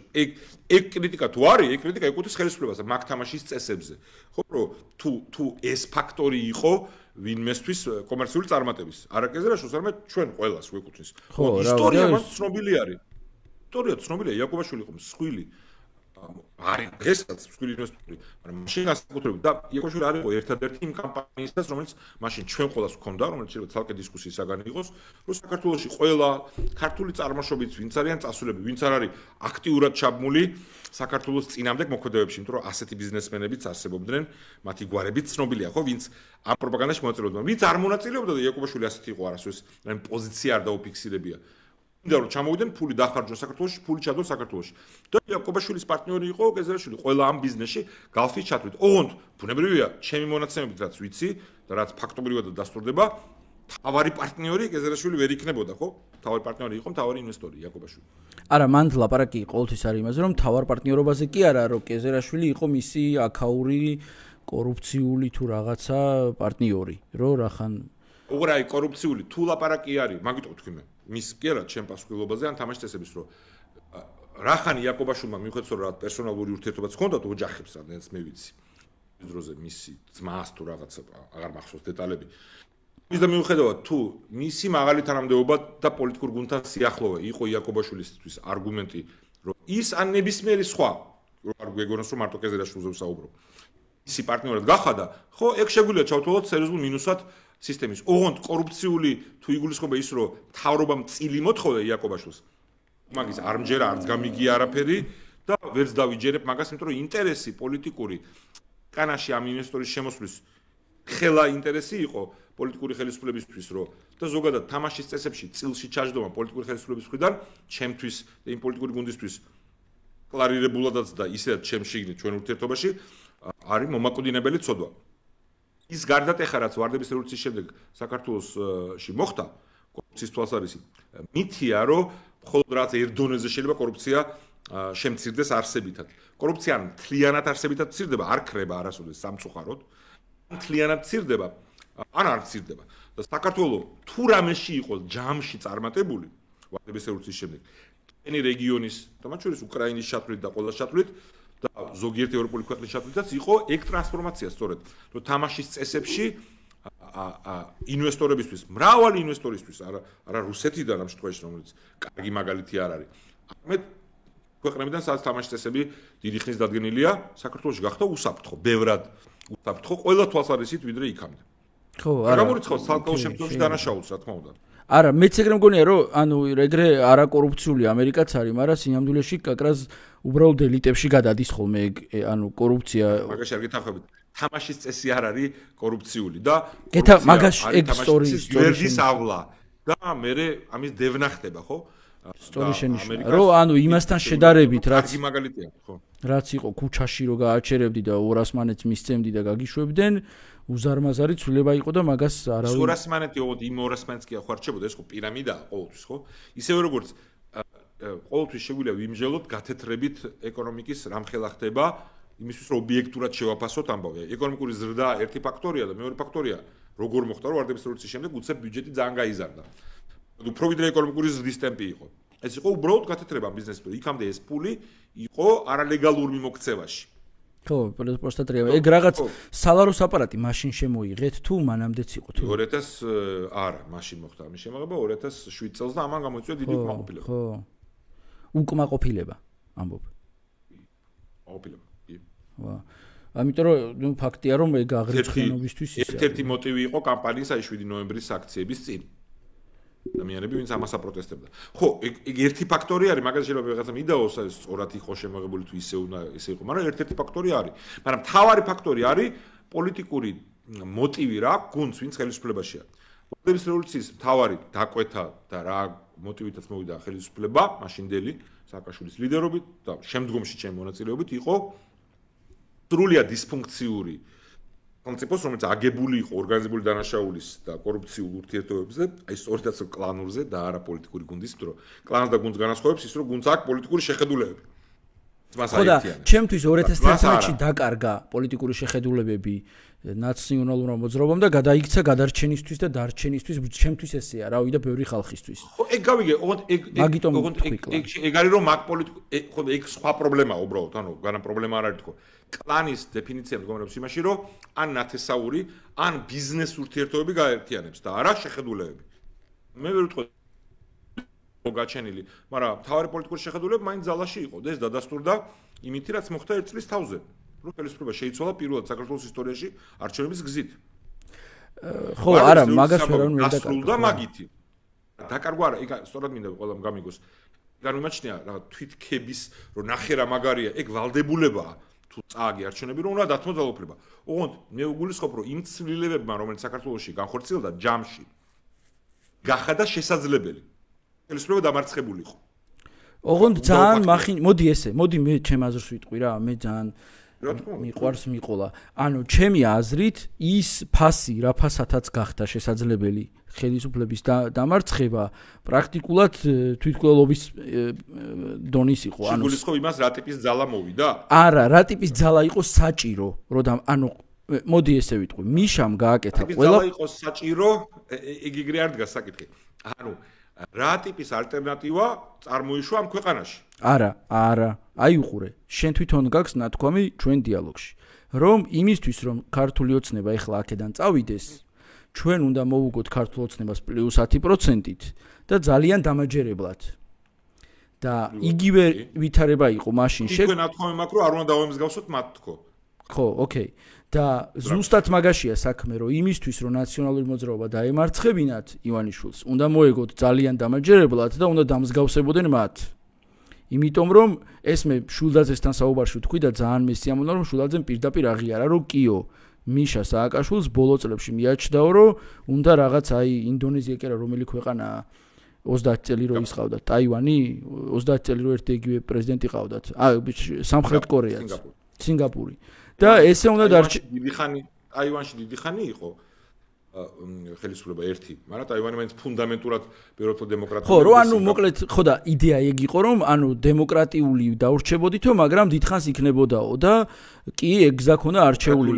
Speaker 2: ეგ კრიტიკა თუ არის, ეგ კრიტიკა ეკუთვნის ხელისუფლებას მაგ თამაშის წესებზე. ხო, რომ თუ ეს ფაქტორი იყო ვინმესთვის კომერციული წარმატების. არა კეზერაშვილს, არამედ ჩვენ ყველას ვეკუთვნის. ისტორია მას ცნობილი არის. ისტორია ცნობილია, იაკობაშვილი იყო მსხვილი არის დღესაც მსხვილი ინვესტორი, მაგრამ მაშინ განსაკუთრებით და იაკობაშვილი არ იყო ერთადერთი იმ კამპანიისას, რომელიც მაშინ ჩვენ ყველას ჰქონდა, რომელიც შეიძლება ცალკე დისკუსიის საგანი იყოს, რომ საქართველოში ყველა ქართული წარმოშობის ვინც არიან წასულები, ვინც არ არის აქტიურად ჩაბმული საქართველოს წინამდე მოქმედებებში, იმიტომ რომ ასეთი ბიზნესმენებიც არსებობდნენ, მათი გვარებიც ცნობილია, ხო, ვინც ამ პროპაგანდაში მონაწილეობდნენ, ვინც არ მონაწილეობდა და იაკობაშვილი ასეთი იყო არასოდეს, რამე პოზიცია არ დაუფიქსირებია. და რომ ჩამოვიდნენ ფული დახარჯონ საქართველოში, ფული ჩადონ საქართველოში. და იაკობაშვილის პარტნიორი იყო კეზერაშვილი ყველა ამ ბიზნესში გალფის ჩათვლით. ოღონდ ბუნებრივია, ჩემი მონაცემებით რაც ვიცი და რაც ფაქტობრივად დასტურდება, თავარი პარტნიორი კეზერაშვილი ვერ იქნებოდა, ხო? თავარი პარტნიორი იყო თავარი ინვესტორი იაკობაშვილი.
Speaker 1: არა, მან ლაპარაკი ყოველთვის არის იმაზე, რომ თავარ პარტნიორობაზე კი არა, რომ კეზერაშვილი იყო მისი აქაური კორუფციული თუ რაღაცა პარტნიორი, რომ რახან
Speaker 2: უბრალოდ აი კორუფციული თუ ლაპარაკი არის, მაგიტო ვთქვი მე. მის კი არა ჩემ პასუხისმგებლობაზე ან თამაშის წესების რომ რახანი იაკობაშვილმა მიუხედავად რომ პერსონალური ურთიერთობაც ჰქონდა ოჯახებს რადგანაც მე ვიცი ის დროზე მისი ძმას თუ რაღაცა აღარ მახსოვს დეტალები ის და მიუხედავად თუ მისი მაღალი თანამდებობა და პოლიტიკურ გუნდთან სიახლოვე იყო იაკობაშვილისთვის არგუმენტი რომ ის ან ნებისმიერი სხვა არ გვეგონოს რომ მარტო კეზერაშვილზე ვსაუბრობ ისი პარტნიორად გახადა ხო ეგ შეგვიძლია ჩავთვალოთ სერიოზულ მინუსად სისტემის. ოღონდ კორუფციული თუ იგულისხმება ის რომ თავრობამ წილი მოთხოვდა იაკობაშვილს. მაგის არ მჯერა არც გამიგია არაფერი და ვერც დავიჯერებ მაგას, იმიტომ რომ ინტერესი პოლიტიკური კანაში ამ ინვესტორის შემოსვლის ხელა ინტერესი იყო პოლიტიკური ხელისუფლებისთვის რომ და ზოგადად თამაშის წესებში წილში ჩაჯდომა პოლიტიკური ხელისუფლების მხრიდან ჩემთვის და იმ პოლიტიკური გუნდისთვის კლარირებულადაც და ისედაც ჩემში ჩვენ ურთიერთობაში არის მომაკვდინებელი ცოდვა. ის გარდატეხა რაც ვარდების რევოლუციის შემდეგ საქართველოში მოხდა კორუფციის თვალსაზრისით მითია რომ მხოლოდ რაც ერთ დონეზე შეიძლება კორუფცია შემცირდეს არსებითად კორუფცია მთლიანად არსებითად მცირდება არ ქრება არასოდეს სამწუხაროდ მთლიანად მცირდება ან არ მცირდება და საქართველოს თუ რამეში იყოს ჯამში წარმატებული ვარდების რევოლუციის შემდეგ any რეგიონის და მათ შორის უკრაინის ჩათვლით და ყველა ჩათვლით და ზოგიერთი ევროპული ქვეყნის ჩათვლითაც იყო ეგ ტრანსფორმაცია სწორედ რომ თამაშის წესებში ინვესტორებისთვის მრავალი ინვესტორისთვის არა რუსეთიდან ამ შემთხვევაში რომელიც კარგი მაგალითი არ არის ამეთ ქვეყნებიდან სადაც თამაშის წესები დიდი ხნის დადგენილია საქართველოში გახდა უსაფრთხო ბევრად უსაფრთხო ყველა თვალსაზრისით ვიდრე იქამდე ხო არა გამორიცხავს ცალკეულ შემთხვევაში დანაშაულს რა თქმა უნდა
Speaker 1: არა მეც ეგრე მგონია რომ ანუ ეგრე არა კორუფციული ამერიკაც არის მაგრამ სინამდვილეში კაკრას უბრალოდ ელიტებში გადადის ხოლმე ანუ კორუფცია
Speaker 2: მაგაში არ გეთანხმებით თამაშის წესი არ არის კორუფციული და
Speaker 1: მაგაში ეგ სტორიის
Speaker 2: გვერდის ავლა და მე ამის დევნა ხდება, ხო?
Speaker 1: სწორი შენიშვნა. რომ ანუ იმასთან შედარებით,
Speaker 2: რაც მაგალითია, ხო?
Speaker 1: რაც იყო ქუჩაში რო გააჩერებდი და 200 მანეთს მისცემდი და გაგიშვებდნენ, უზარმაზარი ცვლილება იყო და მაგას არავინ
Speaker 2: 200 მანეთი ოღონდ იმ 200 მანეთს კი ახარჩებოდა, ეს ხო პირამიდაა ყოველთვის, ხო? ისევე როგორც ყოველთვის შეგვიძლია ვიმჟელოთ გათეთრებით ეკონომიკის რამხელა ხდება, იმისთვის რომ ობიექტურად შევაფასოთ ამბავი. ეკონომიკური ზრდა ერთი ფაქტორია და მეორე ფაქტორია, როგორ მოხდა რომ ვარდების რევოლუციის შემდეგ უცებ ბიუჯეტი ძალიან გაიზარდა. უფრო ვიდრე ეკონომიკური ზრდის ტემპი იყო. ეს იყო უბრალოდ გათეთრება ბიზნესის, იქამდე ეს პული იყო არალეგალურ მიმოქცევაში.
Speaker 1: ხო, პროსტატრია. ეგ რაღაც სალაროს აპარატი მაშინ შემოიღეთ თუ მანამდეც იყო თუ
Speaker 2: 2000 არა, მაშინ მოხდა ამის შემოღება 2007 წელს და ამან გამოიწვია დიდი უკმაყოფილება.
Speaker 1: ხო. უკმაყოფილება ამბობ.
Speaker 2: უკმაყოფილება.
Speaker 1: ვა. ამიტომ რომ ფაქტია რომ ეგ აღრიცხიანობისთვის
Speaker 2: ერთ-ერთი მოტივი იყო კამპანიის 7 ნოემბრის აქციების წინ. ადამიანები ვინც ამას აპროტესტებდა. ხო, ეგ ერთი ფაქტორი არის, მაგას შეიძლება ვიღაცა მიდაოს, სწორად იყო შემოღებული თუ ისე იყო, მაგრამ ერთ-ერთი ფაქტორი არის. მაგრამ მთავარი ფაქტორი არის პოლიტიკური მოტივი რა გუნდს, ვინც ხელისუფლებაშია. ვარდების რევოლუციის მთავარი დაკვეთა და რა მოტივითაც მოვიდა ხელისუფლება, მაშინდელი სააკაშვილის ლიდერობით და შემდგომში ჩემი მონაწილეობით იყო სრულიად დისფუნქციური კონცეფცია, რომელიც აგებული იყო ორგანიზებული დანაშაულის და კორუფციულ ურთიერთობებზე, აი სწორედაც კლანურზე და არა პოლიტიკური გუნდის, იმიტომ რომ კლანს და გუნდს განასხვავებს ის, რომ გუნდს აქვს პოლიტიკური შეხედულებები.
Speaker 1: ხო და ჩემთვის 2011-ში დაკარგა პოლიტიკური შეხედულებები ნაციონალურ მოძრაობამ და გადაიქცა გადარჩენისთვის და დარჩენისთვის, ჩემთვის ესეა, რა ვიცი და ბევრი ხალხისთვის.
Speaker 2: ხო, ეგ გავიგე, ოღონდ ეგ არის რომ მაგ პოლიტიკურ, ხო და ეგ სხვა პრობლემაა უბრალოდ, ანუ განა პრობლემა არ არის თქო. კლანის დეფინიცია მდგომარეობს იმაში, რომ ან ნათესაური, ან ბიზნეს ურთიერთობები გაერთიანებს და არა შეხედულებები. მე ვერ ვიტყვი გაჩენილი, მაგრამ თავარი პოლიტიკური შეხედულებები მაინც ძალაში იყო და ეს დადასტურდა იმით, რაც მოხდა 1 წლის თავზე. რომ ხელისუფლება შეიცვალა პირველად საქართველოს ისტორიაში არჩევნების გზით.
Speaker 1: ხო, არა, მაგას ვერავინ ვერ
Speaker 2: დაკარგა მაგითი. დაკარგვა არა, ეგ სწორად მინდა ყველამ გამიგოს. ეგ არ მიმაჩნია რა თვითქების, რომ ნახე რა მაგარია, ეგ ვალდებულებაა. თუ წააგი არჩევნები რომ უნდა დათმო ძალაუფლება. ოღონდ მე ვგულისხმობ რომ იმ ცვლილებებმა რომელიც საქართველოში განხორციელდა ჯამში გახადა შესაძლებელი. ხელისუფლება დამარცხებული იყო.
Speaker 1: ოღონდ ძალიან მახინ მოდი ესე, მოდი მე ჩემ აზრს ვიტყვი რა, მე ძალიან მიყვარს მიყოლა. ანუ ჩემი აზრით ის ფასი რა ფასათაც გახდა შესაძლებელი ხელისუფლების დამარცხება პრაქტიკულად თვითმკვლელობის დონის იყო.
Speaker 2: ანუ გულისხმობ იმას რა ტიპის ძალა მოვიდა?
Speaker 1: არა, რა ტიპის ძალა იყო საჭირო, რომ ანუ მოდი ესე ვიტყვი, მიშამ გააკეთა ყველა
Speaker 2: ძალა იყო საჭირო, ეგ იგრე არ დგას საკითხი. ანუ რა ტიპის ალტერნატივა წარმოიშვა ამ ქვეყანაში?
Speaker 1: არა. აი უყურე, შენ თვითონ გაქვს ნათქვამი ჩვენ დიალოგში, რომ იმისთვის რომ ქართული ოცნება ეხლა აქედან წავიდეს, ჩვენ უნდა მოვუგოთ ქართულ ოცნებას +10%-ით და ძალიან დამაჯერებლად. და იგივე ვითარება იყო მაშინ
Speaker 2: თქვენ ნათქვამი მაქვს რომ არ უნდა დავემსგავსოთ მათ თქო.
Speaker 1: ხო, ოკეი. და ზუსტად მაგაშია საქმე, რომ იმისთვის რომ ნაციონალური მოძრაობა დაემარცხებინათ ივანიშვილს, უნდა მოეგოთ ძალიან დამაჯერებლად და უნდა დამსგავსებოდნენ მათ. იმიტომ რომ ეს მე შულდაძესთან საუბარში ვთქვი და ძალიან მესიამოვნა რომ შულდაძემ პირდაპირ აღიარა რომ კიო მიშა სააკაშვილს ბოლო წლებში მიაჩნდაო რომ უნდა რაღაც აი ინდონეზია კი არა რომელი ქვეყანაა 30 წელი რო ის ყავდათ ტაივანი 30 წელი რო ერთი იგივე პრეზიდენტი ყავდათ სამხრეთ კორეაც სინგაპური და ესე უნდა
Speaker 2: ტაივანში დიდი ხანი იყო ხელისუფლება ერთი, მაგრამ ტაივანი მაინც ფუნდამენტურად ბევრად დემოკრატიული.
Speaker 1: ხო, რო ანუ მოკლედ, ხო და იდეა ეგ იყო, რომ ანუ დემოკრატიული დაურჩებოდითო, მაგრამ დიდხანს იქნებოდაო და კი ეგ გზა ქონდა არჩეული.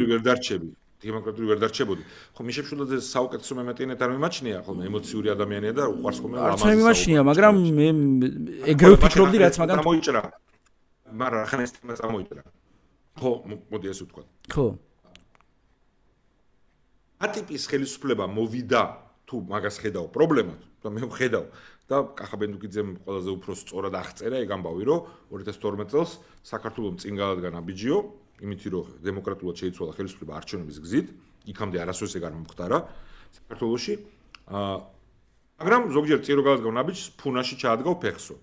Speaker 2: დემოკრატიული ვერ დარჩებოდი. ხო, მიშა შულაძეს საუკეთესო მემატიანეთ არ მიმაჩნია, ხოლმე ემოციური ადამიანია და უყვარს ხოლმე ლამაზი.
Speaker 1: არ მიმაჩნია, მაგრამ მე ეგრევე ვფიქრობდი, რაც მაგან
Speaker 2: მოიჭრა. მაგრამ ახლა ეს თემა წამოიჭრა. ხო, მოდი ასე ვთქვა.
Speaker 1: ხო.
Speaker 2: ატიპის ხელისუფლება მოვიდა თუ მაგას ხედავ პრობლემად და მე ვხედავ და კახაბენდუკიძემ ყველაზე უფრო სწორად აღწერა ეგ ამბავი რომ 2012 წელს საქართველოს წინ გადადგა ნაბიჯიო იმით რომ დემოკრატულად შეიცვალა ხელისუფლება არჩევნების გზით იქამდე არასოდეს ეგ არ მომხდარა საქართველოში მაგრამ ზოგჯერ წინ რო გადადგა ნაბიჯს ფუნაში ჩაადგავ ფეხსო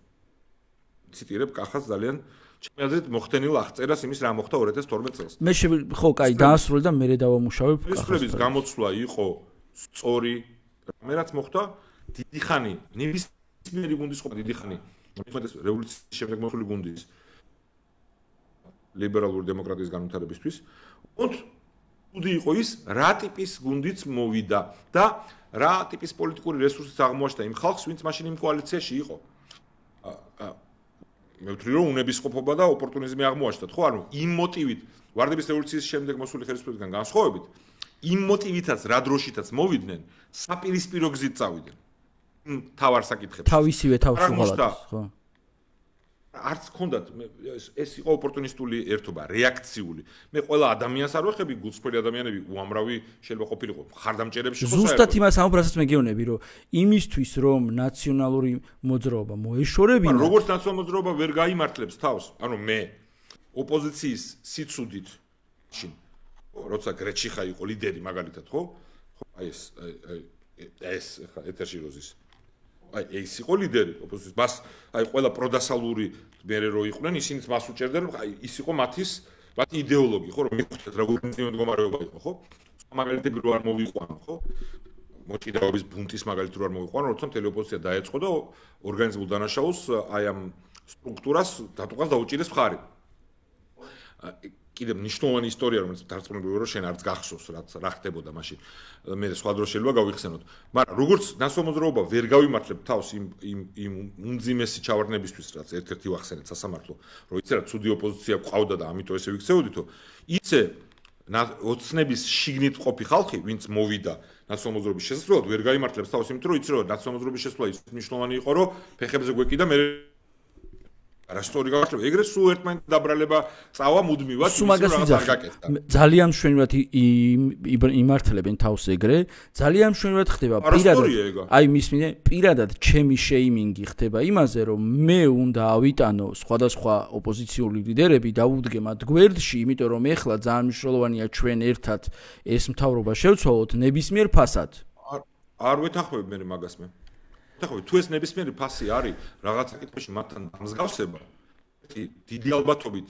Speaker 2: ციტირებ კახას ძალიან ჩემი აზრით მოხდენილ აღწერას იმის რა მოხდა 2012 წელს.
Speaker 1: მე ხო, კაი, დაასრულე და მე დავამუშავებ.
Speaker 2: ხელისუფლების გამოცვლა იყო სწორი, რამე რაც მოხდა დიდი ხანი ნებისმიერი გუნდის ყოფა დიდი ხანი მithmetes რევოლუციის შემდეგ მოსული გუნდის ლიბერალური დემოკრატიის განვითარებისთვის უთუდი იყო ის რა ტიპის გუნდიც მოვიდა და რა ტიპის პოლიტიკური რესურსიც აღმოაჩნდა იმ ხალხს ვინც მაშინ იმ კოალიციაში იყო მე ვთვლი რომ უნებისყოფობა და ოპორტუნიზმი აღმოაჩნდათ ხო ანუ იმ მოტივით ვარდების რევოლუციის შემდეგ მოსული ხელისუფლებისგან განსხვავებით იმ მოტივითაც რა დროშითაც მოვიდნენ საპირისპირო გზით წავიდნენ თავარ საკითხებს
Speaker 1: თავისივე თავს უღალატეს ხო
Speaker 2: არც ქონდათ ეს იყო ოპორტუნისტული ერთობა რეაქციული მე ყველა ადამიანს არ ვეხები გულწრფელი ადამიანები უამრავი შეიძლება ყოფილიყო ხარდამჭერებში ხო
Speaker 1: ზუსტად იმას ამბრასაც მეგეონები რომ იმისთვის რომ ნაციონალური მოძრაობა მოეშორებინა
Speaker 2: როგორც ნაციონალური მოძრაობა ვერ გაიმართლებს თავს ანუ მე ოპოზიციის სიცუდით შინ როცა გრეჩიხა იყო ლიდერი მაგალითად ხო აი ეს ხა ეთერში როზის აი ეს იყო ლიდერი ოპოზიციის მას აი ყველა პროდასალური მერე რო იყვნენ ისინიც მას უჭერდნენ აი ის იყო მათი იდეოლოგი ხო რომ მიხვდეთ როგორი მდგომარეობა იყო ხო მაგალითები რო არ მოვიყვანო ხო მოჭიდაობის ბუნტის მაგალითად რო არ მოვიყვანო როცა მთელი ოპოზიცია დაეწყო და ორგანიზებულ დანაშაულს აი ამ სტრუქტურას დატუღას დაუჭირეს მხარი კიდე მნიშვნელოვანი ისტორია რომელიც დარწმუნებული რომ შენ არც გახსოვს რა ხდებოდა მაშინ მე სხვა დროს შეიძლება გავიხსენოთ მაგრამ როგორც ნაციონალური მოძრაობა ვერ გავიმართლებ თავს იმ უმძიმესი ჩავარდნებისთვის რაც ერთ-ერთი ვახსენეთ სასამართლო რომ იცი რა ცუდი ოპოზიცია ყავდა და ამიტომ ესე ვიქცეოდითო ისე ოცნების შიგნით ყოფი ხალხი ვინც მოვიდა ნაციონალური მოძრაობის შესაძლებლად ვერ გაიმართლებს თავს იმიტომ რომ იცი რომ ნაციონალური მოძრაობის შესაძლებლად ის მნიშვნელოვანი იყო რომ ფეხებზე გვეკიდა მე არასტორი გავაკეთე ეგრე სულ ერთმანეთს დაბრალება წავა მუდმივად
Speaker 1: სულ მაგას ვიძახი ძალიან მშვენივრად იმართლებენ თავს ეგრე ძალიან მშვენივრად ხდება პირადად აი მის მინე პირადად ჩემი შეიმინგი ხდება იმაზე რომ მე უნდა ავიტანო სხვადასხვა ოპოზიციური ლიდერები დავუდგე მათ გვერდში იმიტომ რომ ეხლა ძალიან მნიშვნელოვანია ჩვენ ერთად ეს მთავრობა შევცვალოთ ნებისმიერ ფასად
Speaker 2: არ ვეთანხმები მე მაგას მე ხო თუ ეს ნებისმიერი ფასი არის რაღაც საკითხებში მათთან დამსგავსება დიდი ალბათობით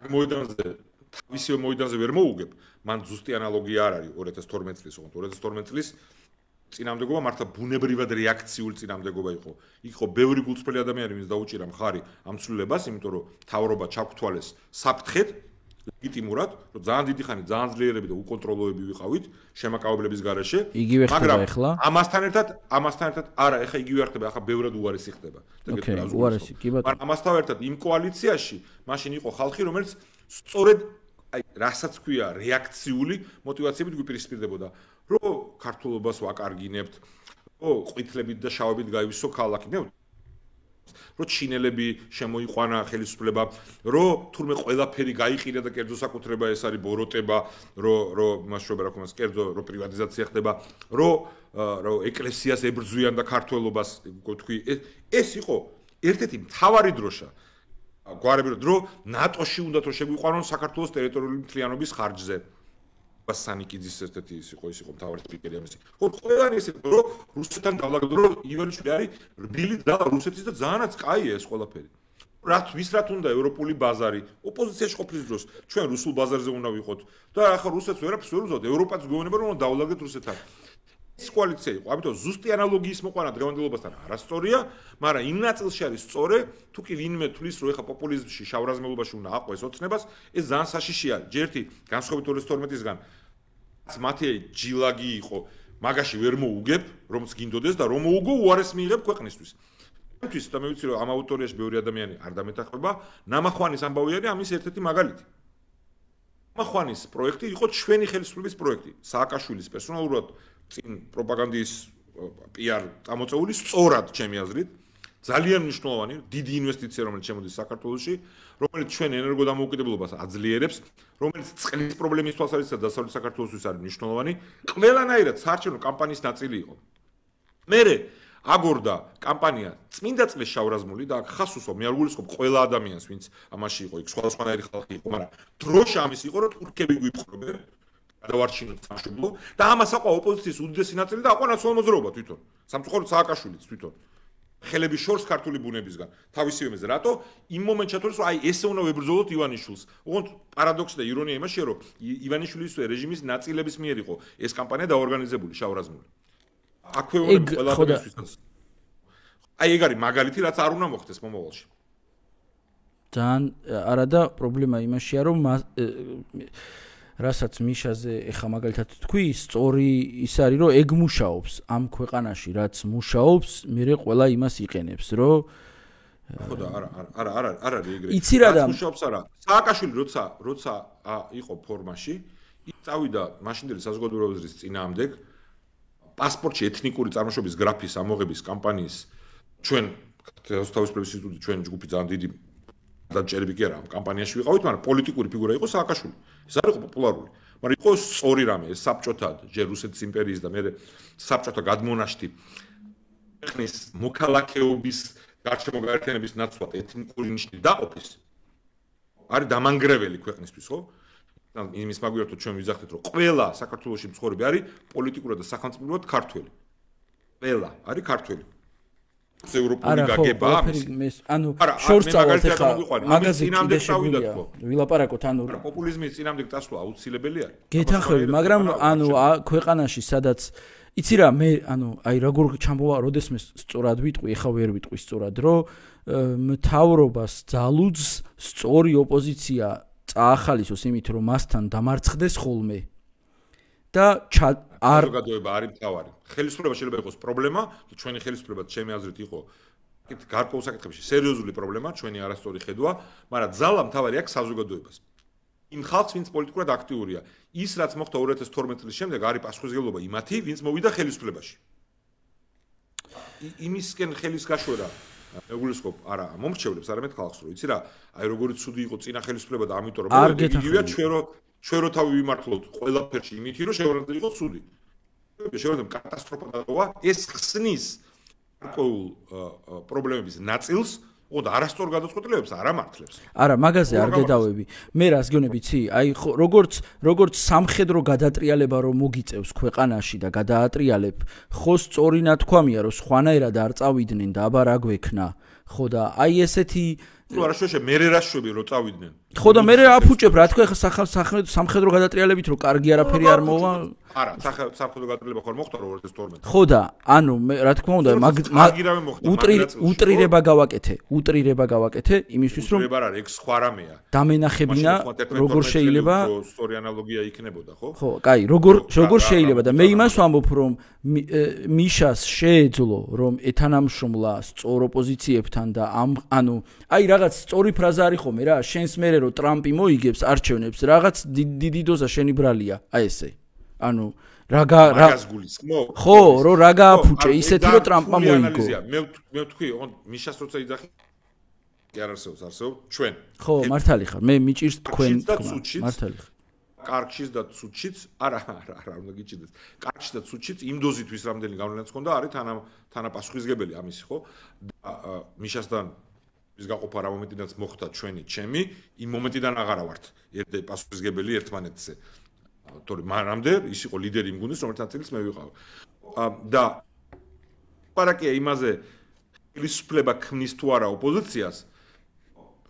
Speaker 2: მოედანზე თავისივე მოედანზე ვერ მოუგებ მან ზუსტი ანალოგია არ არის 2012 წლის ოღონდ 2012 წლის წინამდებობა მართლა ბუნებრივად რეაქციული წინამდებობა იყო იქ იყო ბევრი გულწრფელი ადამიანი ვინც დაუჭირა მხარი ამ ცვლილებას იმიტომ რომ თავრობა ჩაგვთვალეს საფრთხედ ლეგიტიმურად რომ ძალიან დიდი ხანი ძალიან ძლიერები და უკონტროლოები ვიყავით შემაკავებლების გარეშე
Speaker 1: მაგრამ
Speaker 2: ამასთან ერთად არა ეხა იგივე არ ხდება ახლა ბევრად უარესი ხდება
Speaker 1: უარესი კი ბატონო
Speaker 2: მაგრამ ამასთან ერთად იმ კოალიციაში მაშინ იყო ხალხი რომელიც სწორედ აი რასაც ქვია რეაქციული მოტივაციებით გვიპირისპირდებოდა რომ ქართულობას ვაკარგინებთ რომ ყვითლებით და შავებით გაივისო ქალაქი მე რომ ჩინელები შემოიყვანა ხელისუფლება, რომ თურმე ყველაფერი გაიყიდა და კერძო საკუთრება ეს არის ბოროტება, რომ მასშტაბი რა ქვია, კერძო რომ პრივატიზაცია ხდება, რომ ეკლესიას ებრძვიან და ქართველობას თქვი, ეს იყო ერთ-ერთი მთავარი დროშა. გვარები რომ ნატოში უნდა რომ შეგვიყვანონ საქართველოს ტერიტორიული მთლიანობის ხარჯზე. სანიკიძის ერთ-ერთი ის იყო მთავარი სპიკერი ამისი. ხო, ყველანი ისე რომ რუსეთთან დავლაგდა რომ ივანიშვილი არის რბილი და რუსეთის და ძალიანაც კაია ეს ყველაფერი. ვის უნდა ევროპული ბაზარი, ოპოზიციაში ყოფნის დროს ჩვენ რუსულ ბაზარზე უნდა ვიყოთ და ახლა რუსეთს ვერაფერს ვერ უზავთ, ევროპაც გვეუბნება რომ დავლაგდეთ რუსეთთან. ეს კოალიცია იყო, ამიტომ ზუსტი ანალოგიის მოყვანა დღევანდელობასთან არასწორია, მაგრამ იმ ნაწილში არის სწორე, თუ კი ვინმე თulis რომ ეხა პოპულიზმში, შავრაზმელობაში უნდა აყვეს ოცნებას, ეს ძალიან საშიშია. ჯერთი განსხვავებით 2012-ისგან მათი ჯილაგი იყო, მაგაში ვერ მოუგებ, რომც გინდოდეს და რომ მოუგო უარეს მიიღებ ქვეყნისთვის. ამისთვის და მე ვიცი რომ ამ აუდიტორიაში ბევრი ადამიანი არ დამეთანხმება, ნამახვანის ამბავი არის ამის ერთ-ერთი მაგალითი. ნამახვანის პროექტი იყო ჩვენი ხელისუფლების პროექტი, სააკაშვილის პერსონალურად წინ პროპაგანდის PR წამოწეული სწორად ჩემი აზრით ძალიან მნიშვნელოვანი დიდი ინვესტიცია რომელიც შემოდის საქართველოში რომელიც ჩვენ ენერგოდამოუკიდებლობას აძლიერებს რომელიც წყლის პრობლემის თვალსაზრისით დასავლეთ საქართველოსთვის არის მნიშვნელოვანი ყველანაირად საარჩევნო კამპანიის ნაწილი იყო მერე აგორდა კამპანია წმინდა წყლის შავრაზმული და ხას უსვამ მე არ გულისხმობ ყველა ადამიანს ვინც ამაში იყო იქ სხვადასხვანაირი ხალხი იყო მაგრამ დროშა ამის იყო რომ თურქები გვიპყრობენ გადავარჩინოთ სამშობლო და ამას აყვა ოპოზიციის უდიდესი ნაწილი და აყვა ნაციონალურ მოძრაობა თვითონ სამწუხაროდ სააკაშვილიც თვითონ ხელების შორს ქართული ბუნებისგან თავისივე მიზეზი რატო იმ მომენტში თორე რომ აი ესე უნდა ვებრძოლოთ ივანიშვილს უგონთ პარადოქსი და ირონია იმაშია რომ ივანიშვილის რეჟიმის ნაწილების მიერ იყო ეს კამპანია დაორგანიზებული შავრაზმული აქვე უნდა ყველაფერისთვის. აი ეგ არის მაგალითი, რაც არ უნდა მოხდეს მომავალში.
Speaker 1: ძალიან არა და პრობლემა იმაშია, რომ რასაც მიშაზე ეხა მაგალითად თქვი, სწორი ის არის, რომ ეგ მუშაობს ამ ქვეყანაში, რაც მუშაობს, მერე ყველა იმას იყენებს, რომ
Speaker 2: ხო და არა არის ეგრე.
Speaker 1: იცი რა და
Speaker 2: მუშაობს არა. სააკაშვილი როცა იყო ფორმაში, ის წავიდა მაშინდელი საზოგადოებრივი აზრის წინააღმდეგ, პასპორტში ეთნიკური წარმოშობის გრაფის ამოღების კამპანიის ჩვენ თავისუფლების ინსტიტუტი ჩვენ ჯგუფი ძალიან დიდი დაჭერები კი არა ამ კამპანიაში ვიყავით, მაგრამ პოლიტიკური ფიგურა იყო სააკაშვილი. ეს არ იყო პოპულარული, მაგრამ იყო სწორი რამე, ეს საბჭოთა ჯერ რუსეთის იმპერიის და მე საბჭოთა გადმონაშთი ქვეყნის მოქალაქეობის გარშემო გაერთიანების ნაცვლად ეთნიკური ნიშნით დაყოფის არის დამანგრეველი ქვეყნისთვის, ხო? იმის მაგვიერთოთ ჩვენ ვიზახდეთ, რომ ყველა საქართველოში მცხოვრები არის პოლიტიკურად და სახელმწიფოებრივად ქართველი. ყველა არის ქართველი. ევროპული გაგება
Speaker 1: ანუ შორს წავალთ ახლა მაგაზე კიდე შეგვიძლია ვილაპარაკოთ ანუ
Speaker 2: პოპულიზმის წინამდე წასვლა აუცილებელი არის
Speaker 1: გეთანხმები მაგრამ ანუ ქვეყანაში სადაც იცი რა მე ანუ აი როგორ ჩამოვა როდესმე სწორად ვიტყვი ეხა ვერ ვიტყვი სწორად რომ მთავრობას ძალუძს სწორი ოპოზიცია წაახალისოს იმით რომ მასთან დამარცხდეს ხოლმე და
Speaker 2: საზოგადოება არის მთავარი. ხელისუფლება შეიძლება იყოს პრობლემა, ჩვენი ხელისუფლება ჩემი აზრით იყო გარკვეულ საკითხებში სერიოზული პრობლემა, ჩვენი არასწორი ხედვა, მაგრამ ძალა მთავარი აქვს საზოგადოებას. იმ ხალხს, ვინც პოლიტიკურად აქტიურია, ის რაც მოხდა 2012 წლის შემდეგ არის პასუხისმგებლობა იმათი, ვინც მოვიდა ხელისუფლებაში. იმისკენ ხელის გაშვერა ეგულისხმობ არა მომრჩევლებს, არამედ ხალხს, რომ იცი რა, აი როგორი ცუდი იყო წინა ხელისუფლება და ამიტომ რომ იგივეა ჩვენ რო თავი ვიმართლოთ ყველაფერში იმითი რომ შეგვიძლია იყოს ცუდი. შეგვიძლია კატასტროფა დატოვა ეს ხსნის გარკვეულ პრობლემების ნაწილს და არასწორ გადაწყვეტილებებს არ ამართლებს.
Speaker 1: არა, მაგაზე არ გედავები. მე რას გონები ცი? აი როგორც სამხედრო გადატრიალება რომ მოგიწევს ქვეყანაში და გადაატრიალებ, ხო სწორი ნათქვამია რომ სხვანაირად არ წავიდნენ და აბა რა გვექნა. ხო და აი ესეთი
Speaker 2: თუ არა შეშე მე რა შვები რომ წავიდნენ.
Speaker 1: ხო და მე აფუჭებ რა თქვა ხა სამხედრო გადატრიალებით რომ კარგი არაფერი არ მოვა.
Speaker 2: არა, სამხედრო გადატრიალება ხარ მოხდა 2012.
Speaker 1: ხო და ანუ მე რა თქმა უნდა უტრირება გავაკეთე იმისთვის რომ
Speaker 2: უტრირება არ არის სხვა რამეა.
Speaker 1: დამენახებინა როგორ შეიძლება
Speaker 2: სწორი ანალოგია იქნებოდა, ხო?
Speaker 1: ხო, კაი, როგორ შეიძლება და მე იმას ვამბობ რომ მიშას შეეძლო რომ ეთანამშრომლა სწორ ოპოზიციებთან და ანუ აი რაღაც სწორი ფრაზა არის ხოლმე რა შენს მერე რომ ტრამპი მოიგებს არჩევნებს რაღაც დიდი დოზა შენი ბრალია აი ესე ანუ
Speaker 2: მაგას გულისხმობ
Speaker 1: ხო რომ რა გააფუჭე ისეთი რომ ტრამპმა მოიგო
Speaker 2: მე ვთქვი მიშას როცა იძახი კი არ არსებობს ჩვენ
Speaker 1: ხო მართალი ხარ მე მიჭირს თქვენ მართალი ხარ
Speaker 2: კარგშიც და ცუდშიც არა უნდა გიჭირდეს კარგშიც და ცუდშიც იმ დოზითვის რამდენი გავლენაც ჰქონდა არის თანაპასუხისგებელი ამისი ხო და მიშასთან ის გაყოფა რა მომენტიდანაც მოხდა ჩემი იმ მომენტიდან აღარა ვართ ერთ პასუხისგებელი ერთმანეთზე თორე მანამდე ის იყო ლიდერი იმ გუნდის რომელთა ნაწილიც მე ვიყავ და პარაკია იმაზე ხელისუფლება ქმნის თუ არა ოპოზიციას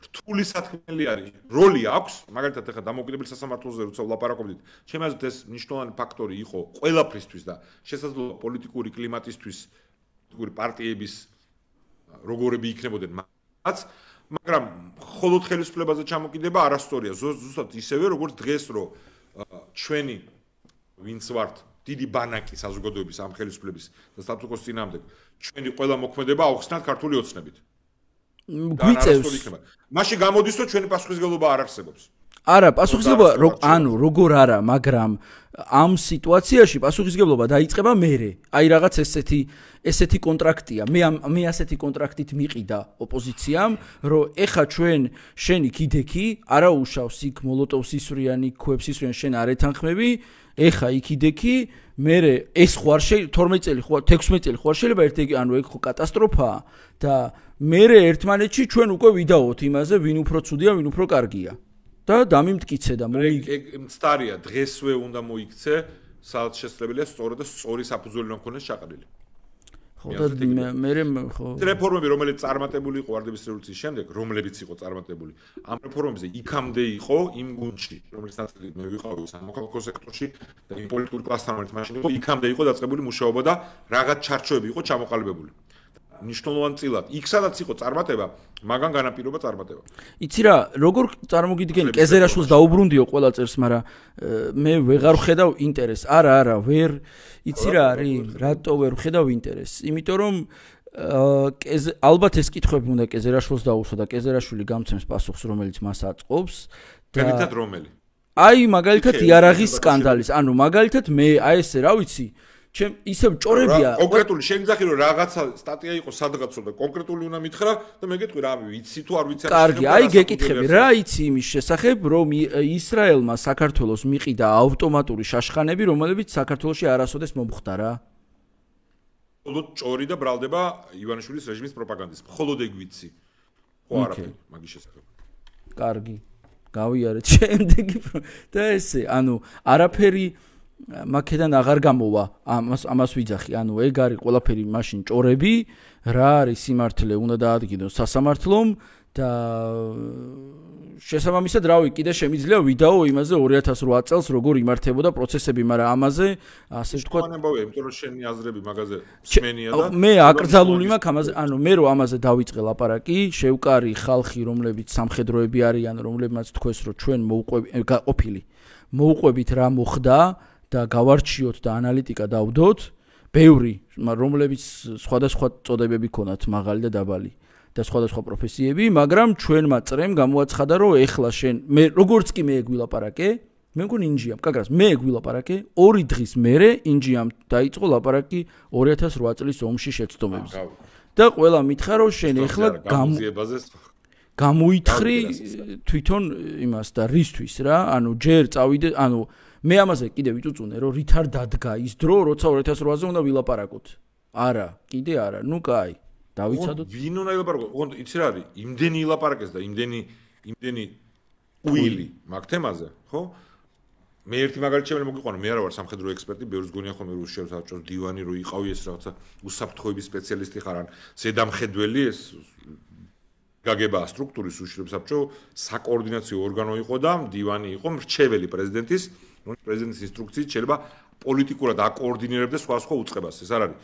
Speaker 2: რთული სათქმელი არის როლი აქვს მაგალითად ახლა დამოუკიდებელი სასამართლოზე როცა ვლაპარაკობდით ჩემი აზრით ეს მნიშვნელოვანი ფაქტორი იყო ყველაფრისთვის და შესაძლოა პოლიტიკური კლიმატისთვის პოლიტიკური პარტიების როგორები იქნებოდნენ მაგრამ მხოლოდ ხელისუფლებაზე ჩამოკიდება არასწორია ზუსტად ისევე როგორც დღეს რომ ჩვენი ვინც ვართ დიდი ბანაკი საზოგადოების ამ ხელისუფლების და სტატუს წინააღმდეგ ჩვენი ყველა მოქმედება აუხსნათ ქართული ოცნებით
Speaker 1: გვიწევს
Speaker 2: მაშინ გამოდის რომ ჩვენი პასუხისმგებლობა არ არსებობს
Speaker 1: არა პასუხისმგებლობა ანუ როგორ არა მაგრამ ამ სიტუაციაში პასუხისმგებლობა დაიწყება მერე აი რაღაც ესეთი კონტრაქტია მე ასეთი კონტრაქტით მიყიდა ოპოზიციამ რომ ეხა შენი კიდექი არა უშავს იქ მოლოტოვს ისვრიანი ქვებს ისვრიან შენ არ ეთანხმები ეხა იქ კიდექი მერე ეს ხوار 12 წელი ხوار 16 წელი ხوار შეიძლება ანუ ეგ ხო კატასტროფაა და მერე ერთმანეთში ჩვენ უკვე ვიდაოთ იმაზე ვინ უფრო ცუდია ვინ უფრო კარგია და დამიმტკიცე და
Speaker 2: ეგ მცდარია დღესვე უნდა მოიქცე სადაც შესაძლებელია სწორად და სწორი საფუძველი რომ ქონდეს ჩაყრილი
Speaker 1: ხო და მე ხო
Speaker 2: რეფორმები რომელიც წარმატებული იყო ვარდების რევოლუციის შემდეგ რომლებიც იყო წარმატებული ამ რეფორმებზე იქამდე იყო იმ გუნდში რომელიც ნაწილი მე ვიყავი სამოქალაქო სექტორში და იმ პოლიტიკური კლასთან რომელიც მაშინ იყო იქამდე იყო დაწყებული მუშაობა და რაღაც ჩარჩოები იყო ჩამოყალიბებული ნიშნულოვანწილად იქ სადაც იყო წარმატება მაგან განაპირობა წარმატება
Speaker 1: იცი რა როგორ წარმოგიდგენი კეზერაშვილს დაუბრუნდიო ყველა წერს მაგრამ მე ვეღარ ვხედავ ინტერესს არა ვერ იცი რა არის რატო ვერ ვხედავ ინტერესს იმიტომ რომ ალბათ ეს კითხვები უნდა კეზერაშვილს დაუსვა და კეზერაშვილი გამცემს პასუხს რომელიც მას აწყობს
Speaker 2: და მაგალითად რომელი
Speaker 1: აი მაგალითად იარაღის სკანდალის ანუ მაგალითად მე აი ესე რა ვიცი ჩემ ისევ ჭორებია
Speaker 2: კონკრეტული შეგძახი რომ რაღაცა სტატია იყო სადღაცო და კონკრეტული უნდა მითხრა და მე გეტყვი რა ვიცი თუ არ ვიცი
Speaker 1: კარგი აი გეკითხები რა იცი იმის შესახებ რომ ისრაელმა საქართველოს მიყიდა ავტომატური შაშხანები რომელებიც საქართველოში არასოდეს მომხდა რა
Speaker 2: მხოლოდ ჭორი და ბრალდება ივანიშვილის რეჟიმის პროპაგანდის მხოლოდ ეგ ვიცი ხო არაფერი მაგის შესახებ
Speaker 1: კარგი გავიარეთ შემდეგი და ესე ანუ არაფერი მაქედან აღარ გამოვა ამას ვიძახი ანუ ეგ არის ყველაფერი მაშინ ჭორები რა არის სიმართლე უნდა დაადგინოს სასამართლომ და შესაბამისად რავი კიდე შემიძლია ვიდეო იმაზე 2008 წელს როგორ იმართებოდა პროცესები მაგრამ ამაზე ასე ვთქვათ
Speaker 2: მანებავია იმიტომ რომ შენი აზრები მაგაზე მსმენია და
Speaker 1: მე აკრძალული მაქვს ამაზე ანუ მე რომ ამაზე დავიწყე ლაპარაკი შევკარი ხალხი რომლებიც სამხედროები არიან რომლებმაც თქვეს რომ ჩვენ მოუყვებით რა მოხდა და გავარჩიოთ და ანალიტიკა დავდოთ, ბევრი, რომლებიც სხვადასხვა წოდებები ქონათ, მაღალი და დაბალი და სხვადასხვა პროფესიები, მაგრამ ჩვენმა წრემ გამოაცხადა, რომ ეხლა შენ მე როგორც კი მე გვილაპარაკე, მე მგონი ინჯიამ, კაგრას, მე გვილაპარაკე, 2 დღის მერე ინჯიამ დაიწყო ლაპარაკი 2008 წლის ომში შეცდომებზე. და ყველა მითხრა, რომ შენ ეხლა გამოითხრი თვითონ იმას და რისთვის რა, ანუ ჯერ წავიდე, ანუ მე ამაზე კიდე ვიწუწუნე რომ რით არ დადგა ის დრო როცა 2008-ზე უნდა ვილაპარაკოთ არა კიდე არა ნუ კაი დავიცადოთ
Speaker 2: ვინ უნდა ილაპარაკო ოღონდ იცი რა არის იმდენი ილაპარაკეს და იმდენი უილი მაგ თემაზე ხო მე ერთი მაგალითი შემიძლია მოგიყვანო მე არა ვარ სამხედრო ექსპერტი ბევრს გონია ხოლმე რუსში საბჭოს დივანი რო იყავი ეს რაღაცა უსაფრთხოების სპეციალისტი ხარ ან ზედამხედველი ეს გაგება სტრუქტურის უშიშრებ საბჭო საკოორდინაციო ორგანო იყო და დივანი იყო მრჩეველი პრეზიდენტის პრეზიდენტის ინსტრუქციით შეიძლება პოლიტიკურად აკოორდინირებდეს სხვა უწყებას ეს არ არის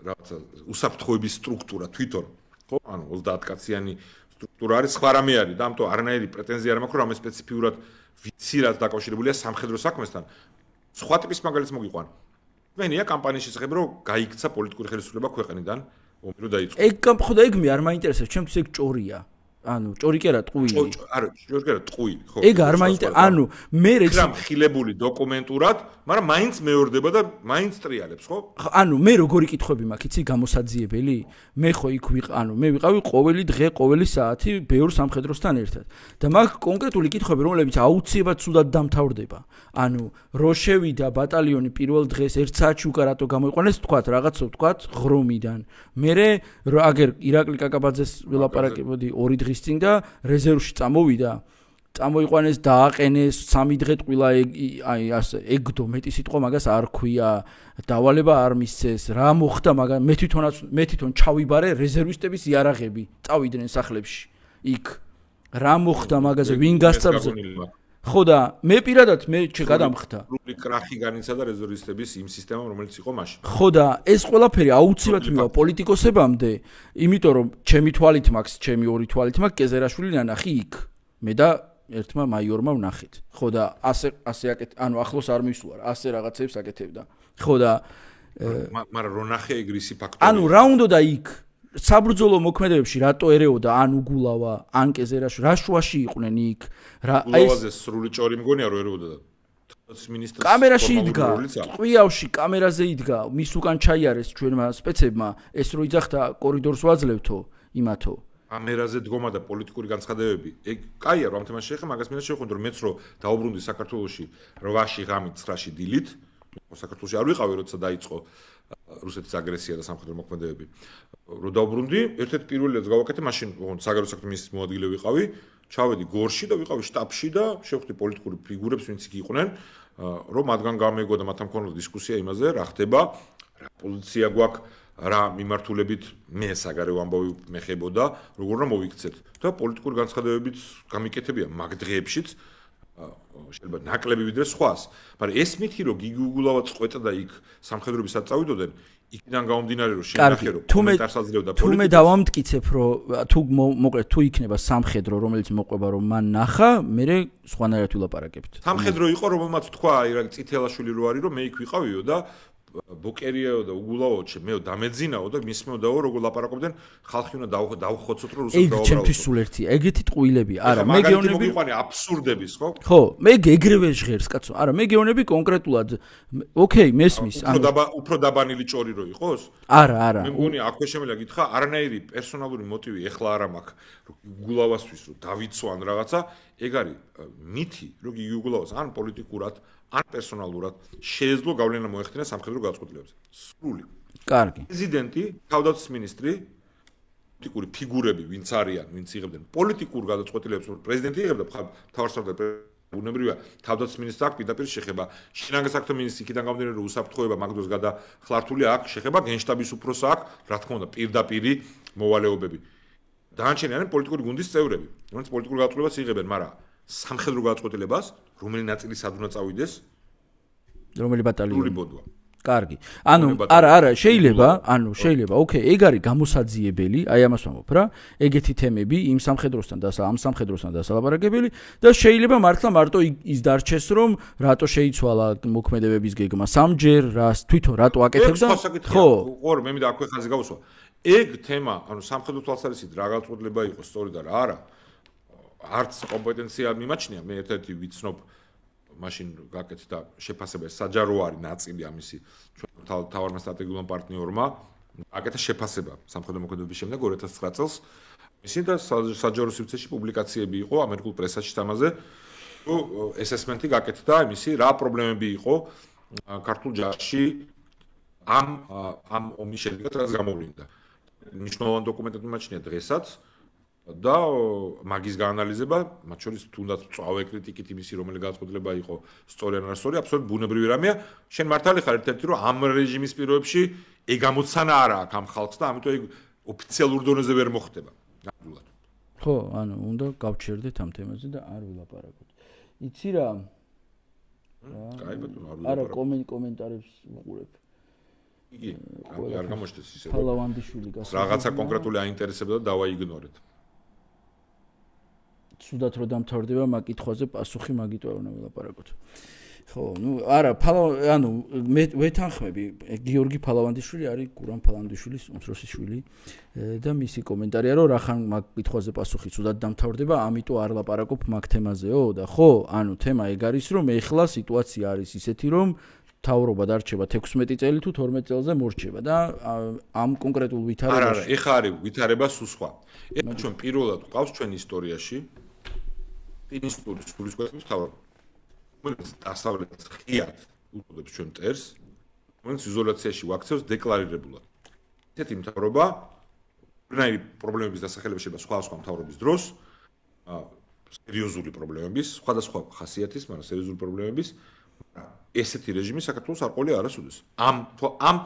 Speaker 2: რაღაცა უსაფრთხოების სტრუქტურა თვითონ ხო ანუ 30 კაციანი სტრუქტურა არის სხვა რამე არის და ამიტომ არანაირი პრეტენზია არ მაქვს რომ ამ სპეციფიურად ვიცი რაც დაკავშირებულია სამხედრო საქმესთან სხვა ტიპის მაგალითს მოგიყვანო მენია კამპანიის შესახებ რომ გაიქცა პოლიტიკური ხელისუფლება ქვეყნიდან ომი რო დაიწყო
Speaker 1: ეგ გამხოდა ეგ მე არ მაინტერესებს ჩემთვის ეგ ჭორია ანუ ჭორი კი არა ტყუილი
Speaker 2: არა ჭორი კი არა ტყუილი ხო
Speaker 1: ეგ არ მაინტერესებს ანუ მე
Speaker 2: რამ ხილებული დოკუმენტურად მაგრამ მაინც მეორდება და მაინც ტრიალებს ხო
Speaker 1: ანუ მე როგორი კითხვები მაქვს იცი გამოსაძიებელი მე ხო იქ ანუ მე ვიყავი ყოველი დღე ყოველი საათი ბევრ სამხედროსთან ერთად და მაქვს კონკრეტული კითხვები რომლებიც აუცილებლად სუდად დამთავრდება ანუ რო შევიდა ბატალიონი პირველ დღეს 1 საათში უკან რატო გამოიყვანეს თქვათ რაღაცო თქვათ ღრომიდან მე აგერ ირაკლი კაკაბაძეს ვილაპარაკებოდი 2 დღის წინ და რეზერვში წამოვიდა წამოიყვანეს დააყენეს 3 დღე ტყვილა აი ასე ეგდო მეტი სიტყვა მაგას არ ქვია დავალება არ მისცეს რა მოხდა მაგას მე თვითონ ჩავიბარე რეზერვისტების იარაღები წავიდნენ სახლებში იქ რა მოხდა მაგაზე ვინ გასწავლა ხო და მე პირადად მე გადამხდა
Speaker 2: სრული კრახი განიცადა რეზერვისტების იმ სისტემამ რომელიც იყო მაშინ
Speaker 1: ხო და ეს ყველაფერი აუცილებლად მივა პოლიტიკოსებამდე იმიტომ რომ ჩემი თვალით მაქვს ჩემი 2 თვალით მაქვს კეზერაშვილი ნანახი იქ მე და ერთმა მაიორმა ვნახეთ ხო და ასე ანუ ახლოს არ მისვარ ასე რაღაცებს აკეთებდა ხო და
Speaker 2: მაგრამ რო ნახე ეგრისი ფაქტორი
Speaker 1: ანუ რა უნდა და იქ საბრძოლო მოქმედებებში რატო ერეოდა ან უგულავა ან კეზერაშვილი რა შუაში იყვნენ იქ რა
Speaker 2: აი ეს სრული ჭორი მგონია რომ ერეოდა და მინისტრს
Speaker 1: კამერაში იდგა ყვიავში კამერაზე იდგა მის უკან ჩაიარეს ჩვენმა სპეცებმა ეს რო იძახდა კორიდორს ვაძლევთო იმათო
Speaker 2: კამერაზე დგომა და პოლიტიკური განცხადებები ეგ კაია რომ ამ თემას შეეხება მაგას მინდა შევხვდე რომ მეც რო დაუბრუნდი საქართველოში 8-ში ღამით 9-ში დილით საქართველოში არ ვიყავი როცა დაიწყო რუსეთის აგრესია და სამხედრო მოქმედებები რო დაუბრუნდი ერთ-ერთი პირველი რაც გავაკეთე მაშინ საგარეო საქმეთა მინისტრის მოადგილე ვიყავი ჩავედი გორში და ვიყავი შტაბში და შევხვდი პოლიტიკური ფიგურებს ვინც იქ იყვნენ რომ მათგან გამეგო და მათთან მქონოდა დისკუსია იმაზე რა ხდება რა პოზიცია გვაქვს რა მიმართულებით მე საგარეო ამბავი მეხებოდა, როგორ რა მოვიქცეთ და პოლიტიკური განცხადებებიც გამიკეთებია მაგ დღეებშიც შეიძლება ნაკლები ვიდრე სხვას, მაგრამ ეს მითი რომ გიგი უგულავა წყვეტდა იქ სამხედროებისაც წავიდოდნენ, იქიდან გამომდინარე რომ შენახე რომ კომენტარს აძლევდა პოლიტიკას.
Speaker 1: თუმე დავამტკიცებ რომ თუ მოკლედ თუ იქნება სამხედრო რომელიც მოყვება რომ მან ნახა, მე სხვანაირად ვილაპარაკებთ.
Speaker 2: სამხედრო იყო რომელმაც თქვა აი რა წითელაშვილი რო არის რომ მე იქ ვიყავიო და ბოკერიაო და უგულაო მეო დამეძინაო და მისმეოდაო როგორ ლაპარაკობდნენ ხალხი უნდა დავხოცოთ რომ რუსებს
Speaker 1: დაუბრალოთ. ჩემთვის სულ ერთი ეგეთი ტყუილები არა მე გეუბნები
Speaker 2: მოიყვანე აბსურდების ხო?
Speaker 1: ხო, მე ეგრევე ჟღერს კაცო. არა მე გეუბნები კონკრეტულად ოკეი მესმის
Speaker 2: უფრო დაბანილი ჭორი რო იყოს?
Speaker 1: არა.
Speaker 2: მე მგონი აქვე შემიძლია გითხრა არანაირი პერსონალური მოტივი ეხლა არ მაქვს რომ უგულავასთვის რომ დავიცვან რაღაცა ეგ არის მითი რომ გიგი უგულავას ან პოლიტიკურად ან პერსონალურად შეეძლო გავლენა მოეხდინა სამხედრო გაწყვეტილებებზე. სრული.
Speaker 1: კარგი.
Speaker 2: პრეზიდენტი, თავდაცვის მინისტრი, პოლიტიკური ფიგურები, ვინც არიან, ვინც იღებდნენ პოლიტიკურ გადაწყვეტილებებს, პრეზიდენტი იღებდა მთავარსარდალ ბუნებრივია, თავდაცვის მინისტრს აქვს პირდაპირ შეხება. შინაგან საქმეთა მინისტრი იქიდან გამომდინარე რომ უსაფრთხოება მაგდროს გადახლართული აქვს შეხება, გენშტაბის უფროსს აქვს, რა თქმა უნდა, პირდაპირი მოვალეობები. დანარჩენი არიან პოლიტიკური გუნდის წევრები, რომლებიც პოლიტიკურ გადაწყვეტილებას იღებენ, მაგრამ სამხედრო გადაწყვეტილებას, რომელი ნაწილი სად უნდა წავიდეს?
Speaker 1: რომელი ბატალიონი?
Speaker 2: ბოდვა.
Speaker 1: კარგი. არა, შეიძლება, ოკეი, ეგ არის გამოსაძიებელი, აი ამას ვამბობ რა. ეგეთი თემები იმ სამხედროსთან და ამ სამხედროსთან დასალაპარაკებელი და შეიძლება მართლა მარტო ის დარჩეს რომ რატო შეიცვალა მოქმედებების გეგმა სამჯერ, თვითონ რატო აკეთებდა?
Speaker 2: ხო, მე მინდა აქვე ხაზი გავუსვა. ეგ თემა, სამხედრო თვალსაზრისით რა გაწყვეტილება იყო სწორი და რა არა. არც კომპეტენცია მიმაჩნია, მე ერთ-ერთი ვიცნობ მაშინ გაკეთდა შეფასება საჯარო არის ნაწილი ამისი ჩვენ თავარმა სტრატეგიულმა პარტნიორმა აკეთა შეფასება სამხედრო მოქმედებების შემდეგ 2009 წელს ისინი და საჯარო სივრცეში პუბლიკაციები იყო ამერიკულ პრესაში ამაზე ესესმენტი გაკეთდა იმისი რა პრობლემები იყო ქართულ ჯარში ამ ომის შედეგად რაც გამოვლინდა მნიშვნელოვანი დოკუმენტები მიმაჩნია დღესაც და მაგის გაანალიზება, მათ შორის თუნდაც წავე კრიტიკით იმისი, რომელი გადაწყვეტილება იყო სწორი ან არასწორი, აბსოლუტურად ბუნებრივი რამეა. შენ მართალი ხარ ერთ-ერთი, რომ ამ რეჟიმის პირობებში ეგ ამოცანა არა აქვს ამ ხალხს და ამიტომ ეგ ოფიციალურ დონეზე ვერ მოხდება. ნამდვილად.
Speaker 1: ხო, უნდა გავჩერდეთ ამ თემაზე და არ ვილაპარაკოთ. იცი რა?
Speaker 2: კაი ბატონო, არ
Speaker 1: ვილაპარაკოთ. არა, კომენტარებს ვუყურებ.
Speaker 2: იგი არ გამოჩნდეს ისე.
Speaker 1: ფალავანდიშვილი გასაგებია.
Speaker 2: რაღაცა კონკრეტული აინტერესებდა და დავაიგნორეთ.
Speaker 1: სუდათ რო დამთავრდება მაგ კითხვაზე პასუხი მაგიტო არ უნდა ვილაპარაკოთ. ხო, არა, მე ვეთანხმები, გიორგი ფალავანდიშვილი არის გურამ ფალავანდიშვილის უმცროსი შვილი და მისი კომენტარია რომ რახან მაგ კითხვაზე პასუხი სუდათ დამთავრდება, ამიტომ არ ლაპარაკობ მაგ თემაზეო და ხო, თემა ეგ არის რომ ეხლა სიტუაცია არის ისეთი რომ თავრობა დარჩება 16 წელი თუ 12 წელზე მორჩება და ამ კონკრეტულ ვითარებაში.
Speaker 2: არა, ეხა არის ვითარება სულ სხვა. ეხლა ჩვენ პირველად გვყავს ჩვენ ისტორიაში ინსტიტუტის სულისკვეთის თავრობა. რომელიც დასავლეთს ხიად უწოდებს ჩვენ მტერს, რომელიც იზოლაციაში ვაქცევს დეკლარირებულად. ესეთი მთავრობა რნაირი პრობლემების დასახელება შეიძლება სხვა მთავრობის დროს, სერიოზული პრობლემების, სხვადასხვა ხასიათის, მაგრამ სერიოზული პრობლემების, ესეთი რეჟიმი საქართველოს არ ყოლია არასოდეს. ამ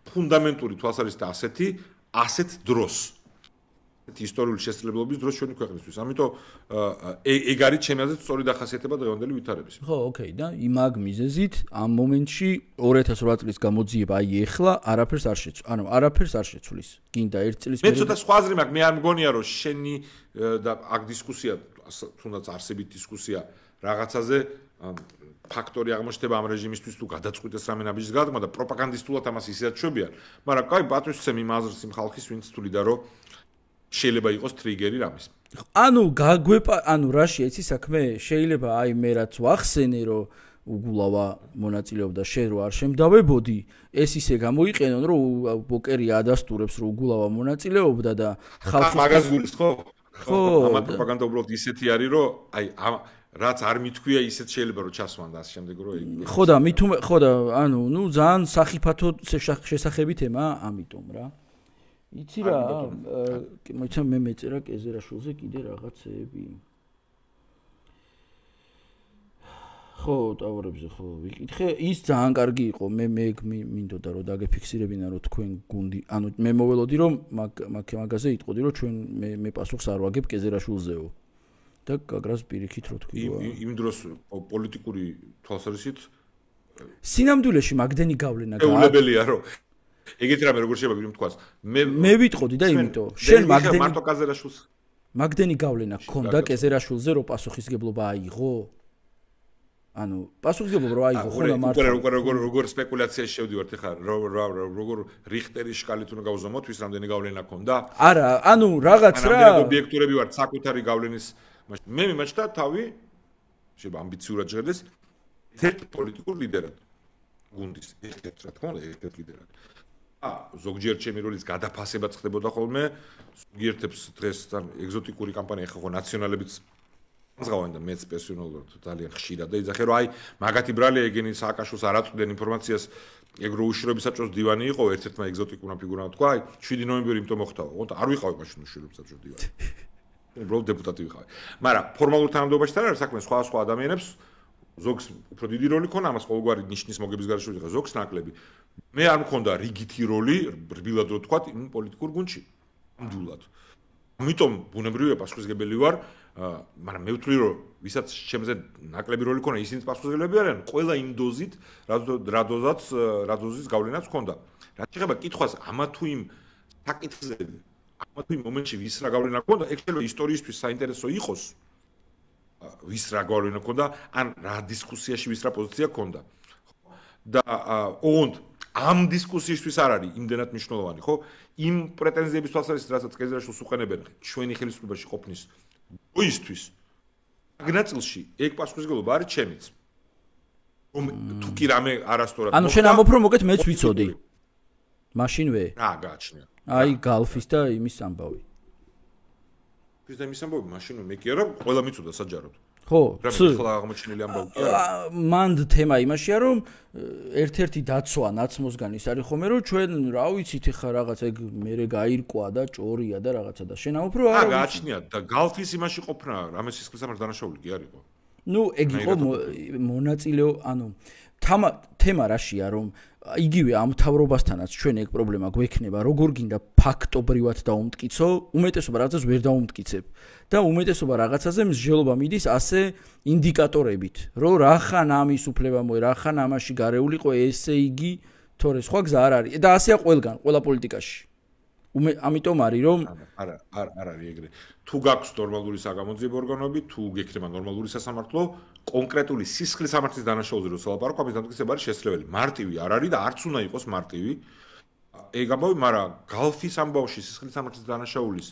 Speaker 2: ფუნდამენტური თვალსაზრისით ასეთ დროს ისტორიული შესაძლებლობის დროს ჩვენი ქვეყნისთვის. ამიტომ ეგ არის ჩემი აზრით სწორი დახასიათება დღევანდელი ვითარების.
Speaker 1: ხო, ოკეი და იმაგ მიზეზით ამ მომენტში 2008 წლის გამოძიება აი ეხლა არაფერს არ შეცვლის. არაფერს არ შეცვლის. გინდა 1 წლის
Speaker 2: მე ცოტა სხვა აზრი მაქვს, მე არ მგონია რომ შენი და აქ დისკუსია, თუნდაც არსებით დისკუსია რაღაცაზე ფაქტორი აღმოჩნდება ამ რეჟიმისთვის თუ გადაწყვიტეს რამე ნაბიჯის გადადგმა და პროპაგანდისტულად ამას ისეაც შვებიან. მაგრამ კაი პატივისცემ იმ აზრს იმ ხალხის ვინც თვლიდა რომ შეიძლება იყოს ტრიგერი რამის.
Speaker 1: რაში ეცი საქმე შეიძლება აი მე რაც ვახსენე რომ უგულავა მონაწილეობდა შენ რო არ შემდავებოდი ეს ისე გამოიყენონ რომ ბოკერი ადასტურებს რომ უგულავა მონაწილეობდა და
Speaker 2: ხალხი მაგას გულის ხო? ამ პროპაგანდა უბრალოდ ისეთი არის რომ აი რაც არ მithქვია ისეთ შეიძლება რომ ჩასვან და ამ შემდეგ რომ
Speaker 1: ხო და ძალიან სახიფათო შესახები თემა ამიტომ რა იცი რა მოიცა მე მეწერა კეზერაშვილზე კიდე რაღაცეები ხო, ტავრებზე ხო ვიკითხე. ის ძალიან კარგი იყო. მე მინდოდა რომ დაგეფიქსირებინა რომ თქვენ გუნდი, ანუ მე მოველოდი რომ მაგაზე იტყოდი რომ ჩვენ მე პასუხს არ ვაგებ კეზერაშვილზეო. და გაგრას პირიქით რო თქვი.
Speaker 2: იმ დროს პოლიტიკური თვალსაზრისით
Speaker 1: სინამდვილეში მაგდენი გავლენა
Speaker 2: გაულებელია რომ ეგეთ რამე როგორ შეიძლება ვიმთქვას.
Speaker 1: მე ვიტყოდი და იმიტომ შენ
Speaker 2: მარტო კეზერაშვილს
Speaker 1: მაგდენი გავლენა ქონდა კეზერაშვილზე რომ პასუხისგებლობა აიღო? ანუ პასუხისგებლობა რო აიღო ხოლმე მარტო
Speaker 2: როგორ სპეკულაციაში შევდივართ ეხლა როგორ რიხტერის შკალით უნდა გავზომოთ ვის რამდენი გავლენა ქონდა?
Speaker 1: არა, ანუ რაღაც რა
Speaker 2: რამდენი ობიექტურები ვართ საკუთარი გავლენის მე მიმაჩნდა თავი შეიძლება ამბიციურად ჟღერდეს ერთ პოლიტიკურ ლიდერად გუნდის ერთ რა თქმა უნდა ერთ ლიდერად ზოგჯერ ჩემი როლის გადაფასებაც ხდებოდა ხოლმე ზოგიერთებს დღეს ეგზოტიკური კამპანია ხო ნაციონალებიც ზღავენ და მეც პერსონალურად ძალიან ხშირად და იძახე რომ აი მაგათი ბრალი ეგენი სააკაშვილს არ აწვდნენ ინფორმაციას ეგრო უშიშროების საბჭოს დივანი იყო ერთ-ერთმა ეგზოტიკურმა ფიგურამ თქვა აი 7 ნოემბერი იმიტომ მოხდაო ოღონდ არ ვიყავი მაშინ უშიშროების საბჭოს დივანი უბრალოდ დეპუტატი ვიყავი მაგრამ ფორმალურ თანამდებობაში თან არის საქმე სხვა ადამიანებს ზოგს უფრო დიდი როლი ქონა ამას ყოველგვარი ნიშნის მოგების გარშემო იყო ზოგს ნაკლები მე არ მქონდა რიგითი როლი რბილად რო თქვა იმ პოლიტიკურ გუნდში ნამდვილად ამიტომ ბუნებრივია პასუხისგებელი ვარ მაგრამ მე ვთვლი რომ ვისაც ჩემზე ნაკლები როლი ქონა ისინიც პასუხისგებლები არიან ყველა იმ დოზით რა დოზის გავლენაც ქონდა რაც შეეხება კითხვას ამა თუ იმ საკითხზე ამა თუ იმ მომენტში ვის რა გავლენა ქონდა ეგ შეიძლება ისტორიისთვის საინტერესო იყოს ვის რა გავლენა ქონდა ან რა დისკუსიაში ვის რა პოზიცია ქონდა და ოღონდ ამ დისკუსიისთვის არ არის იმდენად მნიშვნელოვანი ხო იმ პრეტენზიების თვალსაზრისით რასაც კეზერაშვილს უყენებენ ჩვენი ხელისუფლებაში ყოფნის ოისთვის აგნაწილში ეგ პასუხისგებლობა არის ჩემიც თუ კი რამე არასწორად
Speaker 1: ანუ შენ ამბობ რომ მოგეთ მეც ვიცოდი მაშინვე
Speaker 2: რა გააჩნია
Speaker 1: აი გალფის და იმის ამბავი
Speaker 2: ის და იმის ამბავი მაშინვე მე კი არა ყველა მიცოდა საჯაროდ
Speaker 1: ხო
Speaker 2: რა აღმოჩენილი ამბავი კი არა
Speaker 1: მანდ თემა იმაშია რომ ერთ-ერთი დაცვა ნაცმოსგან ის არის ხომე რომ ჩვენ რა ვიცით ეხა რაღაც ეგ მერე გაირკვა და ჭორია და რაღაცა და შენ ამბობ რომ
Speaker 2: არა გააჩნია და გალფის იმაში ყოფნა რამე სისხლის სამართლის დანაშაული კი არისო
Speaker 1: ნუ ეგ იყო მონაწილეო ანუ თემა რაშია რომ იგივე ამ თავრობასთანაც ჩვენ ეგ პრობლემა გვექნება როგორ გინდა ფაქტობრივად დაუმტკიცო უმეტესობა რაღაცას ვერ დაუმტკიცებ და უმეტესობა რაღაცაზე მსჯელობა მიდის ასე ინდიკატორებით რომ რახან ამის უფლება მოე რახან ამაში გარეულიყო ესე იგი თორე სხვა გზა არ არის და ასეა ყველგან ყველა პოლიტიკაში ამიტომ არის რომ
Speaker 2: არა არის ეგრე თუ გაქვს ნორმალური საგამოძიებო ორგანოები თუ გექნება ნორმალური სასამართლო კონკრეტული სისხლის სამართლის დანაშაულზე რო სალაპარაკო ამის დამტკიცება არის შესაძლებელი მარტივი არ არის და არც უნდა იყოს მარტივი ეგ ამბავი მაგრამ გალფის ამბავში სისხლის სამართლის დანაშაულის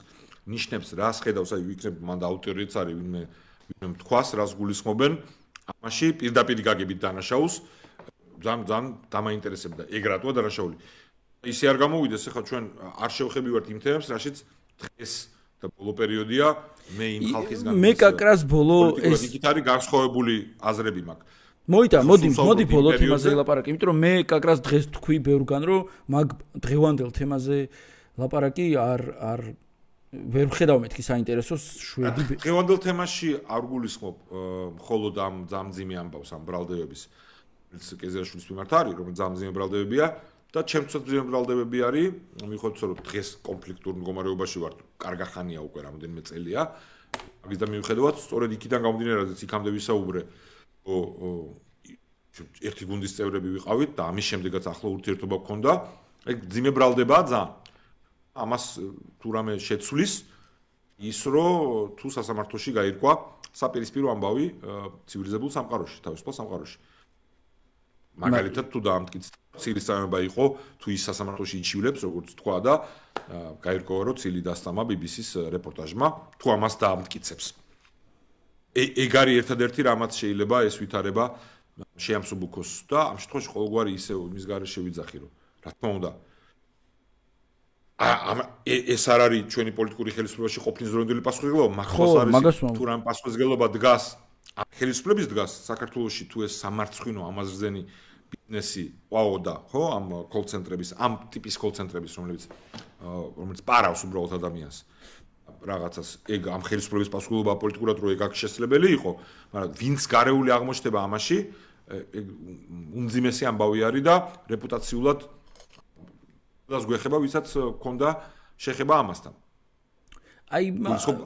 Speaker 2: ნიშნებს რას ხედავს აი ვიქნებ მანდ აუტორიტეტს არის ვინმე თქვას რას გულისხმობენ ამაში პირდაპირ გაგებით დანაშაულს ძალიან დამაინტერესებდა ეგ რატოა დანაშაული ისე არ გამოვიდეს ახლა ჩვენ არ შევხებივართ იმ თემებს რაშიც დღეს და ბოლო პერიოდია მე იმ ხალხისგან
Speaker 1: მე კაკრას ბოლო
Speaker 2: ეს იქით არის განსხვავებული აზრები მაქვს
Speaker 1: მოიტა მოდი ბოლო თემაზე ლაპარაკი იმიტომ რომ მე კაკრას დღეს თქვი ბევრგან რომ მაგ დღევანდელ თემაზე ლაპარაკი არ ვერ ვხედავ მეთქი საინტერესოს შვედი
Speaker 2: დღევანდელ თემაში არ გულისხმობ მხოლოდ ამ ძამძიმე ამბავს ამ ბრალდებების კეზერაშვილის მიმართ არის რომ ძამძიმე ბრალდებებია და ჩემთვისაც ბრალდებები არის მიხედვით რომ დღეს კონფლიქტურ მდგომარეობაში ვართ კარგახანია უკვე რამოდენიმე წელია მაგის და მიუხედავად სწორედ იქიდან გამომდინარე რაც იქამდე ვისაუბრე ერთი გუნდის წევრები ვიყავით და ამის შემდეგაც ახლო ურთიერთობა გქონდა ეგ ძიმე ბრალდებაა ძალიან ამას თუ რამე შეცვლის ის რომ თუ სასამართლოში გაირკვა საპირისპირო ამბავი ცივილიზებულ სამყაროში თავისუფალ სამყაროში მაგალითად თუ დაამტკიცდა ცილის წამება იყო თუ ის სასამართლოში იჩივლებს როგორც თქვა და გაირკვევა რომ ცილი დასწამა BBC-ს რეპორტაჟმა თუ ამას დაამტკიცებს ეგ არის ერთადერთი რამაც შეიძლება ეს ვითარება შეამსუბუქოს და ამ შემთხვევაში ყოველგვარი ისე იმის გარეშე ვიძახი რომ რა თქმა უნდა ეს არ არის ჩვენი პოლიტიკური ხელისუფლებაში ყოფნის დროინდელი პასუხისმგებლობა მართლაც არის თუ რამ პასუხისმგებლობა დგას ხელისუფლების დგას საქართველოში თუ ეს სამარცხვინო ამაზრზენი ბიზნესი ყავდა ხო ამ კოლ-ცენტრების ამ ტიპის კოლ-ცენტრების რომელიც პარავს უბრალოდ ადამიანს რაღაცას ეგ ამ ხელისუფლების პასუხისმგებლობა პოლიტიკურად რო ეგ აქ შესაძლებელი იყო, მაგრამ ვინც გარეული აღმოჩნდება ამაში, ეგ უმძიმესი ამბავი არის და რეპუტაციულად დას გვეხება, ვისაც ქონდა შეხება ამასთან.
Speaker 1: აი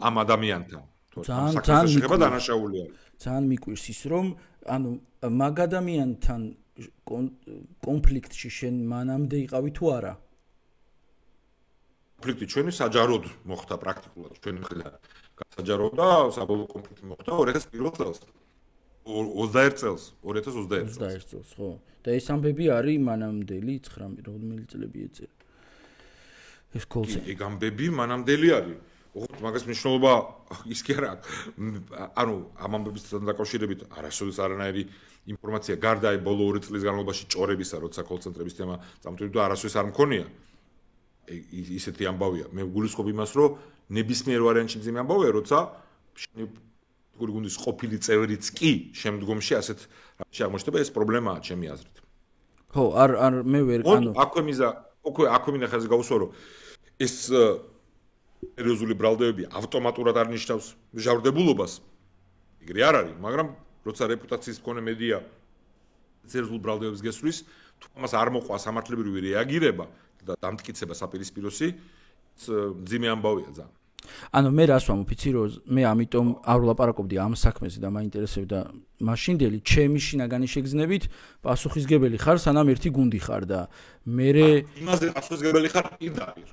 Speaker 2: ამ ადამიანთან.
Speaker 1: ძალიან
Speaker 2: შეხება დანაშაული არის.
Speaker 1: ძალიან მიკვირს ის რომ ანუ მაგ ადამიანთან კონფლიქტში შენ მანამდე იყავი თუ არა?
Speaker 2: კონფლიქტი ჩვენი საჯაროდ მოხდა პრაქტიკულად ჩვენი მხრიდან. საჯაროდ და საბოლოო კონფლიქტი მოხდა 2001 წელს. 21 წელს, 2021
Speaker 1: წელს, ხო. და ეს ამბები არის მანამდელი 9 რამდენი წლები ეწევა. ეს კოლსი.
Speaker 2: ეგ ამბები მანამდელი არის. ოღონდ მაგას მნიშვნელობა ის კი არა. ანუ ამ ამბებისთან დაკავშირებით არასოდეს არანაირი ინფორმაცია გარდა აი ბოლო 2 წლის განმავლობაში ჭორებისა, როცა კოლცენტრების თემა წამოწევდა და არასოდეს არ მქონია. ისეთი ამბავია. მე გულისხმობ იმას, რომ ნებისმიერ ვარიანტში ძიმე ამბავია, როცა პოლიტიკური გუნდის ყოფილი წევრიც კი შემდგომში ასეთ რაღაცში აღმოჩნდება, ეს პრობლემაა ჩემი აზრით.
Speaker 1: ხო, არ მე ვერ
Speaker 2: ანუ აქვე მინდა ხაზი გავუსვა, რომ ეს სერიოზული ბრალდებები ავტომატურად არ ნიშნავს მჟავრდებულობას. ეგრე არ არის, მაგრამ როცა რეპუტაციის მქონე მედია სერიოზულ ბრალდებებს გესვლის, თუ ამას არ მოყვა სამართლებრივი რეაგირება და დამტკიცება საპირისპიროსი, ძიმე ამბავია ძალიან.
Speaker 1: ანუ მე რას ვამოფიცი, რომ მე ამიტომ არ ვლაპარაკობდი ამ საქმეზე და მაინტერესებდა მაშინდელი ჩემი შინაგანი შეგრძნებით პასუხისგებელი ხარ, სანამ ერთი გუნდი ხარ და მე
Speaker 2: იმაზე პასუხისგებელი ხარ პირდაპირ.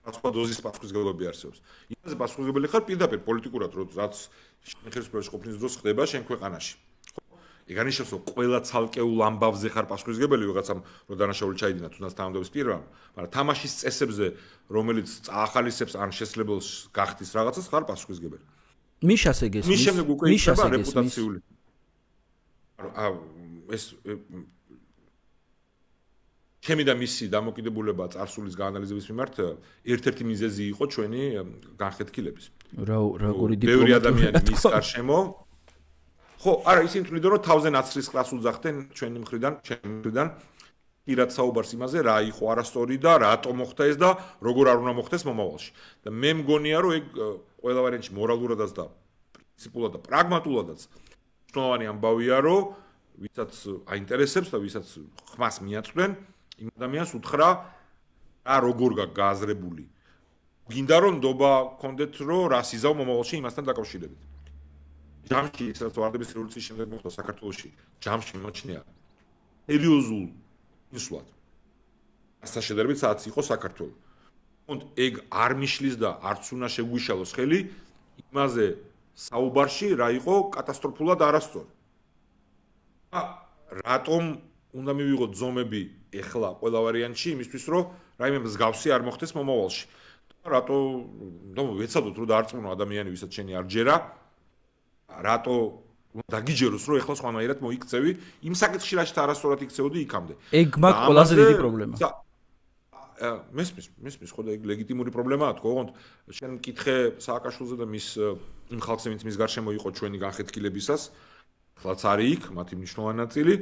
Speaker 2: სხვა დოზის პასუხისგებლობები არსებობს. იმაზე პასუხისგებელი ხარ პირდაპირ პოლიტიკურად, რაც ხელისუფლებაში ყოფნის დროს ხდება შენ ქვეყანაში. ეგ ანიშნავს, რომ ყველა ცალკეულ ამბავზე ხარ პასუხისგებელი, ვიღაცამ რო დანაშაული ჩაიდინა თუნდაც თანამდებობის პირმა, მაგრამ თამაშის წესებზე, რომელიც წაახალისებს ან შესაძლებელს გახდის რაღაცას, ხარ პასუხისგებელი.
Speaker 1: მიშას ეგ ეს
Speaker 2: მის შემდეგ უკვე იქნება რეპუტაციული. ეს ჩემი და მისი დამოკიდებულება წარსულის გაანალიზების მიმართ ერთ-ერთი მიზეზი იყო ჩვენი განხეთქილების.
Speaker 1: როგორი
Speaker 2: ბევრი ადამიანი მის გარშემო ხო, არა, ისინი თვლიდა, რომ თავზე ნაცრისყრას უძახდნენ ჩვენი მხრიდან, ჩემი მხრიდან, პირად საუბარს იმაზე, რა იყო არასწორი და რატომ მოხდა ეს და როგორ არ უნდა მოხდეს მომავალში. და მე მგონია, რომ ეგ ყველა ვარიანტში მორალურადაც და პრინციპულად და პრაგმატულადაც მნიშვნელოვანი ამბავია, რომ ვისაც აინტერესებს და ვისაც ხმას მიაწვენ, იმ ადამიანს უთხრა რა როგორ გააზრებული. გინდა რომ ნდობა გქონდეთ, რომ რას იზავ მომავალში იმასთან დაკავშირებით. ჯამში ისაც ვარდების რევოლუციის შემდეგ მოხდა საქართველოში, ჯამში მოჩნია სერიოზულ ინსულად. ასა შედარებით საათს იყო საქართველო. თუმცა ეგ არ მიშლის და არც უნდა შეგვიშალოს ხელი იმაზე საუბარში რა იყო კატასტროფულად არასწორი. რატომ უნდა მივიღოთ ზომები ეხლა ყველა ვარიანტში იმისთვის რომ რაიმე მსგავსი არ მოხდეს მომავალში. რატო ვეცადოთ რომ დაარწმუნო ადამიანი ვისაც შენი არ ჯერა რატო დაგიჯეროს რომ ეხლა სხვანაირად მოიქცევი იმ საკითხში რასაც არასწორად იქცეოდი იქამდე.
Speaker 1: ეგ მაგ ყველაზე დიდი პრობლემა.
Speaker 2: მესმის ხო და ეგ ლეგიტიმური პრობლემაა თქო, ოღონდ შენ მკითხე სააკაშვილზე და მის იმ ხალხს ვინც მის გარშემო იყო ჩვენი განხეთქილებისას, ხლაც არის იქ, მათი მნიშვნელოვანი ნაწილი,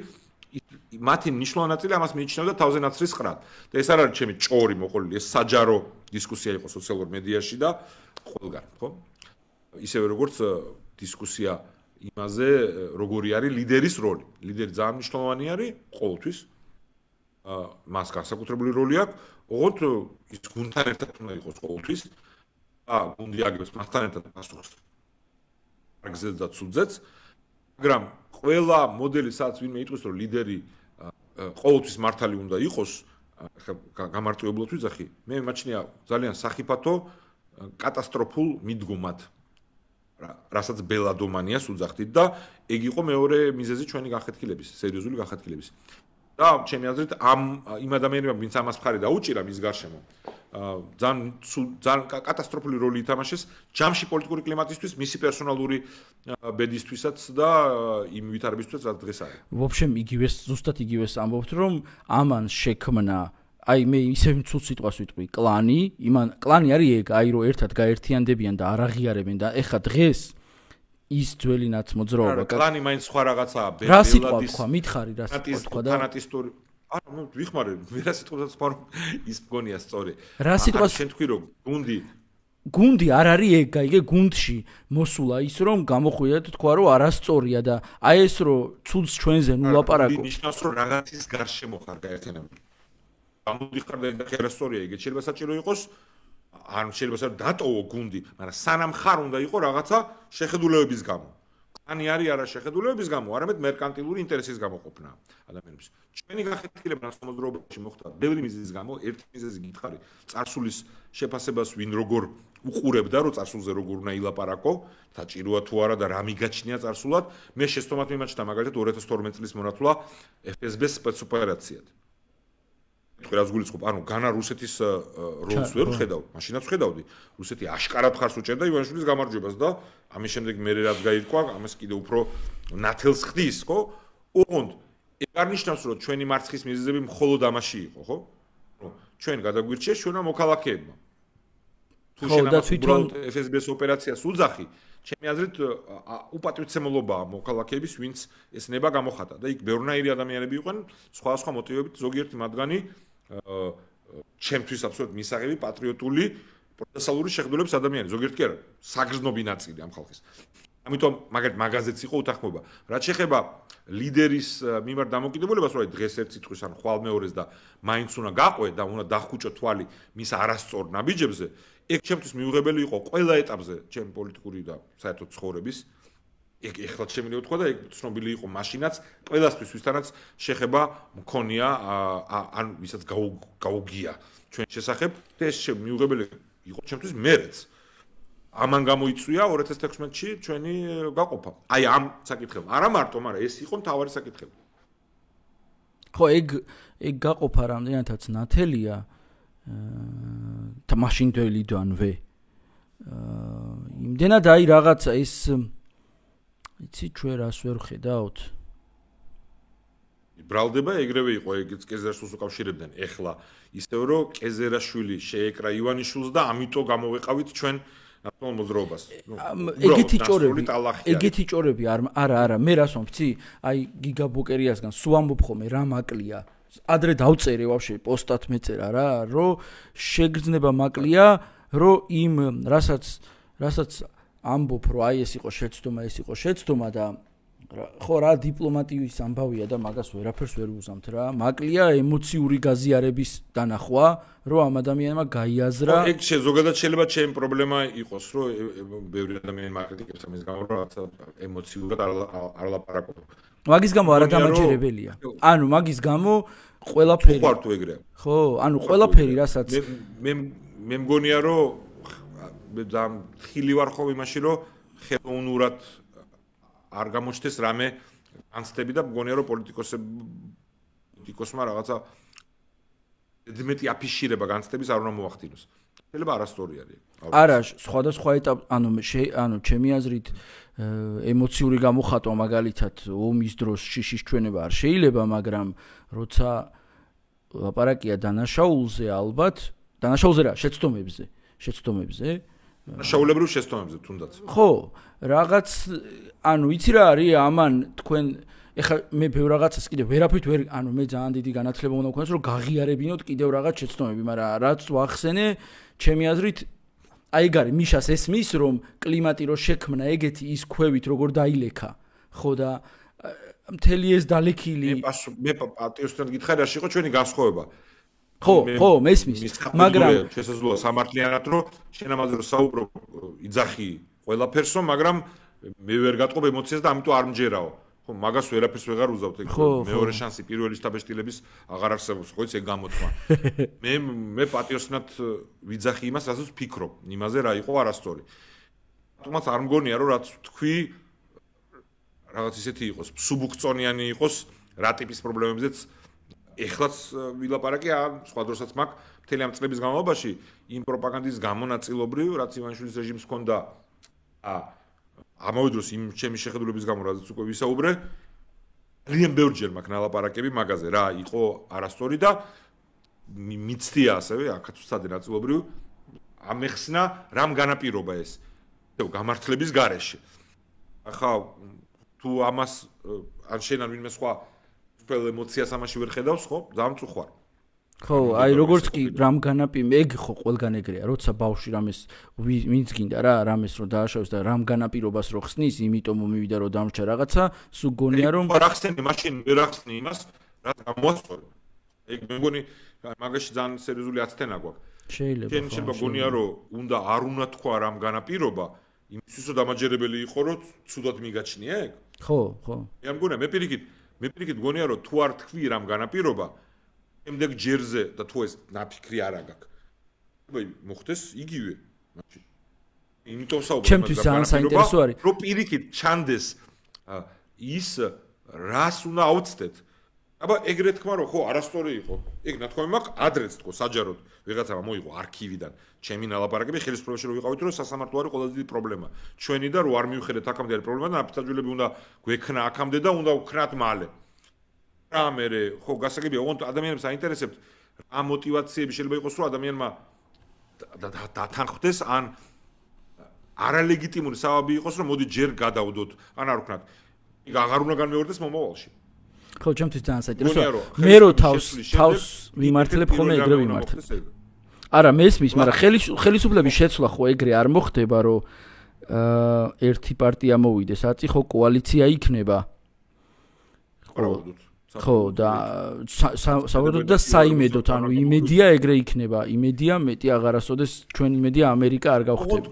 Speaker 2: მათი მნიშვნელოვანი ნაწილი ამას მიიჩნევდა თავზე ნაცრისყრად. და ეს არ არის ჩემი ჭორი მოყოლილი, ეს საჯარო დისკუსია იყო სოციალურ მედიაში და ყველგან, ხო? ისევე როგორც დისკუსია იმაზე, როგორი არის ლიდერის როლი. ლიდერი ძალიან მნიშვნელოვანი არის ყოველთვის. მას განსაკუთრებული როლი აქვს, ოღონდ ის გუნდთან ერთად უნდა იყოს ყოველთვის. გუნდი აგებს მასთან ერთად პასუხს. აგზეც და ცუძეც, მაგრამ ყველა მოდელი სადაც ვინმე იტყვის, რომ ლიდერი ყოველთვის მართალი უნდა იყოს, გამარტივებლად ვიძახი, მე მიმაჩნია ძალიან სახიფათო კატასტროფულ მიდგომად. რასაც ბელადომანიას უძახდით და ეგ იყო მეორე მიზეზი ჩვენი განხეთქილების, სერიოზული განხეთქილების. და ჩემი აზრით იმ ადამიანებმა ვინც ამას მხარი დაუჭირა მის გარშემო, ძალიან კატასტროფული როლი ითამაშეს ჯამში პოლიტიკური კლიმატისთვის, მისი პერსონალური ბედისთვისაც და იმ ვითარებისთვისაც რაც დღეს არის.
Speaker 1: ვობშემ ზუსტად იგივეს ამბობთ, რომ ამან შექმნა აი მე ისევ ცუდ სიტყვას ვიტყვი, კლანი არის ეგ, აი რომ ერთად გაერთიანდებიან და არ აღიარებენ და ეხა დღეს ის ძველი ნაცმოძრაობა.
Speaker 2: კლანი მაინც სხვა რაღაცაა,
Speaker 1: რა სიტყვა თქვა, მითხარი რა სიტყვა თქვა და
Speaker 2: ფანატისტური. არა, მე ვიხმარე, მე რა სიტყვასაც ვთქვა, ის მგონია სწორი.
Speaker 1: რა სიტყვას
Speaker 2: შენ თქვი რომ გუნდი
Speaker 1: გუნდი არ არის ეგ, გაიგე, გუნდში მოსულა ის რომ გამოხვიდა და თქვა რომ არასწორია და აი ეს რომ ცუდს ჩვენზე ნუ ლაპარაკო.
Speaker 2: ნიშნავს რომ რაღაცის გარშემო ხარ გაერთიანებული. გამოდიხარ და არასწორია ეგ შეიძლება საჭირო იყოს, ან შეიძლება დატოვო გუნდი, მაგრამ სანამ ხარ უნდა იყო რაღაცა შეხედულებების გამო. ani არის არა შეხედულებების გამო, არამედ მერკანტილური ინტერესის გამო ყოფნა ადამიანებს. ჩვენი გახეთქილება ნაცნობრობაში მოხდა ბევრი მიზეზის გამო, ერთი მიზეზი გითხარი, წარსულის შეფასებას ვინ როგორ უყურებდა, რომ წარსულზე როგორ უნდა ილაპარაკო, საჭიროა თუ არა და რა მიგაჩნია წარსულად. მე შესთომად მიმაჩნდა მაგალითად 2012 წლის მონათლა FSB-ს სპეცოპერაციად. რაც გულისხმობ, ანუ განა რუსეთის როლს ვერ ვხედავ, მაშინაც ვხედავდი. რუსეთი აშკარად ხარს უჭერდა ივანიშვილის გამარჯვებას და ამის შემდეგ მე რაც გაირკვა, ამას კიდე უფრო ნათელს ხდის, ხო? ოღონდ ეგ არ ნიშნავს, რომ ჩვენი მარცხის მიზეზები მხოლოდ ამაში იყო, ხო? ჩვენ გადაგვირჩიეს ჩვენმა მოქალაქეებმა. თუ შენ FSB-ს ოპერაციას უძახი, ჩემი აზრით უპატრიოტიზმულობაა მოქალაქეების, ვინც ეს ნება გამოხატა და იქ ბევრნაირი ადამიანები იყვნენ სხვადასხვა მოტივებით, ზოგიერთი მათგანი ჩემთვის აბსოლუტურად მისაღები პატრიოტული პროფესიონალური შეხედულების ადამიანი, ზოგიერთი კი არა, საგრძნობი ნაწილი ამ ხალხის. ამიტომ მაგალითად მაგაზეც იყო უთანხმოება. რაც შეეხება ლიდერის მიმართ დამოკიდებულებას, რომ დღეს ერთ სიტყვის ან ხვალ მეორეს და მაინც უნდა გაყვე და უნდა დახუჭო თვალი მის არასწორ ნაბიჯებზე, ეგ ჩემთვის მიუღებელი იყო ყველა ეტაპზე ჩემი პოლიტიკური და საერთოდ ცხოვრების. ეგ ეხლა შემიძლია ვთქვა და ეგ ცნობილი იყო მაშინაც ყველასთვის ვისთანაც შეხება მქონია ან ვისაც გაუგია ჩვენ შესახებ და ეს მიუღებელი იყო ჩემთვის მერეც. ამან გამოიწვია 2016-ში ჩვენი გაყოფა. აი ამ საკითხებს. არა მარტო, მაგრამ ეს იყო მთავარი საკითხები.
Speaker 1: ხო, ეგ გაყოფა რამდენადაც ნათელია მაშინდელიდანვე. იმდენად აი რაღაცა ეს იცი ჩვენ რას ვერ ხედავთ.
Speaker 2: ბრალდება ეგრევე იყო, ეგეც კეზერაშვილს უკავშირებდნენ. ეხლა ისევ რომ კეზერაშვილი შეეკრა ივანიშვილს და ამიტომ გამოვეყავით ჩვენ ნაცნობ მოძრაობას.
Speaker 1: ეგეთი ჭორები არა, მე რას ვამბობ, აი გიგა ბოკერიასგან სულ ამბობ ხოლმე რა მაკლია. ადრე დავწერე ვაფშე პოსტად მეწერა რა, რომ შეგრძნება მაკლია, რომ იმ რასაც ამბობ, რომ აი ეს იყო შეცდომა და ხო რა დიპლომატიის ამბავია და მაგას ვერაფერს ვერ უზამთ რა. მაკლია ემოციური გაზიარების დანახვა, რომ ამ ადამიანმა გაიაზრა.
Speaker 2: ეგ ზოგადად შეიძლება ჩემი პრობლემა იყოს, რომ ბევრი ადამიანი მაკრიტიკებს ამის გამო, რომ ემოციურად არ ლაპარაკობ.
Speaker 1: მაგის გამო არადამაჯერებელია. ანუ მაგის გამო ყველაფერი.
Speaker 2: ხო, თუ ეგრეა.
Speaker 1: ხო, ანუ ყველაფერი რასაც
Speaker 2: მე მგონია, რომ ხილი ვარ ხო იმაში, რომ ხელოვნურად არ გამოჩნდეს რამე განცდები და მგონია რომ პოლიტიკოსმა რაღაცა მეტი აფიშირება განცდების არ უნდა მოახდინოს. შეიძლება არასწორი არის.
Speaker 1: არა, სხვადასხვა ეტაპ, ანუ ჩემი აზრით ემოციური გამოხატვა მაგალითად ომის დროს შიშის ჩვენება არ შეიძლება, მაგრამ როცა ლაპარაკია დანაშაულზე ალბათ, დანაშაულზე რა, შეცდომებზე.
Speaker 2: შაულებრივ შეცდომებზე თუნდაც.
Speaker 1: ხო, რაღაც ანუ იცი რა არის ამან თქვენ ეხლა მე ბევრ რაღაცას კიდე ვერაფრით ვერ ანუ მე ძალიან დიდი განათლება უნდა მქონდეს რომ გაღიარებინოთ კიდევ რაღაც შეცდომები, მაგრამ რაც ვახსენე, ჩემი აზრით აი გარი მიშას ესმის რომ კლიმატი რო შექმნა ეგეთი ის ქვევით როგორ დაილექა. ხო და მთელი ეს დალექილი
Speaker 2: მე პატიოსთან გითხარი რა იყო ჩვენი განსხვავება.
Speaker 1: ხო, მესმის, მაგრამ
Speaker 2: შესაძლოა სამართლიანად რომ შენ ამაზე რომ საუბრობ იძახი ყველაფერსო, მაგრამ მე ვერ გატყობ ემოციას და ამიტომ არ მჯერაო. ხო, მაგას ვერაფერს ვეღარ უზავთ ეგ. მეორე შანსი პირველი შტაბეშტილების აღარ არსებობს, ხო, ეს ეგ გამოთქვა. მე პატიოსნად ვიძახი იმას, რასაც ვფიქრობ, იმაზე რა იყო არასწორი. თუმცა არ მგონია რომ რაც თქვი რაღაც ისეთი იყოს, სუბუქწონიანი იყოს რა ტიპის პრობლემებზეც ეხლაც ვილაპარაკე სხვა დროსაც მაქვს მთელი ამ წლების განმავლობაში იმ პროპაგანდის გამონაწილობრივ, რაც ივანიშვილის რეჟიმს ჰქონდა ამავე დროს იმ ჩემი შეხედულების გამო, რაზეც უკვე ვისაუბრე, ძალიან ბევრჯერ მაქვს ნალაპარაკები მაგაზე, რა იყო არასწორი და მიცდია ასევე აქაც ვცადე ნაწილობრივ ამეხსნა რამ განაპირობა ეს გამართლების გარეშე. ახლა თუ ამას ან შენ ან ვინმე სხვა ფელ ემოციას ამაში ვერ ხედავს, ხო? ძალიან მწუხვარ.
Speaker 1: ხო, აი როგორც კი რამ განაპი ეგ ხო ყველგან ეგრეა, როცა ბავშვი რამეს ვინც გინდა რა, რამეს რო დააშავოს და რამ განაპირობას რო ხსნის, იმიტომ მივიდა რომ დამრჩა რაღაცა, სულ გონია რომ
Speaker 2: რა ხსენი მაშინ ვერ ახსნი იმას, რა გამოასწორო. ეგ მე მგონი მაგაში ძალიან სერიოზული აცდენა გვაქვს. შეიძლება გონია რომ უნდა არ უნდა თქვა რამ განაპირობა, იმისთვის რომ დამაჯერებელი იყო რომ ცუდად მიგაჩნია ეგ?
Speaker 1: ხო.
Speaker 2: მე არ მგონია, მე პირიქით გონია რომ თუ არ თქვი რამ განაპირობა, შემდეგ ჯერზე და თუ ეს ნაფიქრი არ აგაქვს. მოხდეს იგივე მაშინ. იმიტომ საუბრობ
Speaker 1: ჩემთვის ძალიან საინტერესო არის.
Speaker 2: რომ პირიქით ჩანდეს ის რას უნდა აუცდეთ. აბა ეგრე თქვა რომ ხო არასწორი იყო. ეგ ნათქვამი მაქვს ადრეც თქო საჯაროდ ვიღაცამ მოიღო არქივიდან ჩემი ნალაპარაკები ხელისუფლებაში რომ ვიყავით რომ სასამართლო არის ყველაზე დიდი პრობლემა. ჩვენი და რო არ მივხედეთ აქამდე არის პრობლემა და ნაფიცაჯულები უნდა გვექნა აქამდე და უნდა ვქნათ მალე. რა მე ხო გასაგებია ოღონდ ადამიანებს აინტერესებთ რა мотиваციები შეიძლება იყოს რომ ადამიანმა დათანხმდეს ან არალეგიტიმური საბაბი იყოს რომ მოდი ჯერ გადავდოთ ან არ ვქნათ. იქ აღარ უნდა განმეორდეს მომავალში.
Speaker 1: ხო, ჩემთვის ძალიან საინტერესოა. მე რო თავს ვიმართლებ ხოლმე ეგრე ვიმართლებ. არა, მესმის, მაგრამ ხელისუფლების შეცვლა ხო ეგრე არ მოხდება, რომ ერთი პარტია მოვიდეს, აწი ხო კოალიცია იქნება. ხო და საბოლოოდ და საიმედოთ, ანუ იმედია ეგრე იქნება, იმედია მეტი აღარასოდეს ჩვენ იმედია ამერიკა არ გავხდება.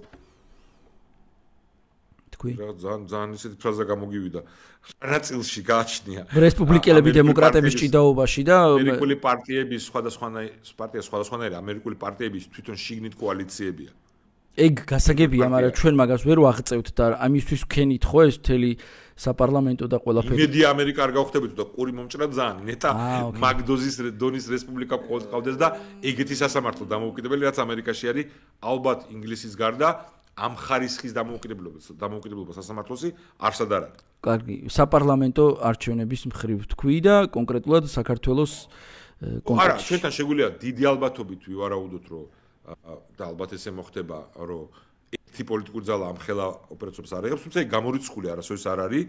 Speaker 1: ძალიან
Speaker 2: ისეთი ფრაზა გამოგივიდა. ნაწილში გააჩნია.
Speaker 1: რესპუბლიკელები დემოკრატების ჭიდაობაში და
Speaker 2: ამერიკული პარტიების სხვადასხვანაირი ამერიკული პარტიების თვითონ შიგნით კოალიციებია.
Speaker 1: ეგ გასაგებია, მაგრამ ჩვენ მაგას ვერ ვაღწევთ და ამისთვის ვქენით ხო ეს მთელი საპარლამენტო და ყველაფერი.
Speaker 2: იმედია ამერიკა არ გავხდებით და ყური მომჭრა ძალიან ნეტა მაგდოზის დონის რესპუბლიკა ყავდეს და ეგეთი სასამართლო დამოუკიდებელი რაც ამერიკაში არის ალბათ ინგლისის გარდა ამ ხარისხის დამოუკიდებლობა სასამართლოსი არსად არ არის.
Speaker 1: კარგი, საპარლამენტო არჩევნების მხრივ თქვი და კონკრეტულად საქართველოს კონტექსტში.
Speaker 2: არა, ჩვენთან შეგვიძლია დიდი ალბათობით ვივარაუდოთ, რომ და ალბათ ესე მოხდება, რომ ერთი პოლიტიკური ძალა ამ ხელა ოპერაციებს არ იღებს, თუმცა ეგ გამორიცხული არასოდეს არ არის.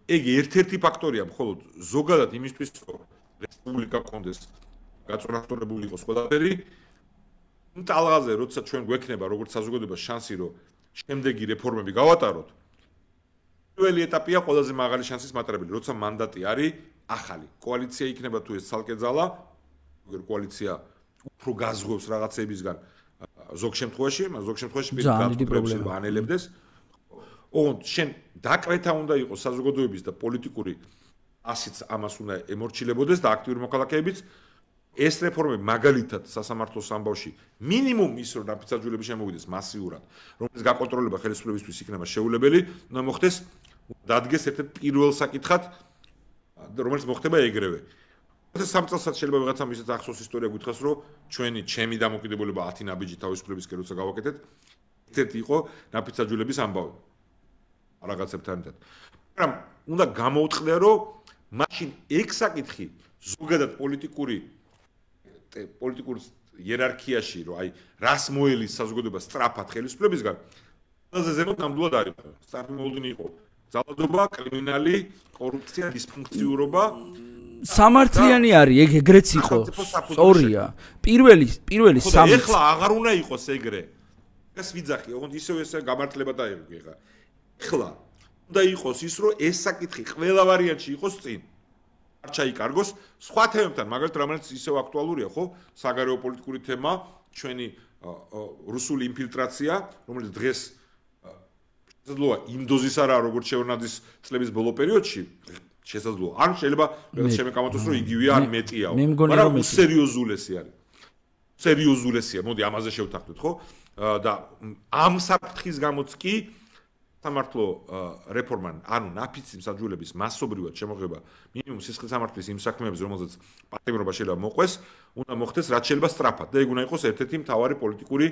Speaker 2: ეგ ერთ-ერთი ფაქტორია მხოლოდ ზოგადად იმისთვის, რომ რესპუბლიკა კონდეს გაწონასწორებული იყოს ყველაფერი. ტალღაზე როცა ჩვენ გვექნება როგორც საზოგადოებას შანსი რომ შემდეგი რეფორმები გავატაროთ პირველი ეტაპია ყველაზე მაღალი შანსის მატარებელი როცა მანდატი არის ახალი კოალიცია იქნება თუ ეს ცალკე ძალა კოალიცია უფრო გაზღვევს რაღაცეებისგან ზოგ შემთხვევაში პირდაპირ ანელებდეს ოღონდ შენ დაკვეთა უნდა იყოს საზოგადოების და პოლიტიკური ასიც ამას უნდა ემორჩილებოდეს და აქტიური მოქალაქეებიც ეს რეფორმები მაგალითად სასამართლოს ამბავში მინიმუმ ის რომ ნაფიცაჯულები შემოვიდეს მასიურად რომელიც გაკონტროლება ხელისუფლებისთვის იქნება შეუძლებელი უნდა მოხდეს დადგეს ერთ-ერთ პირველ საკითხად რომელიც მოხდება ეგრევე ეს სამწელსაც შეიძლება ვიღაცამ ისეთ ახსოვს ისტორია გითხრას რომ ჩემი დამოკიდებულება 10 ნაბიჯი თავისუფლებისკენ როცა გავაკეთეთ ერთ-ერთი იყო ნაფიცაჯულების ამბავი რაღაცებთან ერთად მაგრამ უნდა გამოუწყდე რომ მაშინ ეგ საკითხი ზოგადად პოლიტიკურ იერარქიაში რომ აი რას მოელის საზოგადოება სწრაფად ხელისუფლებისგან ყველაზე ზემოთ ნამდვილად არის წარმომოდგენი იყო ძალადობა კრიმინალი კორუფცია დისფუნქციურობა
Speaker 1: სამართლიანი არის ეგ ეგრეც იყო სწორია პირველი სამი
Speaker 2: ეხლა აღარ უნდა იყოს ეგრე ეს ვიძახი ოღონდ ისევ ესე გამართლება დაიღო ეხლა უნდა იყოს ის რომ ეს საკითხი ყველა ვარიანტში იყოს წინ არ ჩაიკარგოს სხვა თემებთან მაგალითად რომელიც ისევ აქტუალურია ხო საგარეო პოლიტიკური თემა ჩვენი რუსული ინფილტრაცია რომელიც დღეს შესაძლოა იმ დოზის არა როგორც შევნაძის წლების ბოლო პერიოდში შესაძლოა ან შეიძლება შემეკამათოს რომ იგივეა ან მეტია მაგრამ სერიოზულესი არის სერიოზულესია მოდი ამაზე შევთანხმდეთ ხო და ამ საფრთხის გამოც კი სამართლო რეფორმა ანუ ნაფიცი მსაჯულების მასობრივად შემოღება მინიმუმ სისხლის სამართლის იმ საქმეებზე რომელზეც პატიმრობა შეიძლება მოყვეს უნდა მოხდეს რაც შეიძლება სწრაფად და ეგ უნდა იყოს ერთ-ერთი მთავარი პოლიტიკური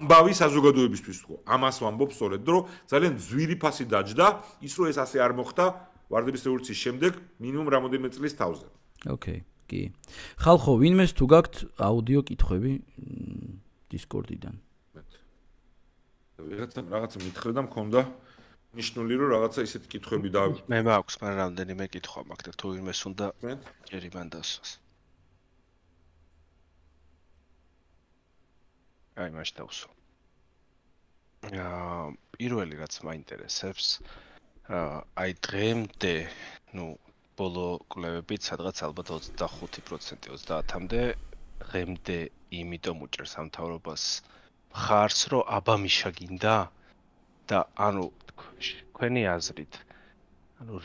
Speaker 2: ამბავი საზოგადოებისთვის თქო ამას ვამბობ სწორედ რომ ძალიან ძვირი ფასი დაჯდა ის რომ ეს ასე არ მოხდა ვარდების რევოლუციის შემდეგ მინიმუმ რამოდენიმე წლის თავზე
Speaker 1: ოკეი კი ხალხო ვინმეს თუ გაქვთ აუდიო კითხვები დისკორდიდან
Speaker 2: რაღაცა მითხრე და მქონდა ნიშნული რომ რაღაცა ისეთი კითხვები და
Speaker 3: მე მაქვს მაგრამ რამდენიმე კითხვა მაქვს და თუ ვინმეს უნდა ჯერი მან დასვას აი მაშ დავსო. პირველი რაც მაინტერესებს, აი დღემდე, ბოლო კვლევებით სადღაც ალბათ 25%, 30-მდე დღემდე იმიტომ უჭერს ამ მთავრობას ხარს, რომ აბამიშა გინდა და თქვენი აზრით,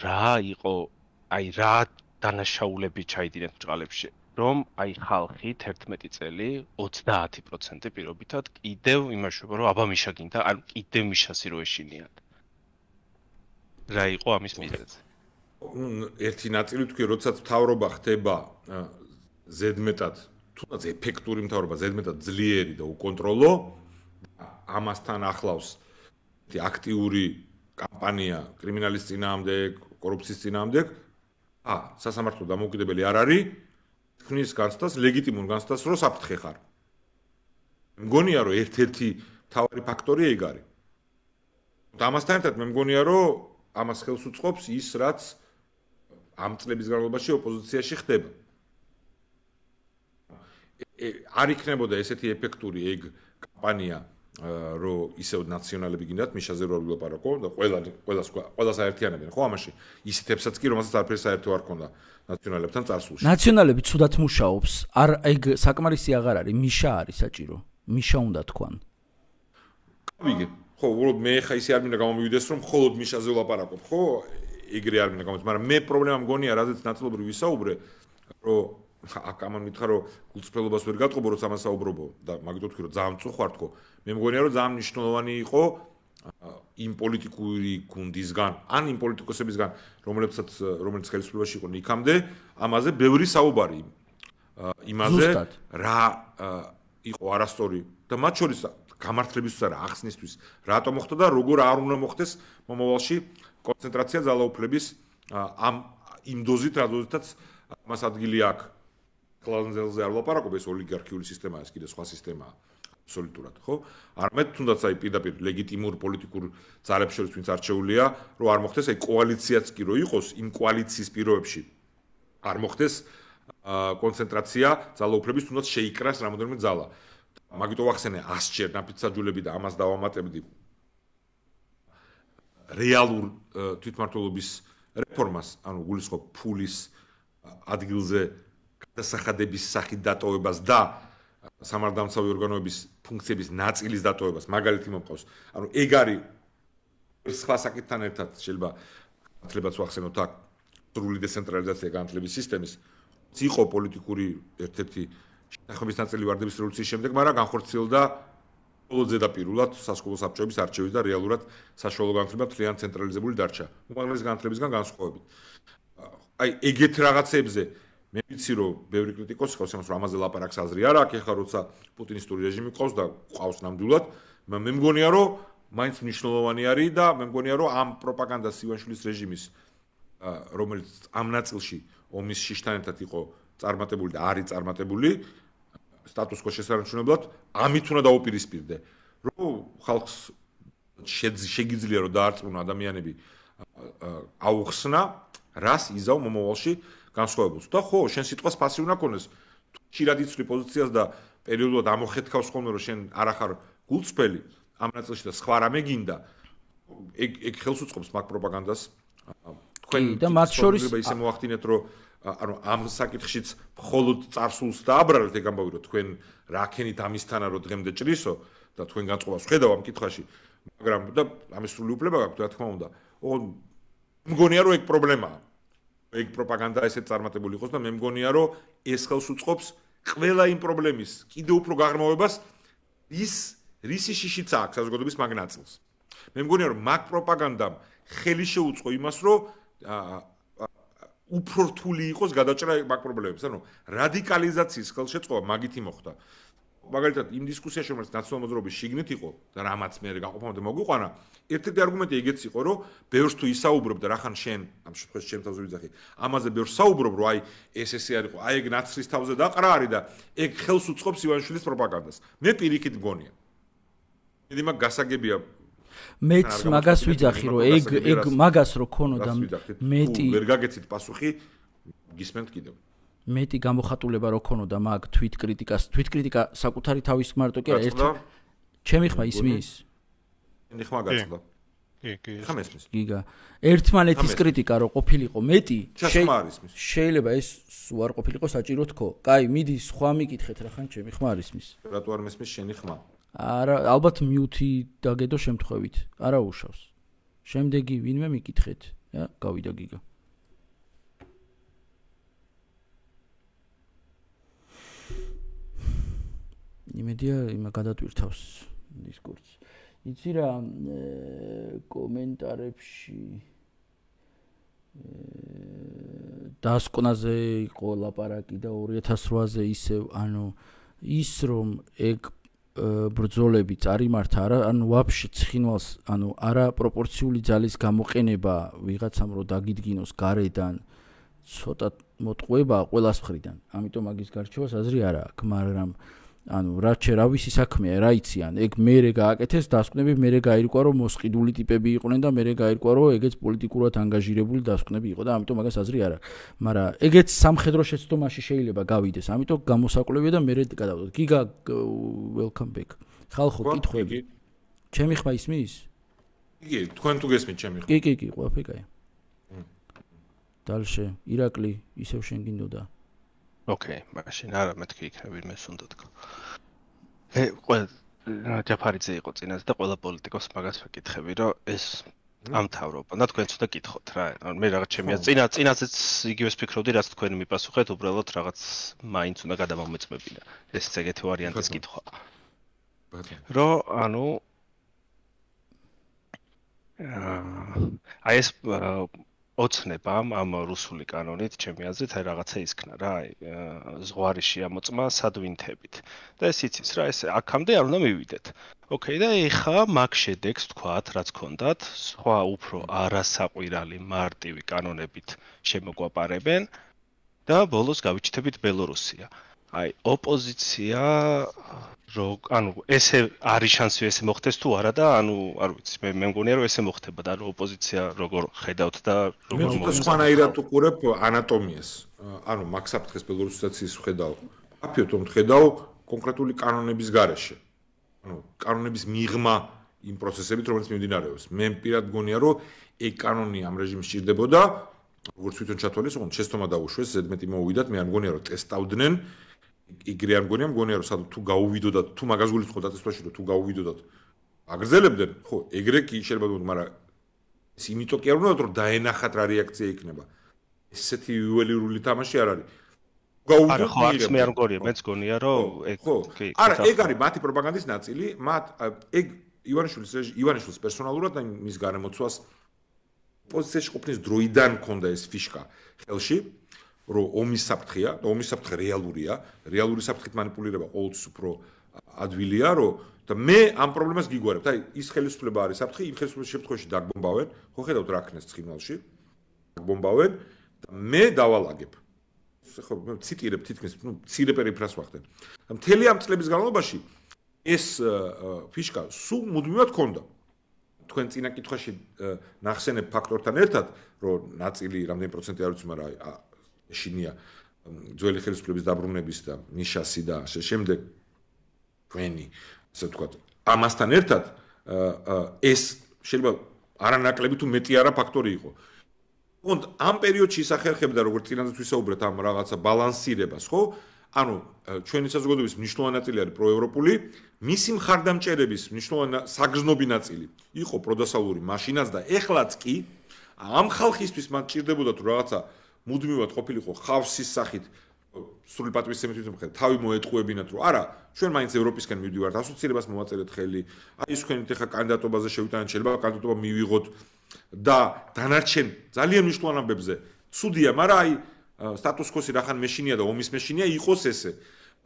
Speaker 3: რა იყო, აი რა დანაშაულები ჩაიდინეთ ბჭყალებში, რომ აი ხალხი 11 წელი 30% პირობითად კიდევ იმაშუება, რომ აბამიშა გინდა, ან კიდევ მიშასი რო ეშინიათ. რა იყო ამის მიზეზი?
Speaker 2: ერთი ნაწილი თქვი, როდესაც მთავრობა ხდება ზედმეტად, თუნდაც ეფექტური მთავრობა, ზედმეტად ძლიერი და უკონტროლო, ამასთან ახლავს აქტიური კამპანია კრიმინალის წინააღმდეგ, კორუფციის წინააღმდეგ, სასამართლო დამოუკიდებელი არ არის, თქვნის განცდას, ლეგიტიმურ განცდას, რომ საფრთხე ხარ. მგონია, რომ ერთ-ერთი მთავარი ფაქტორი ეგ არის. ამასთან ერთად მე მგონია, რომ ამას ხელს უწყობს ის, რაც ამ წლების განმავლობაში ოპოზიციაში ხდება. არ იქნებოდა ესეთი ეფექტური ეგ კამპანია, რომ ისევ ნაციონალები გინდათ მიშაზე რო ვილაპარაკო და ყველას აერთიანებენ, ხო ამაში? ისეთებსაც კი, რომელსაც არაფერი საერთო არ ქონდა ნაციონალებთან წარსულში.
Speaker 1: ნაციონალები ცუდად მუშაობს, არ ეგ საკმარისი აღარ არის, მიშა არის საჭირო. მიშა უნდა თქვან.
Speaker 2: ვიგე, ხო, უბრალოდ მე ხა ისე არ მინდა გამომივიდეს, რომ მხოლოდ მიშაზე ვლაპარაკობ, ხო? ეგრე არ მინდა გამომივიდეს, მაგრამ მე პრობლემა მგონია, რადგან ნაწილობრივ ვისაუბრე, რომ აქ ამან მითხრა, რომ გულწრფელობას ვერ გატყობო, როცა ამას საუბრობო და მაგით ვთქვი, რომ ძალიან წუხვარ თქო. მე მგონია, რომ ძალიან მნიშვნელოვანი იყო იმ პოლიტიკური გუნდისგან, ან იმ პოლიტიკოსებისგან, რომელიც ხელისუფლებაში იყვნენ იქამდე, ამაზე ბევრი საუბარი იმაზე, რა იყო არასწორი და მათ შორის გამართლებისთვის არა, ახსნისთვის, რატომ მოხდა და როგორ არ უნდა მოხდეს მომავალში კონცენტრაცია ძალაუფლების იმ დოზით, რა დოზითაც მას ადგილი აქვს. კლანზელზე არ ვლაპარაკობ, ეს ოლიგარქიული სისტემაა, ეს კიდე სხვა სისტემაა. აბსოლუტურად, ხო? არამედ თუნდაც აი პირდაპირ ლეგიტიმურ პოლიტიკურ ძალებს შორის ვინც არჩეულია, რომ არ მოხდეს აი კოალიციაც კი რო იყოს, იმ კოალიციის პირობებში არ მოხდეს კონცენტრაცია ძალაუფლების, თუნდაც შეიკრას რამოდენიმე ძალა. მაგით ვახსენე 100-ჯერ ნაფიცაჯულები და ამას დავამატებდი რეალურ თვითმმართველობის რეფორმას, ანუ გულისხმობ ფულის ადგილზე გადასახადების სახით დატოვებას და სამართალდამცავი ორგანოების ფუნქციების ნაწილის დატოვებას, მაგალითი მომყავს. ანუ ეგ არის სხვა საკითხთან ერთად შეიძლება განათლებაც ვახსენოთ აქ სრული დეცენტრალიზაცია განათლების სისტემის. იყო პოლიტიკური ერთ-ერთი შეთანხმების ნაწილი ვარდების რევოლუციის შემდეგ, მაგრამ განხორციელდა მხოლოდ ზედაპირულად სასკოლო საბჭოების არჩევის და რეალურად საშუალო განათლება მთლიან ცენტრალიზებული დარჩა. უმაღლესი განათლებისგან განსხვავებით. აი ეგეთ რაღაცებზე მე ვიცი რომ ბევრი კრიტიკოსი ხავს ამას რომ ამაზე ლაპარაკს აზრი არ აქვს ეხლა როცა პუტინისტური რეჟიმი ყავს და ყავს ნამდვილად მე მგონია რომ მაინც მნიშვნელოვანი არის და მე მგონია რომ ამ პროპაგანდას ივანიშვილის რეჟიმის რომელიც ამ ნაწილში ომის შიშთან ერთად იყო წარმატებული და არის წარმატებული სტატუს კო შესანიშნებლად ამით უნდა დაუპირისპირდე რომ ხალხს შეგიძლია რომ დაარწმუნა ადამიანები აუხსნა რას იზავ მომავალში განსხვავებულს და ხო შენ სიტყვას ფასი უნდა ქონდეს ხშირად იცვლი პოზიციას და პერიოდულად ამოხეთქავს ხოლმე რომ შენ არ ახარ გულწრფელი ამ ნაწილში და სხვა რამე გინდა ეგ ხელს უწყობს მაგ პროპაგანდას თქვენ
Speaker 1: და მათ შორის
Speaker 2: ისე მოახდინეთ რომ ანუ ამ საკითხშიც მხოლოდ წარსულს დააბრალეთ ეგ ამბავი რომ თქვენ რა ქენით ამისთანა რომ დღემდე ჭრისო და თქვენ განწყობას ხედავ ამ კითხვაში მაგრამ და ამის სრული უფლება გაქვთ რა თქმა უნდა მგონია რომ ეგ პრობლემაა ეგ პროპაგანდა ესეც წარმატებული იყოს და მე მგონია რომ ეს ხელს უწყობს ყველა იმ პრობლემის კიდევ უფრო გაღრმავებას რისი შიშიც აქვს საზოგადოების მაგ ნაწილს მე მგონია რომ მაგ პროპაგანდამ ხელი შეუწყო იმას რომ უფრო რთული იყოს გადაჭრა მაგ პრობლემებს ანუ რადიკალიზაციის ხელშეწყობა მაგითი მოხდა მაგალითად იმ დისკუსიაში რომელიც ნაციონალურ მოძრაობის შიგნით იყო და რამაც მე გაყოფამდე მოგვიყვანა ერთ-ერთი არგუმენტი ეგეც იყო რომ ბევრს თუ ისაუბრობ და რახან შენ ამ შემთხვევაში ჩემ თავზე ვიძახი ამაზე ბევრს საუბრობ რომ აი ეს არ იყო აი ეგ ნაცრის თავზე დაყრა არის და ეგ ხელს უწყობს ივანიშვილის პროპაგანდას მე პირიქით მგონია მე მაგ გასაგებია
Speaker 1: მეც მაგას ვიძახი რომ ეგ მაგას რო ქონოდა მეტი
Speaker 2: ვერ გაგეცით პასუხი გისმენთ კიდევ
Speaker 1: მეტი გამოხატულება რო ქონოდა მაგ თვით კრიტიკა საკუთარი თავის მარტო კი არა ჩემი ხმა ისმის
Speaker 2: შენი ხმა გაწყდა
Speaker 3: კი
Speaker 2: ხამესმის
Speaker 1: გიგა ერთმანეთის კრიტიკა რო ყოფილიყო მეტი შეიძლება ეს უარ ყოფილიყო საჭირო თქო კაი მიდი სხვა მიკითხეთ რა ხან ჩემი ხმა არის მის
Speaker 2: რატო არ მესმის შენი ხმა
Speaker 1: არა ალბათ მიუთი დაგედო შემთხვევით არა უშავს შემდეგი ვინმე მიკითხეთ გავიდა გიგა იმედია იმა გადატვირთავს დისკურსს იცი რა კომენტარებში დასკვნაზე იყო ლაპარაკი და 2008-ზე ისევ ანუ ის რომ ეგ ბრძოლები წარიმართა არა ანუ ვაფშე ცხინვალს ანუ არა პროპორციული ძალის გამოყენება ვიღაცამ რო დაგიდგინოს გარედან ცოტა მოტყუება ყველას მხრიდან ამიტომ მაგის გარჩევას აზრი არა აქვს მაგრამ ანუ რა ვიცი საქმეა რა იციან ეგ მერე გააკეთეს დასკვნები მერე გაირკვა რომ მოსყიდული ტიპები იყვნენ და მერე გაირკვა რომ ეგეც პოლიტიკურად ანგაჟირებული დასკვნები იყო და ამიტომ მაგას აზრი არა მაგრამ ეგეც სამხედრო შეცდომაში შეიძლება გავიდეს ამიტომ გამოსაკვლევია და მერე გადავდოთ გიგა welcome back ხალხო კითხვები ჩემი ხმა ისმის
Speaker 2: იგი თქვენ თუ გესმით ჩემი ხმა
Speaker 1: კი ყველაფერი კაია დალშე ირაკლი ისევ შენ გინდოდა
Speaker 3: ოკეი, მაშინ არა მეთქი იქნები მე სუნდა თქო. ყველა ჯაფარიძე იყო წინაზე და ყველა პოლიტიკოს მაგას ვეკითხები, რომ ეს ამთავრობა. და თქვენ ცოტა კითხოთ რა. მე რაღაც ჩემია წინაზეც იგივეს ფიქრობდი, რაც თქვენ მიპასუხეთ, უბრალოდ რაღაც მაინც უნდა გადამომეწმებინა. ეს ეგეთი ვარიანტის კითხვა. რომ ანუ აი ეს ოცნებამ ამ რუსული კანონით ჩემი აზრით აი რაღაცა ისქნა რა აი ზღვარი შეამოწმა სადვინთებით და ეს იცის რა ეს აქამდე არ უნდა მივიდეთ ოკეი და ეხა მაგ შედეგს თქვათ რაც ქონდათ სხვა უფრო არასაყვირალი მარტივი კანონებით შემოგვაპარებენ და ბოლოს გავიჩნდებით ბელორუსია აი ოპოზიცია ანუ ესე არის შანსი ესე მოხდეს თუ არა და ანუ არ ვიცი მე მგონია რომ ესე მოხდება და რომ ოპოზიცია როგორ ხედავთ და
Speaker 2: როგორ მე სხვანაირად უყურებ ანატომიას ანუ მაგ საფრთხეს ბელორუსიზაციის ხედავ აფიოთ რომ ხედავ კონკრეტული კანონების გარეშე ანუ კანონების მიღმა იმ პროცესებით რომელიც მიმდინარეობს მე პირად მგონია რომ ეგ კანონი ამ რეჟიმს სჭირდებოდა როგორც თვითონ ჩათვალეს ოღონდ შეცდომა დაუშვეს ზედმეტი მოუვიდათ მე არ მგონია რომ ტესტავდნენ იგრე არ მგონია რომ სადღაც თუ გაუვიდოდათ თუ მაგას გულისხმობ დაწესვაში რომ თუ გაუვიდოდათ აგრძელებდნენ ხო ეგრე კი შეიძლება მაგრამ ეს იმიტომ კი არ უნდა რომ დაენახათ რა რეაქცია იქნება ესეთი იუველირული თამაში არ არის
Speaker 3: გაუვიდოთ ხო არც მე არ მგონია მეც გონია რომ ეგ
Speaker 2: კი არა ეგ არის მათი პროპაგანდის ნაწილი მათ ეგ ივანიშვილის პერსონალურად და მის გარემოცვას პოზიციაში ყოფნის დროიდან ქონდა ეს ფიშკა ხელში რომ ომის საფრთხეა და ომის საფრთხე რეალურია რეალური საფრთხით манипуლირება ყოველთვის უფრო ადვილია რომ და მე ამ პრობლემას გიგვარებთ აი ის ხელისუფლება არის საფრთხე იმ ხელისუფლების შემთხვევაში დაგბომბავენ ხო ხედავთ რა ქნეს ცხინვალში დაგბომბავენ და მე დავალაგებ ხო მე ციტირებ თითქმის ნუ ცირე პერიფრას ვახდენ და მთელი ამ წლების განმავლობაში ეს ფიშკა სულ მუდმივად ქონდა თქვენ წინა კითხვაში ნახსენებ ფაქტორთან ერთად რომ ნაწილი რამდენი პროცენტი არ ვიცი მაგრამ შინია ძველი ხელისუფლების დაბრუნების და ნიშასი და ასე შემდეგ თქვენი ასე ვთქვათ ამასთან ერთად ეს შეიძლება არანაკლები თუ მეტი არა ფაქტორი იყო ოღონდ ამ პერიოდში ისახერხებდა როგორც წინაზეც ვისაუბრეთ ამ რაღაცა ბალანსირებას ხო ანუ ჩვენი საზოგადოების მნიშვნელოვანი ნაწილი არის პროევროპული მისი მხარდამჭერების მნიშვნელოვანი საგრძნობი ნაწილი იყო პროდასავლური მაშინაც და ეხლაც კი ამ ხალხისთვის მათ ჭირდებოდა თუ რაღაცა მუდმივად ყოფილიყო ხავსის სახით სრული პატივისცემით მიხედავთ თავი მოეტყუებინათ რომ არა ჩვენ მაინც ევროპისკენ მივდივართ ასოცირებას მოვაწერეთ ხელი აი ის თქვენით ახლა კანდიდატობაზე შევიტანეთ შეიძლება კანდიდატობა მივიღოთ და დანარჩენ ძალიან მნიშვნელოვან ამბებზე ცუდია მაგრამ აი სტატუს-კვოსი რახან მეშინია და ომის მეშინია იყოს ესე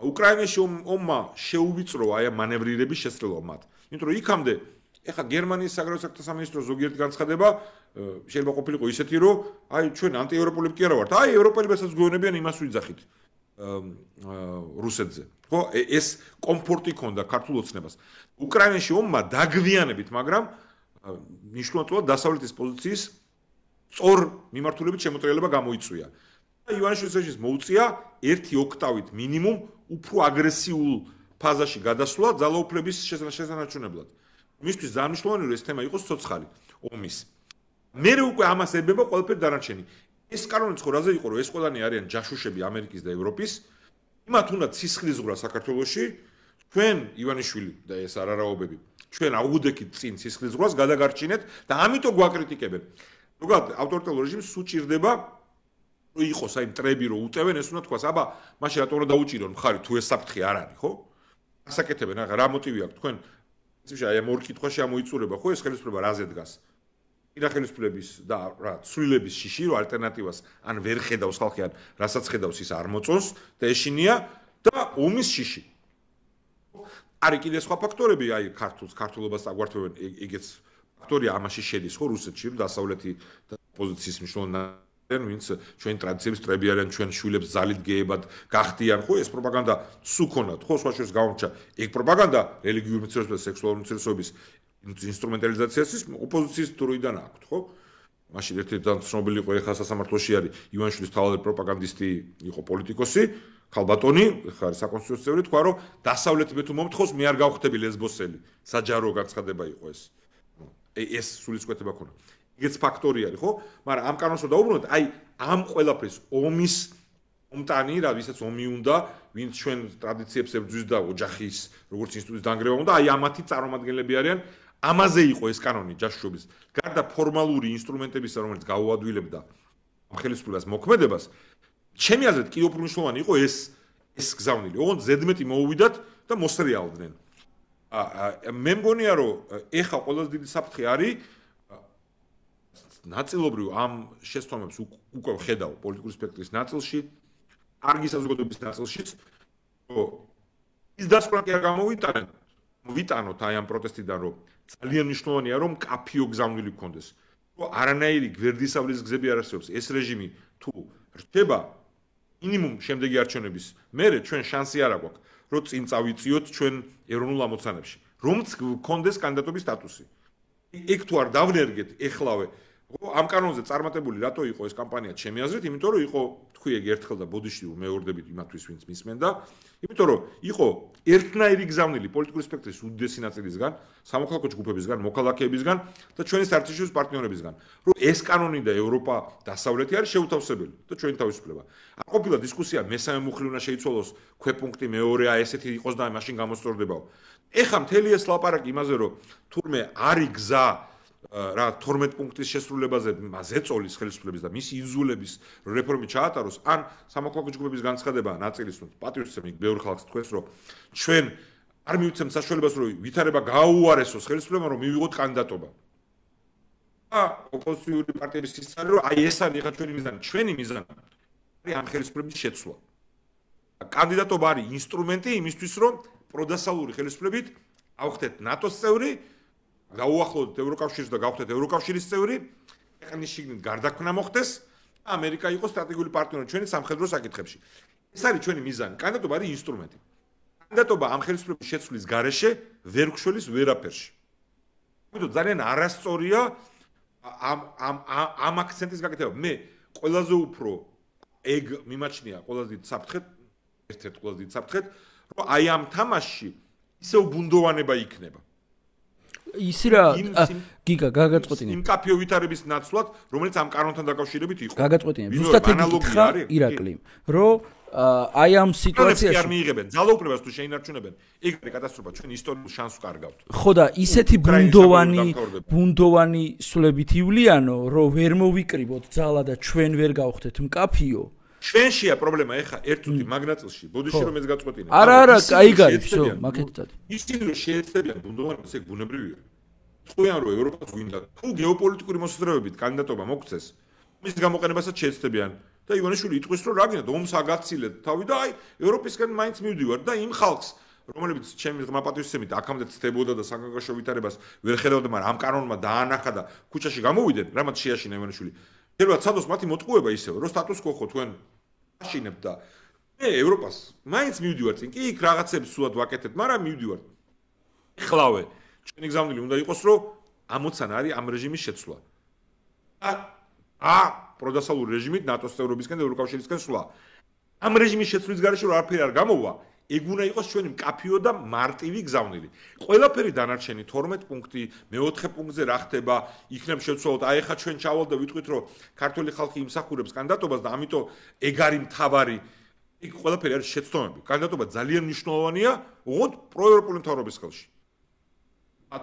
Speaker 2: უკრაინაში ომმა შეუვიწრო აი ამ მანევრირების შესაძლებლობა მათ იმიტომ რომ იქამდე ეხა გერმანიის საგარეო საქმეთა სამინისტროს ზოგიერთი განცხადება შეიძლება ყოფილიყო ისეთი რომ აი ჩვენ ანტიევროპელები კი არა ვართ აი ევროპელებსაც გვეუბნებიან იმას ვიძახით რუსეთზე ხო ეს კომფორტი ქონდა ქართულ ოცნებას უკრაინაში ომმა დაგვიანებით მაგრამ მნიშვნელოვნად დასავლეთის პოზიციის სწორ მიმართულებით შემოტრიალება გამოიწვია ივანიშვილის რეჟიმს მოუწია 1 ოქტავით მინიმუმ უფრო აგრესიულ ფაზაში გადასვლა ძალაუფლების შესანარჩუნებლად. მისთვის ძალიან ეს თემა იყოს ცოცხალი ომის. მე უკვე ამას ებება ყველაფერი დანარჩენი. ეს კანონიც ხო რაზე იყო, რომ ეს ყველანი არიან ჯაშუშები ამერიკის და ევროპის. იმათ უნდა ცისხლის ზღვრა საქართველოში, ჩვენ ივანიშვილი და ეს არარაობები, ჩვენ აუგუდექით წინ ცისხლის ზღვრას გადაგარჩინეთ და ამიტომ გვაკრიტიკებენ. ზოგადად ავტორიტარულ რეჟიმს სუჭირდება რომ იყოს აი მტრები რომ უტევენ ეს უნდა თქვას, აბა მაშინ რატომ უნდა დაუჭირონ მხარი თუ ეს საფრთხე არ არის, ხო? ასაკეთებენ, რა მოტივი აქვს თქვენ? პრინციპში აი ამ ორ კითხვაში ამოიწურება, ხო ეს ხელისუფლება რაზე დგას? ირახელისფლების და რა ცვლილების შიში რომ ალტერნატივას ან ვერ ხედავს ხალხი ან რასაც ხედავს ის არ მოწონს და ეშინია და ომის შიში. არის კიდე სხვა ფაქტორები, აი ქართულობას აგვართვევენ, ეგეც ფაქტორია ამაში შედის ხო რუსეთში, რომ დასავლეთი პოზიციის მნიშვნელოვანი ვინც ჩვენ ტრადიციებს ტრები არიან, ჩვენ შვილებს ძალით გეებად გახდიან, ხო ეს პროპაგანდა სუქონად, ხო სხვა შორის გამორჩა. ეგ პროპაგანდა რელიგიური უმცირესობის და სექსუალური უმცირესობის ინსტრუმენტალიზაციას ოპოზიციის დროიდან აქვს, ხო? მაშინ ერთ-ერთი ცნობილი იყო ეხა სასამართლოში არის ივანიშვილის თავად პროპაგანდისტი იყო პოლიტიკოსი, ქალბატონი, ხარ საკონსტიტუციო წევრი, თქვა რომ დასავლეთი მე თუ მომთხოვს, მე არ გავხდები ლესბოსელი. საჯარო განცხადება იყო ეს. ეს სულისკვეთება ქონა. ეგეც ფაქტორი არის, ხო? მაგრამ ამ კანონს რომ დაუბრუნოთ, აი ამ ყველაფრის ომის ომტანი რა, ვისაც ომი უნდა, ვინც ჩვენ ტრადიციებს ებრძვის და ოჯახის როგორც ინსტიტუტის დანგრევა უნდა, აი ამათი წარმომადგენლები არიან. ამაზე იყო ეს კანონი ჯაშუშობის. გარდა ფორმალური ინსტრუმენტებისა, რომელიც გაუადვილებდა ამ ხელისუფლებას მოქმედებას, ჩემი აზრით კიდევ უფრო მნიშვნელოვანი იყო ეს გზავნილი. ოღონდ ზედმეტი მოუვიდათ და მოსრიალდნენ. მე მგონია, რომ ეხა ყველაზე დიდი საფრთხე არის ნაწილობრივ ამ შესწავლებს უკვე ხედავ პოლიტიკური სპექტრის ნაწილში, კარგი საზოგადოების ნაწილშიც, რომ ის დასკვნა კი არ გამოვიტანენ, ვიტანოთ აი ამ პროტესტიდან, რომ ძალიან მნიშვნელოვანია რომ კაფიო გზავნილი გქონდეს. რომ არანაირი გვერდისავლის გზები არ არსებობს. ეს რეჟიმი თუ რჩება მინიმუმ შემდეგი არჩევნების მერე ჩვენ შანსი არ აქვს, რომ წინ წავიწიოთ ჩვენ ეროვნულ ამოცანებში. რომც გქონდეს კანდიდატობის სტატუსი. ეგ თუ არ დავნერგეთ ეხლავე ამ კანონზე წარმატებული რატო იყო ეს კამპანია ჩემი აზრით, იმიტომ რომ იყო თქვი ეგ ერთხელ და ბოდიში მეორდებით იმათვის ვინც მისმენდა, იმიტომ რომ იყო ერთნაირი გზავნილი პოლიტიკური სპექტრის უდიდესი ნაწილისგან, სამოქალაქო ჯგუფებისგან, მოქალაქეებისგან და ჩვენი საერთაშორისო პარტნიორებისგან, რომ ეს კანონი და ევროპა დასავლეთი არის შეუთავსებელი და ჩვენი თავისუფლება. არ ყოფილა დისკუსია მესამე მუხლი უნდა შეიცვალოს, ქვეპუნქტი მეორეა, ესეთი იყოს და მაშინ გამოსწორდებაო. ეხა მთელი ეს ლაპარაკი იმაზე რომ თურმე არის გზა რა 12 პუნქტის შესრულებაზე ზეწოლის ხელისუფლების და მისი იზოლების რეფორმი ჩაატაროს ან სამოქალაქო ჯგუფების განცხადება ნაწილის რომ პატრიოტიზმი ბევრ ხალხს თქვეს რომ ჩვენ არ მივიცემთ საშუალებას რომ ვითარება გააუარესოს ხელისუფლებამ რომ მივიღოთ კანდიდატობა. ოპოზიციური პარტიების სისტემი რომ აი ეს არის ხა ჩვენი მიზანი არის ამ ხელისუფლების შეცვლა. კანდიდატობა არის ინსტრუმენტი იმისთვის რომ პროდასალური ხელისუფლებით ავხდეთ ნატოს წევრი გაუახლოვდეთ ევროკავშირს და გავხდეთ ევროკავშირის წევრი, ქვეყნის შიგნით გარდაქმნა მოხდეს და ამერიკა იყოს სტრატეგიული პარტნიორი ჩვენი სამხედრო საკითხებში. ეს არის ჩვენი მიზანი. კანდიდატობა არის ინსტრუმენტი. კანდიდატობა ამ ხელისუფლების შეცვლის გარეშე ვერ გშველის ვერაფერში. ამიტომ ძალიან არასწორია ამ აქცენტის გაკეთება. მე ყველაზე უფრო ეგ მიმაჩნია ყველაზე დიდ საფრთხედ, ერთ-ერთ ყველაზე დიდ საფრთხედ, რომ აი ამ თამაშში ისევ ბუნდოვანება იქნება.
Speaker 1: ისი რა გიგა გაგაწყვეტინე
Speaker 2: იმ კაფიო ვითარების ნაცვლად რომელიც ამ კანონთან დაკავშირებით იყო
Speaker 1: გაგაწყვეტინე ზუსტად ეგ ირაკლი რომ აი ამ სიტუაციაში
Speaker 2: არ მიიღებენ ძალაუფლებას თუ შეინარჩუნებენ ეგ არის კატასტროფა ჩვენ ისტორიულ შანსს კარგავთ
Speaker 1: ხო და ისეთი ბუნდოვანი სულებით ივლიანო რომ ვერ მოვიკრიბოთ ძალა და ჩვენ ვერ გავხდეთ მკაფიო
Speaker 2: ჩვენშია პრობლემა ეხა ერთ წუთი მაგნაწილში ბოდიში რომ ეს გაწყვეტინე
Speaker 1: არა კაი გაქვს всё მაგეთად
Speaker 2: ისინი რომ შეეცდებიან ბუნდოვანებას ეგ ბუნებრივია თქვენ რომ ევროპას გვინდა თუ გეოპოლიტიკური მოსაზრებებით კანდიდატობა მოგცეს მის გამოყენებასაც შეეცდებიან და ივანიშვილი იტყვის რომ რა გინდა ომს აგაცილეთ თავი და აი ევროპისკენ მაინც მივდივარ და იმ ხალხს რომელიც ჩემი ღრმა პატრიოტიზმით აქამდე ცდებოდა და საგანგაშო ვითარებას ვერ ხედავდა მაგრამ ამ კანონმა დაანახა და ქუჩაში გამოვიდნენ რამაც შეაშინა ივანიშვილი შეიძლება ცადოს მათი მოტყუება ისევ რომ სტატუს კო ხო თქვენ აშინებთ და მე ევროპას მაინც მივდივარ წინ კი იქ რაღაცებს სულად ვაკეთებ მაგრამ მივდივარ ეხლავე ჩვენი გზავნილი უნდა იყოს რომ ამოცანა არის ამ რეჟიმის შეცვლა პროდასალური რეჟიმით ნატოს წევრობისკენ და ევროკავშირისკენ სვლა. ამ რეჟიმის შეცვლის გარეშე რა არაფერი არ გამოვა, ეგ უნდა იყოს ჩვენი მკაფიო და მარტივი გზავნილი. ყველაფერი დანარჩენი 12 პუნქტი, მე-4 პუნქტზე რა ხდება, იქნებ შეცვალოთ, აი ხა ჩვენ ჩავალ და ვიტყვით, რომ ქართული ხალხი იმსახურებს კანდიდატობას და ამიტომ ეგ არის მთავარი, ეგ ყველაფერი არის შეცდომები. კანდიდატობა ძალიან მნიშვნელოვანია, ოღონდ პროევროპული მთავრობის ხელში.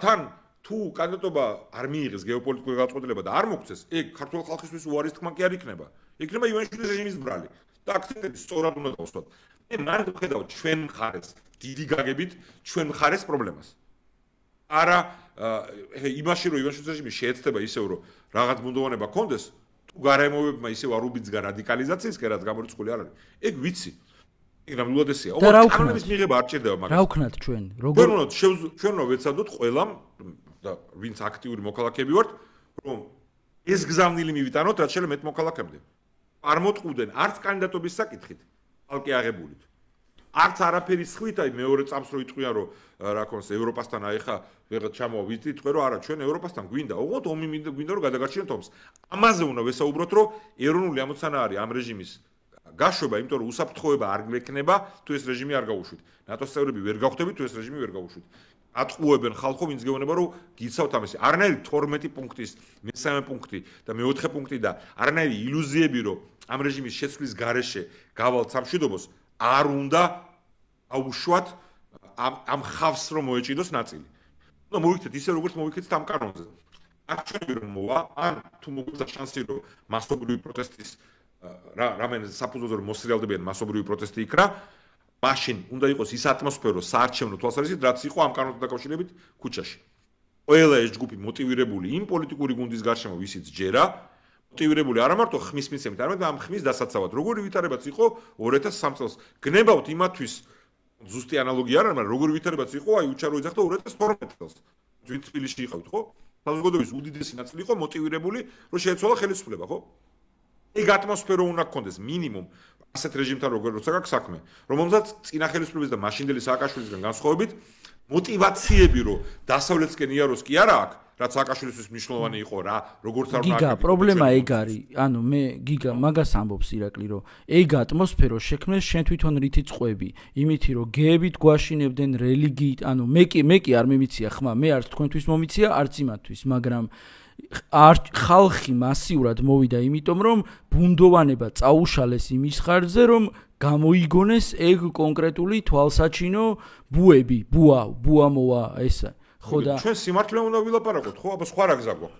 Speaker 2: თან თუ კანდიდატობა არ მიიღეს გეოპოლიტიკური გადაწყვეტილება და არ მოგცეს, ეგ ქართულ ხალხისთვის უარის თქმა კი არ იქნება. იქნება ივანიშვილის რეჟიმის ბრალი. და აქცენტები სწორად უნდა დავსვათ. მე მარტო ვხედავ ჩვენ მხარეს, დიდი გაგებით ჩვენ მხარეს პრობლემას. არა იმაში რომ ივანიშვილის რეჟიმი შეეცდება ისევ რომ რაღაც ბუნდოვანება კონდეს, თუ გარემოებმა ისევ არ უბიძგა რადიკალიზაციისკენ, რაც გამორიცხული არ არის. ეგ ვიცი. ეგ ნამდვილად ესეა.
Speaker 1: კანონის
Speaker 2: მიღება არ ჭირდება მაგას.
Speaker 1: რა ვქნათ ჩვენ?
Speaker 2: როგორ ჩვენ უნდა ვეცადოთ ყველამ და ვინც აქტიური მოქალაქეები ვართ, რომ ეს გზავნილი მივიტანოთ, რაც შეიძლება მეტ მოქალაქემდე. არ მოტყუდენ არც კანდიდატობის საკითხით, ალკე აღებულით. არც არაფერი სხვით, აი მეორე წამს რო იტყვიან, რომ რა ქონს ევროპასთან აი ხა ვიღაც ჩამოვა ვიტყვი, რომ არა, ჩვენ ევროპასთან გვინდა, ოღონდ ომი გვინდა რომ გადაგარჩინოთ ომს. ამაზე უნდა ვესაუბროთ, რომ ეროვნული ამოცანა არის ამ რეჟიმის გაშვება, იმიტომ რომ უსაფრთხოება არ გვექნება, თუ ეს რეჟიმი არ გაუშვით. ნატოს წევრები ვერ გავხდებით, თუ ეს რეჟიმი ვერ გაუშვით. ატყუებენ ხალხო, ვინც გეუბნება, რომ გიცავთ ამისი. არანაირი 12 პუნქტის, მე-3 პუნქტი და მე-4 პუნქტი და არანაირი ილუზიები, რომ ამ რეჟიმის შეცვლის გარეშე გავალთ სამშვიდობოს, არ უნდა აუშვათ ამ ხავს რომ მოეჭიდოს ნაწილი. უნდა მოვიქცეთ ისე როგორც მოვიქცეთ ამ კანონზე. არ ჩვენი რომ მოვა, ან თუ მოგვიცა შანსი რომ მასობრივი პროტესტის რამენ საფუძველზე რომ მოსრიალდებიან მასობრივი პროტესტი იქრა, მაშინ უნდა იყოს ის ატმოსფერო საარჩევნო თვალსაზრისით, რაც იყო ამ კანონთან დაკავშირებით ქუჩაში. ყველა ეს ჯგუფი მოტივირებული იმ პოლიტიკური გუნდის გარშემო, ვისიც ჯერა, მოტივირებული არა მარტო ხმის მიცემით, არამედ ამ ხმის დასაცავად. როგორი ვითარებაც იყო 2003 წელს. გნებავთ იმათვის ზუსტი ანალოგია არ არის, მაგრამ როგორი ვითარებაც იყო, აი უჩარო იძახდა 2012 წელს. ვინც თბილისში იყავით, ხო? საზოგადოების უდიდესი ნაწილი იყო მოტივირებული, რომ შეეცვალა ხელისუფლება, ხო? ეგ ატმოსფერო უნდა გქონდეს მინიმუმ ასეთ რეჟიმთან როცა გაქვს საქმე, რომელსაც წინა ხელისუფლების და მაშინდელი სააკაშვილისგან განსხვავებით მოტივაციები რომ დასავლეთსკენ იაროს კი არა აქვს, რაც სააკაშვილისთვის მნიშვნელოვანი იყო რა, როგორც არ უნდა.
Speaker 1: გიგა, პრობლემა ეგ არის. ანუ მე გიგა მაგას ამბობს ირაკლი, რომ ეგ ატმოსფერო შექმნეს შენ თვითონ რითი წყვები, იმითი რომ გეებით გვაშინებდნენ რელიგიით, ანუ მე კი არ მიმიცია ხმა, მე არც თქვენთვის მომიცია, არც იმათთვის, მაგრამ ხალხი მასიურად მოვიდა იმიტომ რომ ბუნდოვანება წაუშალეს იმის ხარჯზე რომ გამოიგონეს ეგ კონკრეტული თვალსაჩინო ბუები, ბუა მოვა ესა. ხო და
Speaker 2: ჩვენ სიმართლე უნდა ვილაპარაკოთ, ხო? აბა სხვა რა გზა გვაქვს?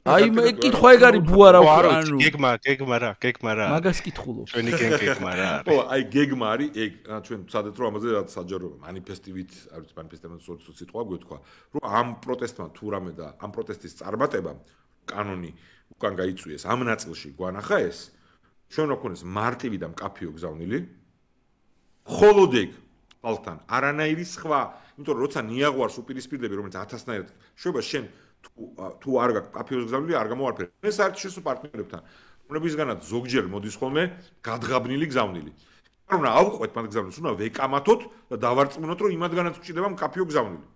Speaker 1: აი მე კითხვა ეგ არის ბუა რა ვქო, ანუ
Speaker 3: გეგმა რა.
Speaker 1: მაგას კითხულობ.
Speaker 3: ჩვენი გეგმა რა არის?
Speaker 2: ხო, აი გეგმა არის ეგ, ჩვენ ვცადეთ რომ ამაზე რაც საჯარო მანიფესტივით, არ ვიცი მანიფესტებთან სულ სიტყვა გვეთქვა, რომ ამ პროტესტმა თუ რამე და ამ პროტესტის წარმატებამ კანონი უკან გაიწვიეს ამ ნაწილში გვანახა ეს, ჩვენ რა ქონდეს მარტივი და მკაფიო გზავნილი. ხოლოდ ეგ ხალხთან არანაირი სხვა, იმიტომ რომ როცა ნიაღვარს უპირისპირდები, რომელიც 1000-ნაირად შვება შენ თუ არ გაქვს კაფეოს გზავნილი, არ გამოარფერი. მე საერთაშორისო პარტნიორებთან, რომლებისგანაც ზოგჯერ მოდის ხოლმე გადღაბნილი გზავნილი. არ უნდა ავყვეთ მათ გზავნილს, უნდა ვეკამათოთ და დავარწმუნოთ, რომ იმათგანაც გვჭირდება კაფეო გზავნილი.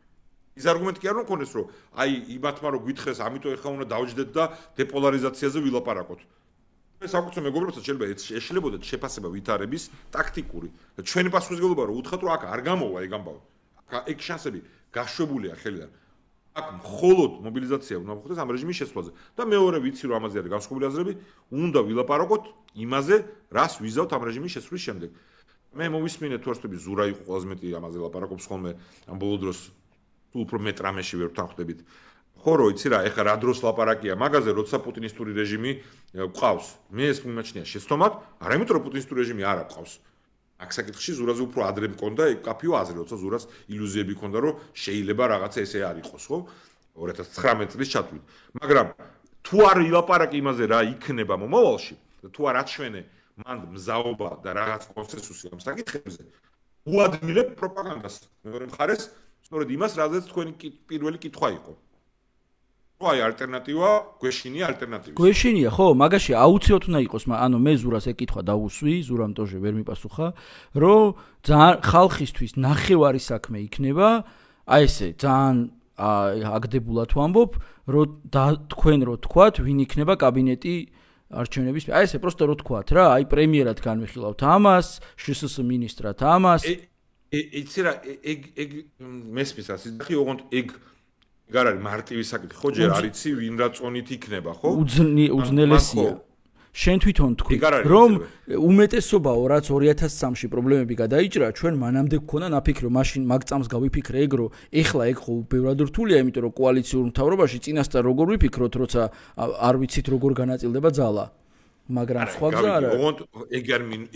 Speaker 2: ის არგუმენტი კი არ უნდა ქონდეს, რომ აი იმათმა რომ გითხეს, ამიტომ ეხლა უნდა დავჯდეთ და დეპოლარიზაციაზე ვილაპარაკოთ. მე საკუთრ მეგობრებსაც შეიძლება ეშლებოდეთ შეფასება ვითარების ტაქტიკური და ჩვენი პასუხისმგებლობა რომ უთხრათ, რომ აქ არ გამოვა ეგ ამბავი. ეგ შანსები გაშვებულია ხელიდან. აქ მხოლოდ მობილიზაცია უნდა მოხდეს ამ რეჟიმის შეცვლაზე და მეორე ვიცი რომ ამაზე არის განსხვავებული აზრები, უნდა ვილაპარაკოთ იმაზე, რას ვიზავთ ამ რეჟიმის შეცვლის შემდეგ. მე მოვისმინე თუ არსები ზურა იყო ყველაზე მეტი ამაზე ლაპარაკობს ხოლმე ამ ბოლო დროს თუ უფრო მეტ რამეში ვერ ვთანხმდებით. ხო რო იცი რა, ეხლა რა დროს ლაპარაკია მაგაზე, როცა პუტინისტური რეჟიმი ყავს. მე ეს მიმაჩნია შეცდომად, არა იმიტომ რომ პუტინისტური რეჟიმი არ აქვს. აქ საკითხში ზურაზე უფრო ადრე მქონდა ეგ კაფეო აზრი, როცა ზურას ილუზიები ჰქონდა, რომ შეიძლება რაღაცა ესე არ იყოს, ხო? 2019 წლის ჩათვლით. მაგრამ თუ არ ილაპარაკი იმაზე რა იქნება მომავალში, თუ არ აჩვენე მან მზაობა და რაღაც კონსენსუსი ამ საკითხებზე, უადმილებ პროპაგანდას. მეორე მხარეს, სწორედ იმას, რაზეც თქვენი პირველი კითხვა იყო. აი ალტერნატივა, გვეშინია ალტერნატივა.
Speaker 1: გვეშინია, ხო, მაგაში აუცილებლად უნდა იყოს, ანუ მე ზურას ეკითხვა დავუსვი, ზურამ ტოჟე ვერ მიპასუხა, რომ ძალიან ხალხისთვის ნახევარი საქმე იქნება, აი ესე, ძალიან აგდებულად ვამბობ, რომ თქვენ რო თქვათ, ვინ იქნება კაბინეტი არჩევნების. აი ესე პროსტო რო თქვათ რა, აი პრემიერად განვიხილავთ ამას, შსს მინისტრად ამას.
Speaker 2: იცი რა, ეგ მესმის რა, სიძახი ოღონდ ეგ არ არის მარტივი საკითხი, ხო, ჯერ არ იცი ვინ რა წონით იქნება, ხო?
Speaker 1: უძნელესია. შენ თვითონ თქვი, რომ უმეტესობაო რაც 2003-ში პრობლემები გადაიჭრა, ჩვენ მანამდე გქონდა ნაფიქრი, რომ მაშინ მაგ წამს გავიფიქრე ეგ, რომ ეხლა ეგ ხო ბევრად რთულია, იმიტომ რომ კოალიციურ მთავრობაში წინასწარ როგორ ვიფიქროთ, როცა არ ვიცით როგორ განაწილდება ძალა. მაგრამ სხვა გზა არა.
Speaker 2: ოღონდ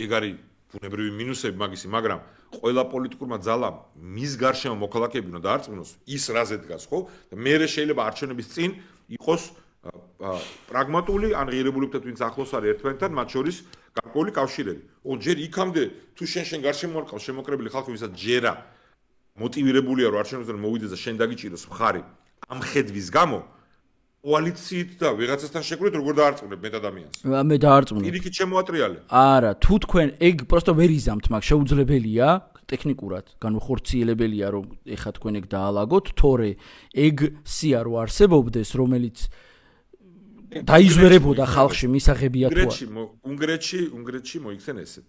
Speaker 2: ეგ არის ბუნებრივი მინუსები მაგისი, მაგრამ ყველა პოლიტიკურმა ძალამ მის გარშემო მოქალაქეები უნდა დაარწმუნოს ის რაზე დგას, ხო? და მე შეიძლება არჩევნების წინ იყოს პრაგმატული ან ღირებულებითად ვინც ახლოს არის ერთმანეთთან, მათ შორის გარკვეული კავშირები. ოღონდ ჯერ იქამდე თუ შენ გარშემო არ ყავს შემოკრებილი ხალხი, ვისაც ჯერა მოტივირებულია რომ არჩევნებიდან მოვიდეს და შენ დაგიჭიროს მხარი ამ ხედვის გამო, კოალიციით და ვიღაცასთან შეკრებით როგორ დაარწმუნებ მე ადამიანს?
Speaker 1: მე დაარწმუნებ.
Speaker 2: პირიქით შემოატრიალე.
Speaker 1: არა, თუ თქვენ ეგ პროსტო ვერ იზამთ, მაგ შეუძლებელია ტექნიკურად, განხორციელებელია რომ ეხა თქვენ ეგ დაალაგოთ, თორე ეგ სია რო არსებობდეს, რომელიც დაიზვერებოდა ხალხში მისაღებია თუ არა.
Speaker 2: უნგრეთში მოიქცენ ესე.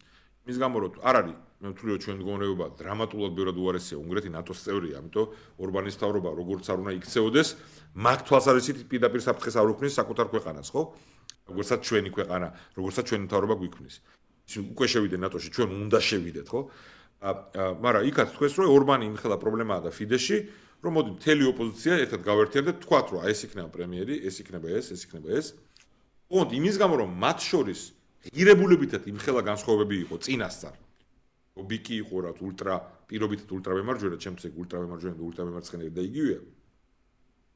Speaker 2: მის გამო რომ არ არის, მე ვთვლი რომ ჩვენ მდგომარეობა დრამატულად ბევრად უარესია, უნგრეთი ნატოს წევრია, ამიტომ ორბანის თავრობა როგორც არ უნდა იქცეოდეს, მაგ თვალსაზრისით პირდაპირ საფრთხეს არ უქმნის საკუთარ ქვეყანას, ხო? როგორცაც ჩვენი ქვეყანა, როგორცაც ჩვენი თავრობა გვიქმნის. უკვე შევიდეთ ნატოში, ჩვენ უნდა შევიდეთ, ხო? მაგრამ იქაც თქვეს რომ ორბანი იმხელა პრობლემაა და ფიდეში რომ მოდი მთელი ოპოზიცია ერთად გავერთიებდეთ, თქვათ რომ ეს იქნება პრემიერი, ეს იქნება ეს იქნება ეს. ოღონდ იმის გამო რომ მათ შორის ღირებულებითად იმხელა განსხვავებები იყო წინასწარ. ობიკი იყო რა ულტრა პირობითად ულტრავემარჯვენა, ჩემთვის ეგ ულტრავემარჯვენა და ულტრავემარცხენელი და იგივეა.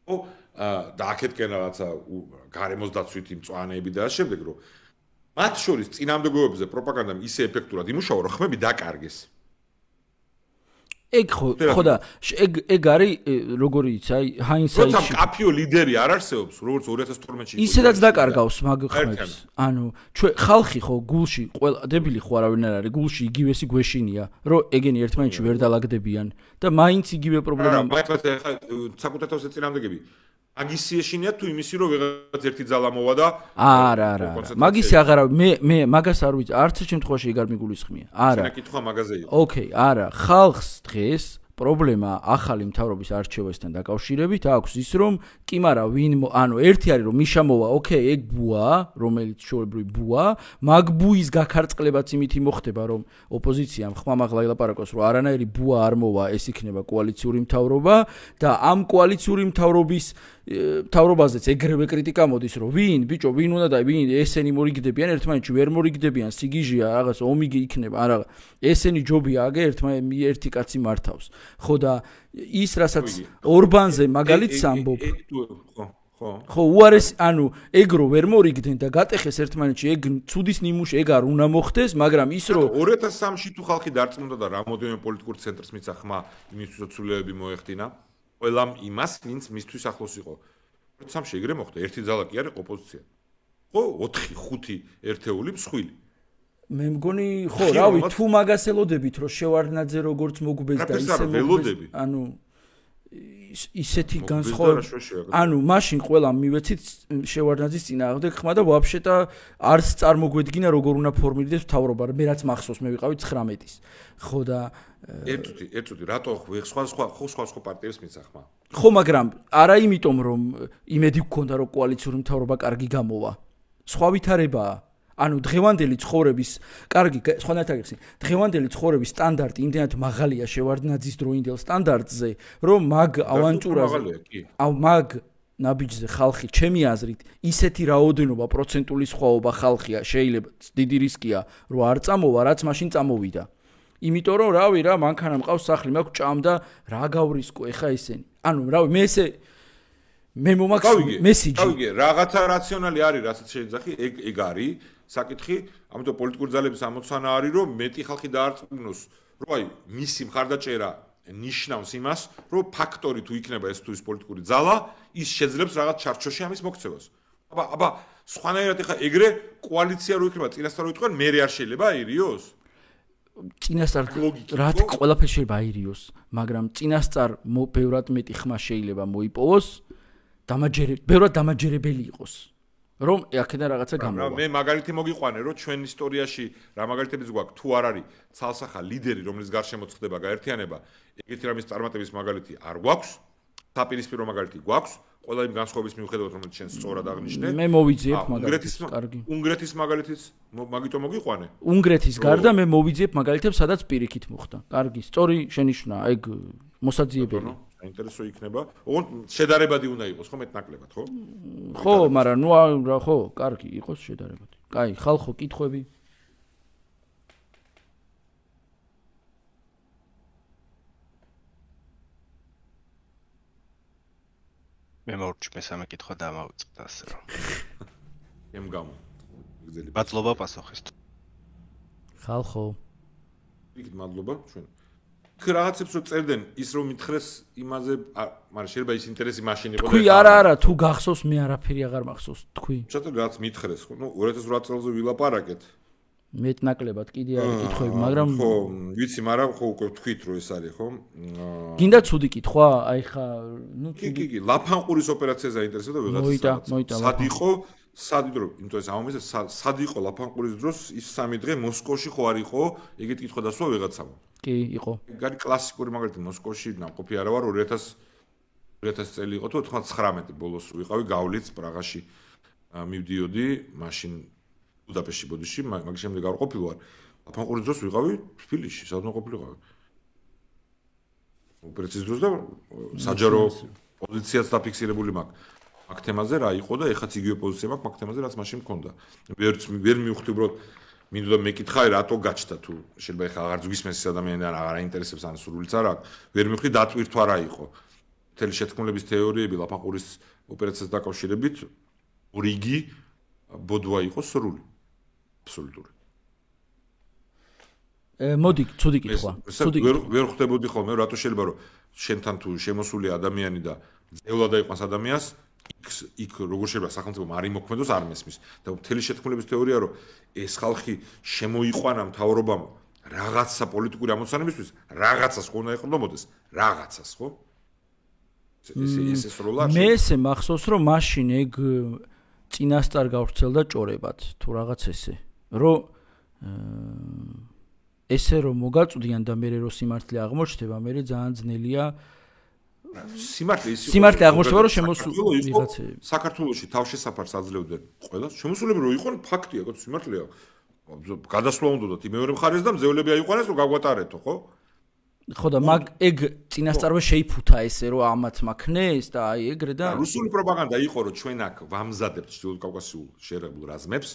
Speaker 2: ო და აქეთკენ რაღაცა გარემოს დაცვითი მწვანეები და ამ შემდეგ რომ მათ შორის წინამდებობებზე პროპაგანდამ ისე ეფექტურად იმუშავა, რომ ხმები დაკარგეს.
Speaker 1: ეგ ხო და ეგ არის როგორი იცი აი ჰაინდსაიტში
Speaker 2: როცა კაფიო ლიდერი არ არსებობს როგორც 2012-ში
Speaker 1: ისედაც დაკარგავს მაგ ხმებს ანუ ჩვენ ხალხი ხო გულში ყველა დებილი ხო არავინ არ არის გულში იგივესი გვეშინია რომ ეგენი ერთმანეთში ვერ დალაგდებიან და მაინც იგივე პრობლემა
Speaker 2: არა მაგას ახლა საკუთათავს ეწინამდეგები მაგისი ეშინია თუ იმისი რომ ვიღაც ერთი ძალა მოვა და
Speaker 1: არა მაგისი აღარა მე მაგას არ ვიცი არც შემთხვევაში ეგ არ მიგულისხმია არა
Speaker 2: ეს კითხვა მაგაზე იყო
Speaker 1: ოკეი არა ხალხს დღეს პრობლემა ახალი მთავრობის არჩევასთან დაკავშირებით აქვს ის რომ კი მარა ვინ ანუ ერთი არის რომ მიშა მოვა ოკეი ეგ ბუა რომელიც შოებრივი ბუა მაგ ბუის გაქარწყლებაც იმით მოხდება რომ ოპოზიციამ ხმამაღლა ელაპარაკოს რომ არანაირი ბუა არ მოვა ეს იქნება კოალიციური მთავრობა და ამ კოალიციური მთავრობაზეც ეგრევე კრიტიკა მოდის რომ ვინ ბიჭო ვინ უნდა და ვინ ესენი მორიგდებიან ერთმანეთში ვერ მორიგდებიან სიგიჟია რაღაც ომიგი იქნება არა ესენი ჯობია აგე ერთი კაცი მართავს ხო და ის რასაც ორბანზე მაგალითს ამბობ ხო უარეს ანუ ეგრო ვერ მორიგდნენ და გატეხეს ერთმანეთში ეგ ცუდის ნიმუში ეგ არ უნდა მოხდეს მაგრამ ის რომ
Speaker 2: 2003-ში თუ ხალხი დარწმუნდა და რამოდენიმე პოლიტიკურ ცენტრს მისცა ხმა იმისთვის ცვლილებები მოეხდინა ყველამ იმას ვინც მისთვის ახლოს იყო 2003-ში ეგრე მოხდა ერთი ძალა კი არის ოპოზიცია ხო 4-5 ერთეული მსხვილი
Speaker 1: მე მგონი ხო რავი თუ მაგას ელოდებით რომ შევარდნაძე როგორც მოგბეს და ისე მოგბეს ანუ ისეთი განსხვავება ანუ მაშინ ყველამ მივეცით შევარდნაძის წინააღმდეგ ხმა და ვაფშეტა არც წარმოგვედგინა როგორ უნდა ფორმირდეს მთავრობა მე რაც მახსოვს მე ვიყავი 19-ის ხო და
Speaker 2: ერთუდი რატო სხვა პარტიებს მისცა ხმა
Speaker 1: ხო მაგრამ არა იმიტომ რომ იმედი გქონდა რომ კოალიციური მთავრობა კარგი გამოვა სხვა ვითარებაა ანუ დღევანდელი ცხოვრების კარგი სხვანაირად აგიხსნი დღევანდელი ცხოვრების სტანდარტი იმდენად მაღალია შევარდნაძის დროინდელ სტანდარტზე რომ მაგ ავანტურაზე მაგ ნაბიჯზე ხალხი ჩემი აზრით ისეთი რაოდენობა პროცენტული სხვაობა ხალხია შეიძლება დიდი რისკია რომ არ წამოვა რაც მაშინ წამოვიდა იმიტომ რომ რავი რა მანქანა მყავს სახლი მაქვს ჭამ და რა გავრისკო ეხა ესენი ანუ რავი მე ესე მე მომაქვს მესიჯი
Speaker 2: გავიგე რაღაცა რაციონალი არის რასაც შეძახი ეგ არის საკითხი ამიტომ პოლიტიკური ძალების ამოცანა არის რომ მეტი ხალხი დაარწმუნოს რომ აი მისი მხარდაჭერა ნიშნავს იმას რომ ფაქტორი თუ იქნება ეს თუ ის პოლიტიკური ძალა ის შეძლებს რაღაც ჩარჩოში ამის მოქცევას აბა სხვანაირად ეხა ეგრე კოალიცია რო იქნება წინასწარ რო იტყვენ მე არ შეიძლება აირიოს
Speaker 1: წინასწარ რა ყველაფერი შეიძლება აირიოს მაგრამ წინასწარ ბევრად მეტი ხმა შეიძლება მოიპოვოს ბევრად დამაჯერებელი იყოს რომ აქედან რაღაცა გამოვა.
Speaker 2: მე მაგალითი მოგიყვანე, რომ ჩვენ ისტორიაში რა მაგალითებიც გვაქვს, თუ არ არის ცალსახა ლიდერი, რომლის გარშემო ხდება გაერთიანება, ეგეთი რამის წარმატების მაგალითი არ გვაქვს, საპირისპირო მაგალითი გვაქვს, ყველა იმ განსხვავების მიუხედავად, რომელიც შენ სწორად აღნიშნე.
Speaker 1: მე მოვიძიებ მაგალითს, კარგი.
Speaker 2: უნგრეთის მაგალითიც მაგითო მოგიყვანე.
Speaker 1: უნგრეთის გარდა მე მოვიძიებ მაგალითებს, სადაც პირიქით მოხდა. კარგი, სწორი შენიშვნა, ეგ მოსაძიებელი.
Speaker 2: საინტერესო იქნება. ოღონდ შედარებადი უნდა იყოს, ხო, მეტნაკლებად, ხო?
Speaker 1: ხო, მაგრამ ნუ რა ხო, კარგი, იყოს შედარებადი. კაი, ხალხო, კითხვები?
Speaker 3: მე მორჩ მესამე კითხვა დამავიწყდა ასე რომ.
Speaker 2: ემ გამო. გძელი.
Speaker 3: მადლობა პასუხისთვის.
Speaker 1: ხალხო.
Speaker 2: იქით მადლობა ჩვენ. რაღაცებს რო წერდნენ ის რომ მითხრეს იმაზე, მაგრამ შეიძლება ის ინტერესი მაშინ იყო და
Speaker 1: თქვი არა, თუ გახსოვს მე არაფერი აღარ მახსოვს, თქვი.
Speaker 2: შეთო რაც მითხრეს, ხო, ნუ 2008 წელზე ვილაპარაკეთ.
Speaker 1: მეტნაკლებად კიდე არის კითხვები, მაგრამ
Speaker 2: ხო, ვიცი, მაგრამ ხო უკვე თქვით რომ ეს არის, ხო?
Speaker 1: გინდა ცუდი კითხვა? აი ხა, ნუ
Speaker 2: კი, ლაფანყურის ოპერაცია საინტერესოა ვიღაცა. სად იყო? სად დრო, იმიტომ ეს ამომეზე სად იყო ლაფანყურის დროს ის 3 დღე მოსკოვში ხო არ იყო? ეგეთ კითხვა დასვა ვიღაცამ.
Speaker 1: კი, იყო.
Speaker 2: გარი კლასიკური მაგალითი მოსკოვში ნაყოფი არა ვარ 2000 წელი იყო თუ 99 ბოლოს ვიყავი გავლიც პრაღაში მივდიოდი მაშინ ბუდაპეშტში ბოდიში მაგ შემდეგ არ ყოფილი ვარ ლაფანყურის დროს ვიყავი თბილისში სადღაც ყოფილიყავი ოპერაციის დროს და საჯარო პოზიციაც დაფიქსირებული მაქვს მაგ თემაზე რა იყო და ეხაც იგივე პოზიცია მაქვს მაგ თემაზე რაც მაშინ მქონდა ვერ მივხვდი უბრალოდ მინდოდა მეკითხა რატო გაჩნდა თუ შეიძლება ეხა აღარ ზგვისმეს ეს ადამიანი და აღარ აინტერესებს ან სრულიც არ აქვს ვერ მივხვდი დატვირთვა რა იყო მთელი შეთქმულების თეორიები ლაფანყურის ოპერაციას დაკავშირებით რიგი ბოდვა იყო სრული აბსოლუტური
Speaker 1: მოდი ცუდი კითხვა
Speaker 2: ვერ ხვდებოდი ხოლმე რატო შეიძლება რომ შენთან თუ შემოსული ადამიანი და ძევლად აიყვანს ადამიანს იქ როგორ შეიძლება სახელმწიფო არ იმოქმედოს არ მესმის და მთელი შეთქმულების თეორია რომ ეს ხალხი შემოიყვანა მთავრობამ რაღაცა პოლიტიკური ამოცანებისთვის რაღაცას ხო უნდა ეყრდნობოდეს რაღაცას ხო ეს როლა
Speaker 1: მე ესე მახსოვს რომ მაშინ ეგ წინასწარ გავრცელდა ჭორებად თუ რაღაც ესე რომ ესე რომ მოგაწვდიან და მე რო სიმართლე აღმოჩნდება მე ძალიან ძნელია სიმართლე აღმოჩნდება რომ შემოსული ვიღაცები
Speaker 2: საქართველოში თავშესაფარს აძლევდნენ ყველა შემოსულები რო იყვნენ ფაქტია ხო სიმართლეა გადასვლა უნდათ მეორე მხარეს და მძევლები აიყვანეს რომ გაგვატარეთო ხო
Speaker 1: ხო და მაგ ეგ წინასწარვე შეიფუთა ესე რომ ამათ მაქნეს და აი ეგრე და
Speaker 2: რუსული პროპაგანდა იყო რომ ჩვენ აქ ვამზადებთ ჩრდილოეთ კავკასიურ შეერაგებულ რაზმებს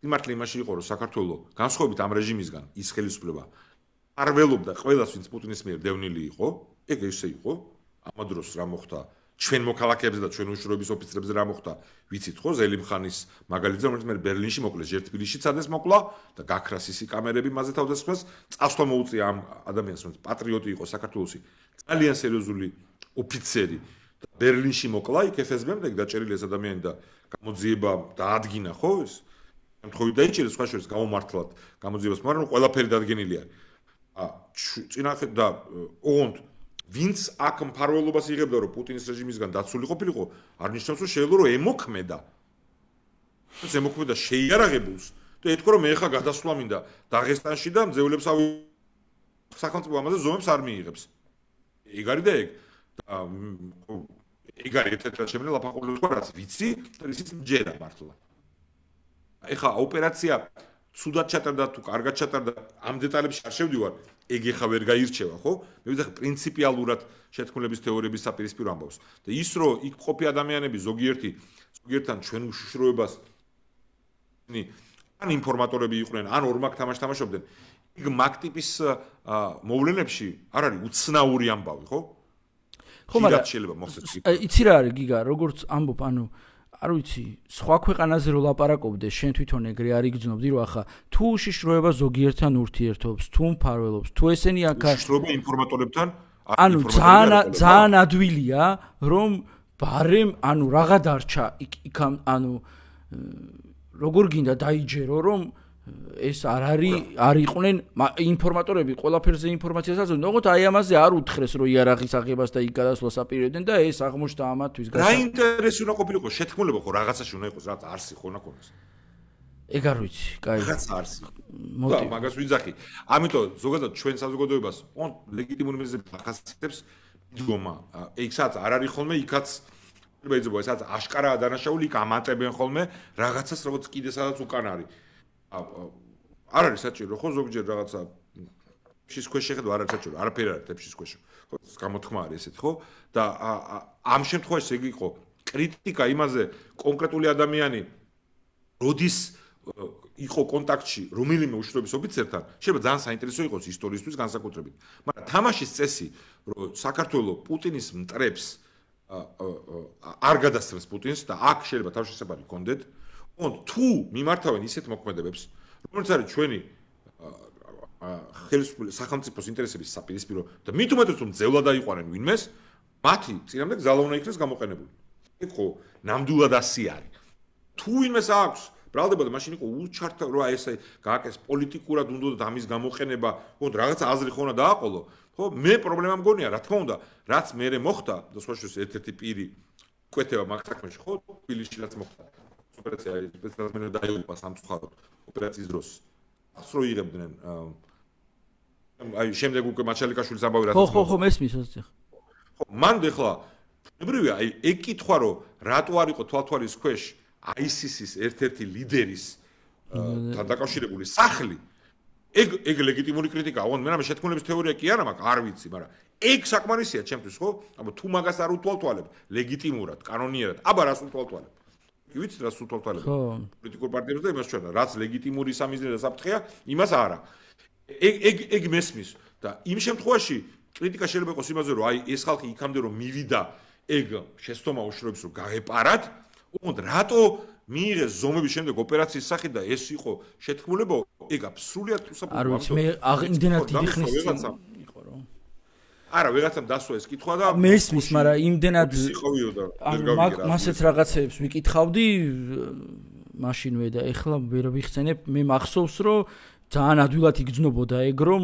Speaker 2: სიმართლე იმაში იყო რომ საქართველოს განსხვავებით ამ რეჟიმისგან ის ხელისუფლება არ ველობდა ყველას ვინც პუტინის მიერ დევნილი იყო ეგ ესე იყო ამ დროს რა მოხდა ჩვენ მოქალაქეებზე და ჩვენ უშუალობის ოფიცრებზე რა მოხდა ვიცით ხო ზელიმხანის მაგალითზე რომელიც მე ბერლინში მოკლეს ჯერ თბილისში წადეს მოკლა და გაქრას ისი კამერები მასზე თავდასხმას წასვლა მოუწია ამ ადამიანს რომელიც პატრიოტი იყო საქართველოსი ძალიან სერიოზული ოფიცერი და ბერლინში მოკლა იქ FSB-მდე დაჭერილი ეს ადამიანი და გამოძიება დაადგინა ხო ეს შემთხვევით დაიჭირეს სხვა შორის გამომართლად გამოძიებას მაგრამ ყველაფერი დადგენილი არის წინახეთ და ოღონდ ვინც აქ მფარველობას იღებდა რომ პუტინის რეჟიმისგან დაცული ყოფილიყო არ ნიშნავს რომ შეიძლება რომ ემოქმედა ეს ემოქმედა შეიარაღებულს და ეთქვა რომ მე ხა გადასვლა მინდა დაღესტანში და მძევლებს სახელმწიფო ამაზე ზომებს არ მიიღებს ეგ არის და ეგ არის ერთ-ერთი შემიძლია ლაფანყურის თქვა რაც ვიცი და ისიც მჯერა მართლა ეხა ოპერაცია ცუდად ჩატარდა თუ კარგად ჩატარდა ამ დეტალებში არ შევდივარ ეგ ეხა ვერ გაირჩევა ხო მე ვიზახ პრინციპიალურად შეთქმულების თეორიების საპირისპირო ამბავს და ის რომ იქ ყოფი ადამიანები ზოგიერთან ჩვენ უშიშროებას ან ინფორმატორები იყვნენ ან ორმაგ თამაშს თამაშობდნენ იქ მაგ ტიპის მოვლენებში არ არის უცნაური ამბავი ხო
Speaker 1: ხო მაგრამ
Speaker 2: შეიძლება მოხდეს
Speaker 1: იცი რა არის გიგა როგორც ამბობ ანუ არ ვიცი, სხვა ქვეყანაზე რო ლაპარაკობდე, შენ თვითონ ეგრე არ იგრძნობდი, რომ ახლა თუ უშიშროება ზოგიერთან ურთიერთობს, თუ მფარველობს, თუ ესენი აქ
Speaker 2: უშიშროება ინფორმატორებთან,
Speaker 1: ანუ ძალიან ადვილია, რომ ბარემ, ანუ რაღა დარჩა იქ ანუ როგორ გინდა დაიჯერო, რომ ეს არ იყვნენ ინფორმატორები ყველაფერზე ინფორმაციას აწვდიან, ოღონდ აი ამაზე არ უთხრეს რომ იარაღის აღებას და იქ გადასვლას აპირებდნენ და ეს აღმოჩნდა ამათვის
Speaker 2: რა ინტერესი უნდა ყოფილიყო შეთქმულება ხო რაღაცაში უნდა იყოს რაც არსი ხო უნდა ქონდეს
Speaker 1: ეგ არ ვიცი კაი
Speaker 2: რაღაც არსი და მაგას ვიძახი ამიტომ ზოგადად ჩვენ საზოგადოებას ლეგიტიმური მიზეზები ახასიათებს დგომა ეგ სადაც არ არის ხოლმე იქაც შეიძლება ესაც აშკარაა დანაშაული იქ ამატებენ ხოლმე რაღაცას როგორც კიდე სადაც უკან არის არ არის საჭირო ხო ზოგჯერ რაღაცა ფშის ქვეშ შეხედვა არ არის საჭირო არაფერი არ არის ფშის ქვეშ ხო გამოთქმა არის ესეთ ხო და ამ შემთხვევაში ეგ იყო კრიტიკა იმაზე კონკრეტული ადამიანი როდის იყო კონტაქტში რომელიმე უშუალობის ოფიცერთან შეიძლება ძალიან საინტერესო იყოს ისტორიისთვის განსაკუთრებით მაგრამ თამაშის წესი რომ საქართველოს პუტინის მტრებს არ გადასცემს პუტინს და აქ შეიძლება თავშესაფარი გქონდეთ თუ მიმართავენ ისეთ მოქმედებებს რომელიც არის ჩვენი ხელისუფლების სახელმწიფოს ინტერესების საპირისპირო და მით უმეტეს რომ ძევლად აიყვანენ ვინმეს მათი წინამდე გზალა უნდა იქნეს გამოყენებული ეგ ხო ნამდვილად ასე არის თუ ვინმეს აქვს ბრალდებოდა მაშინ იყო უჩართ რა ესე გააკეთეს პოლიტიკურად უნდა ამის გამოყენება ხო რაღაც აზრი ხო უნდა დააყოლო ხო მე პრობლემა მგონია რა თქმა უნდა რაც მე მოხდა და სხვა შორის ერთ-ერთი პირი კვეთება მაგ საქმეში ხო თბილისში რაც მოხდა ოპერაცია სპეციალურად დაიღუპა სამწუხაროდ ოპერაციის დროს ახსრო იღებდნენ აი შემდეგ უკვე მაჩალიკაშვილის ამბავი რაც
Speaker 1: ხო მესმის ასე
Speaker 2: ხო მან ეხლა ებრივია აი ეგ კითხვა რომ რატო არ იყო თვალთვალის ქვეშ ISIS-ის ერთ-ერთი ლიდერის თან დაკავშირებული სახლი ეგ ლეგიტიმური კრიტიკაა ოღონდ მე რამე შეთქმულების თეორია კი არა მაქვს არ ვიცი მაგრამ ეგ საკმარისია ჩემთვის ხო აბა თუ მაგას არ უთვალთვალებ ლეგიტიმურად კანონიერად აბა რას უთვალთვალებ ვიცით რას უთვალთვალებ პოლიტიკურ პარტიებს და იმას ჩვენა რაც ლეგიტიმური სამიზნე და საფრთხეა იმას არა ეგ მესმის და იმ შემთხვევაში კრიტიკა შეიძლება იყოს იმაზე რომ აი ეს ხალხი იქამდე რომ მივიდა ეგ შეცდომა უშუალოდ რომ გაეპარათ ოღონდ რატო მიიღეს ზომების შემდეგ ოპერაციის სახით და ეს იყო შეთქმულება ეგ აბსოლუტურად უსაფრთხო
Speaker 1: არ ვიცი მე იმდენად დიდი ხნის იყო რომ
Speaker 2: არა ვიღაცამ დასვა ეს კითხვა და
Speaker 1: მესმის მაგრამ იმდენად
Speaker 2: სიყოვიო
Speaker 1: მასეთ რაღაცებს ვიკითხავდი მაშინვე და ეხლა ვერ ვიხსენებ მე მახსოვს რომ ძალიან ადვილად იგრძნობოდა ეგ რომ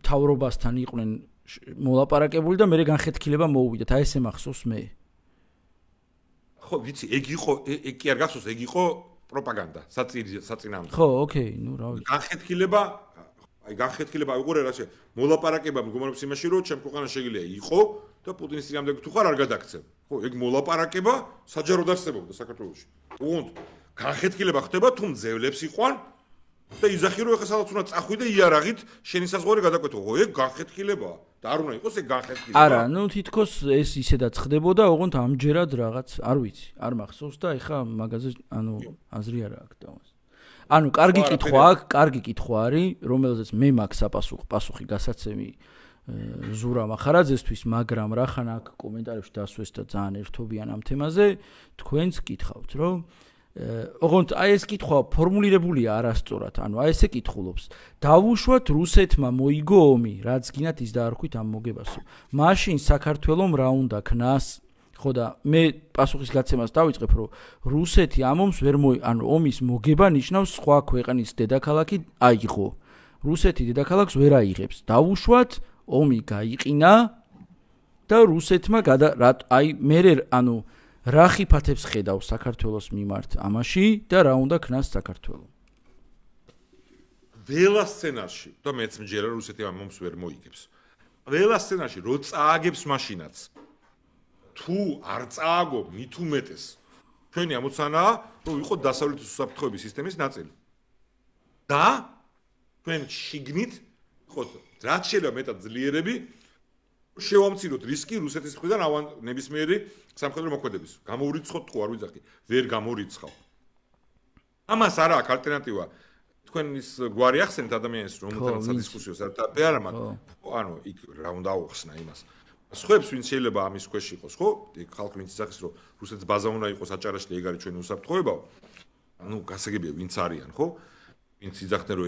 Speaker 1: მთავრობასთან იყვნენ მოლაპარაკებული და მე განხეთქილება მოუვიდათ აი ესე მახსოვს მე ხო ვიცი ეგ იყო ეგ კი არ გახსოვს ეგ იყო პროპაგანდა საწინააღმდეგო ხო ოკეი ნუ რა ვიცი
Speaker 2: განხეთქილება უყურე რა შე მოლაპარაკება მდგომარეობს იმაში რომ ჩემ ქვეყანაში შეგიძლია იყო და პუტინის წინამდე თუ ხარ არ გადაგცემ ხო ეგ მოლაპარაკება საჯაროდ არსებობდა საქართველოში უგონთ განხეთქილება ხდება თუ მძევლებს იყვან და იზახი რომ ეხლა სადაც უნდა წახვიდე იარაღით შენი საზღვარი გადაკვეთო ხო ეგ განხეთქილებაა და არ უნდა იყოს ეგ განხეთქილება
Speaker 1: არა ნუ თითქოს ეს ისედაც ხდებოდა ოღონდ ამჯერად რაღაც არ ვიცი არ მახსოვს და ეხლა მაგაზე ანუ აზრი არა აქვს დავას ანუ კარგი კითხვა არის რომელზეც მე მაქვს პასუხი გასაცემი ზურა მახარაძესთვის მაგრამ რახან აქ კომენტარებში დასვეს და ძალიან ერთობიან ამ თემაზე თქვენც კითხავთ რომ ოღონდ აი ეს კითხვა ფორმულირებულია არასწორად ანუ აი ესე კითხულობს დავუშვათ რუსეთმა მოიგო ომი რაც გინათ ის დაარქვით ამ მოგებასო მაშინ საქართველოს რა უნდა ქნას ხო და მე პასუხის გაცემას დავიწყებ რომ რუსეთი ამ ომს ვერ ანუ ომის მოგება ნიშნავს სხვა ქვეყნის დედაქალაქი აიღო რუსეთი დედაქალაქს ვერ აიღებს დავუშვათ ომი გაიყინა და რუსეთმა აი მე ანუ რა ხიფათებს ხედავს საქართველოს მიმართ ამაში და რა უნდა ქნას საქართველოს
Speaker 2: ველა სცენარში და მეც მჯერა რუსეთი ამ ომს ვერ მოიგებს ველა სცენარში რო წააგებს მაშინაც თუ არ წააგო მით უმეტეს ჩვენი ამოცანაა რომ იყო დასავლეთის უსაფრთხოების სისტემის ნაწილი და ჩვენ შიგნით ხო რაც შეიძლება მეტად ძლიერები შევამციროთ რისკი რუსეთის მხრიდან ნებისმიერი სამხედრო მოქმედების გამოურიცხოთ თუ არ ვიძახი ვერ გამორიცხავ ამას არა აქვს ალტერნატივა თქვენ ის გვარი ახსენეთ ადამიანის რომელთანაც სადისკუსიო საერთოდ არა მაგრამ ანუ იქ რა უნდა აუხსნა იმას სხვებს ვინც შეიძლება ამის ქვეშ იყოს ხო ეგ ხალხი ვინც იზახის რომ რუსეთს ბაზა უნდა იყოს აჭარაში და ეგ არის ჩვენი უსაფრთხოებაო ანუ გასაგებია ვინც არიან ხო ვინც იზახდნენ რომ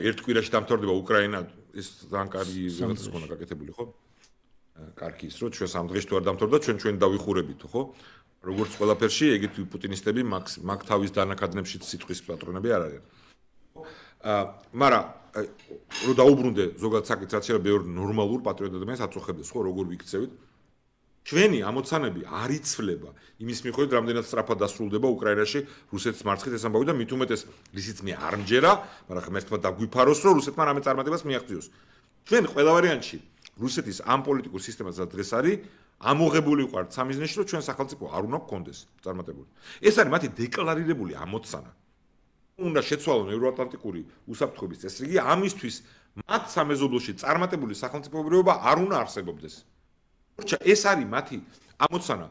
Speaker 2: ერთ კვირაში დამთავრდება უკრაინა ეს ძალიან კარგი რაღაცას ქონა გაკეთებული ხო კარგი ის რომ ჩვენ სამ დღეში თუ არ დამთავრდა ჩვენ დავიხურებით ხო როგორც ყველაფერში ეგეთი პუტინისტები მაგ თავის დანაკადნებში სიტყვის პატრონები არ არიან მაგრამ რო დაუბრუნდე ზოგადად საკითხს, რაც შეიძლება ბევრი ნორმალურ პატრიოტ ადამიანს აწუხებდეს, ხო, როგორ ვიქცევით? ჩვენი ამოცანები არ იცვლება იმის მიხედვით, რამდენად სწრაფად დასრულდება უკრაინაში რუსეთის მარცხით ეს ამბავი და მით უმეტეს რისიც მე არ მჯერა, მაგრამ ღმერთმა დაგვიფაროს, რომ რუსეთმა რამე წარმატებას მიაღწიოს. ჩვენ ყველა ვარიანტში რუსეთის ამ პოლიტიკურ სისტემას რაც დღეს არის, ამოღებული ვიყავთ სამიზნეში, რომ ჩვენ სახელმწიფო არ უნდა გქონდეს წარმატებული. ეს არის მათი დეკლარირებული ამოცანა. უნდა შეცვალონ ევროატლანტიკური უსაფრთხოების წესრიგი, ამისთვის მათ სამეზობლოში წარმატებული სახელმწიფოებრიობა არ უნდა არსებობდეს. ეს არის მათი ამოცანა.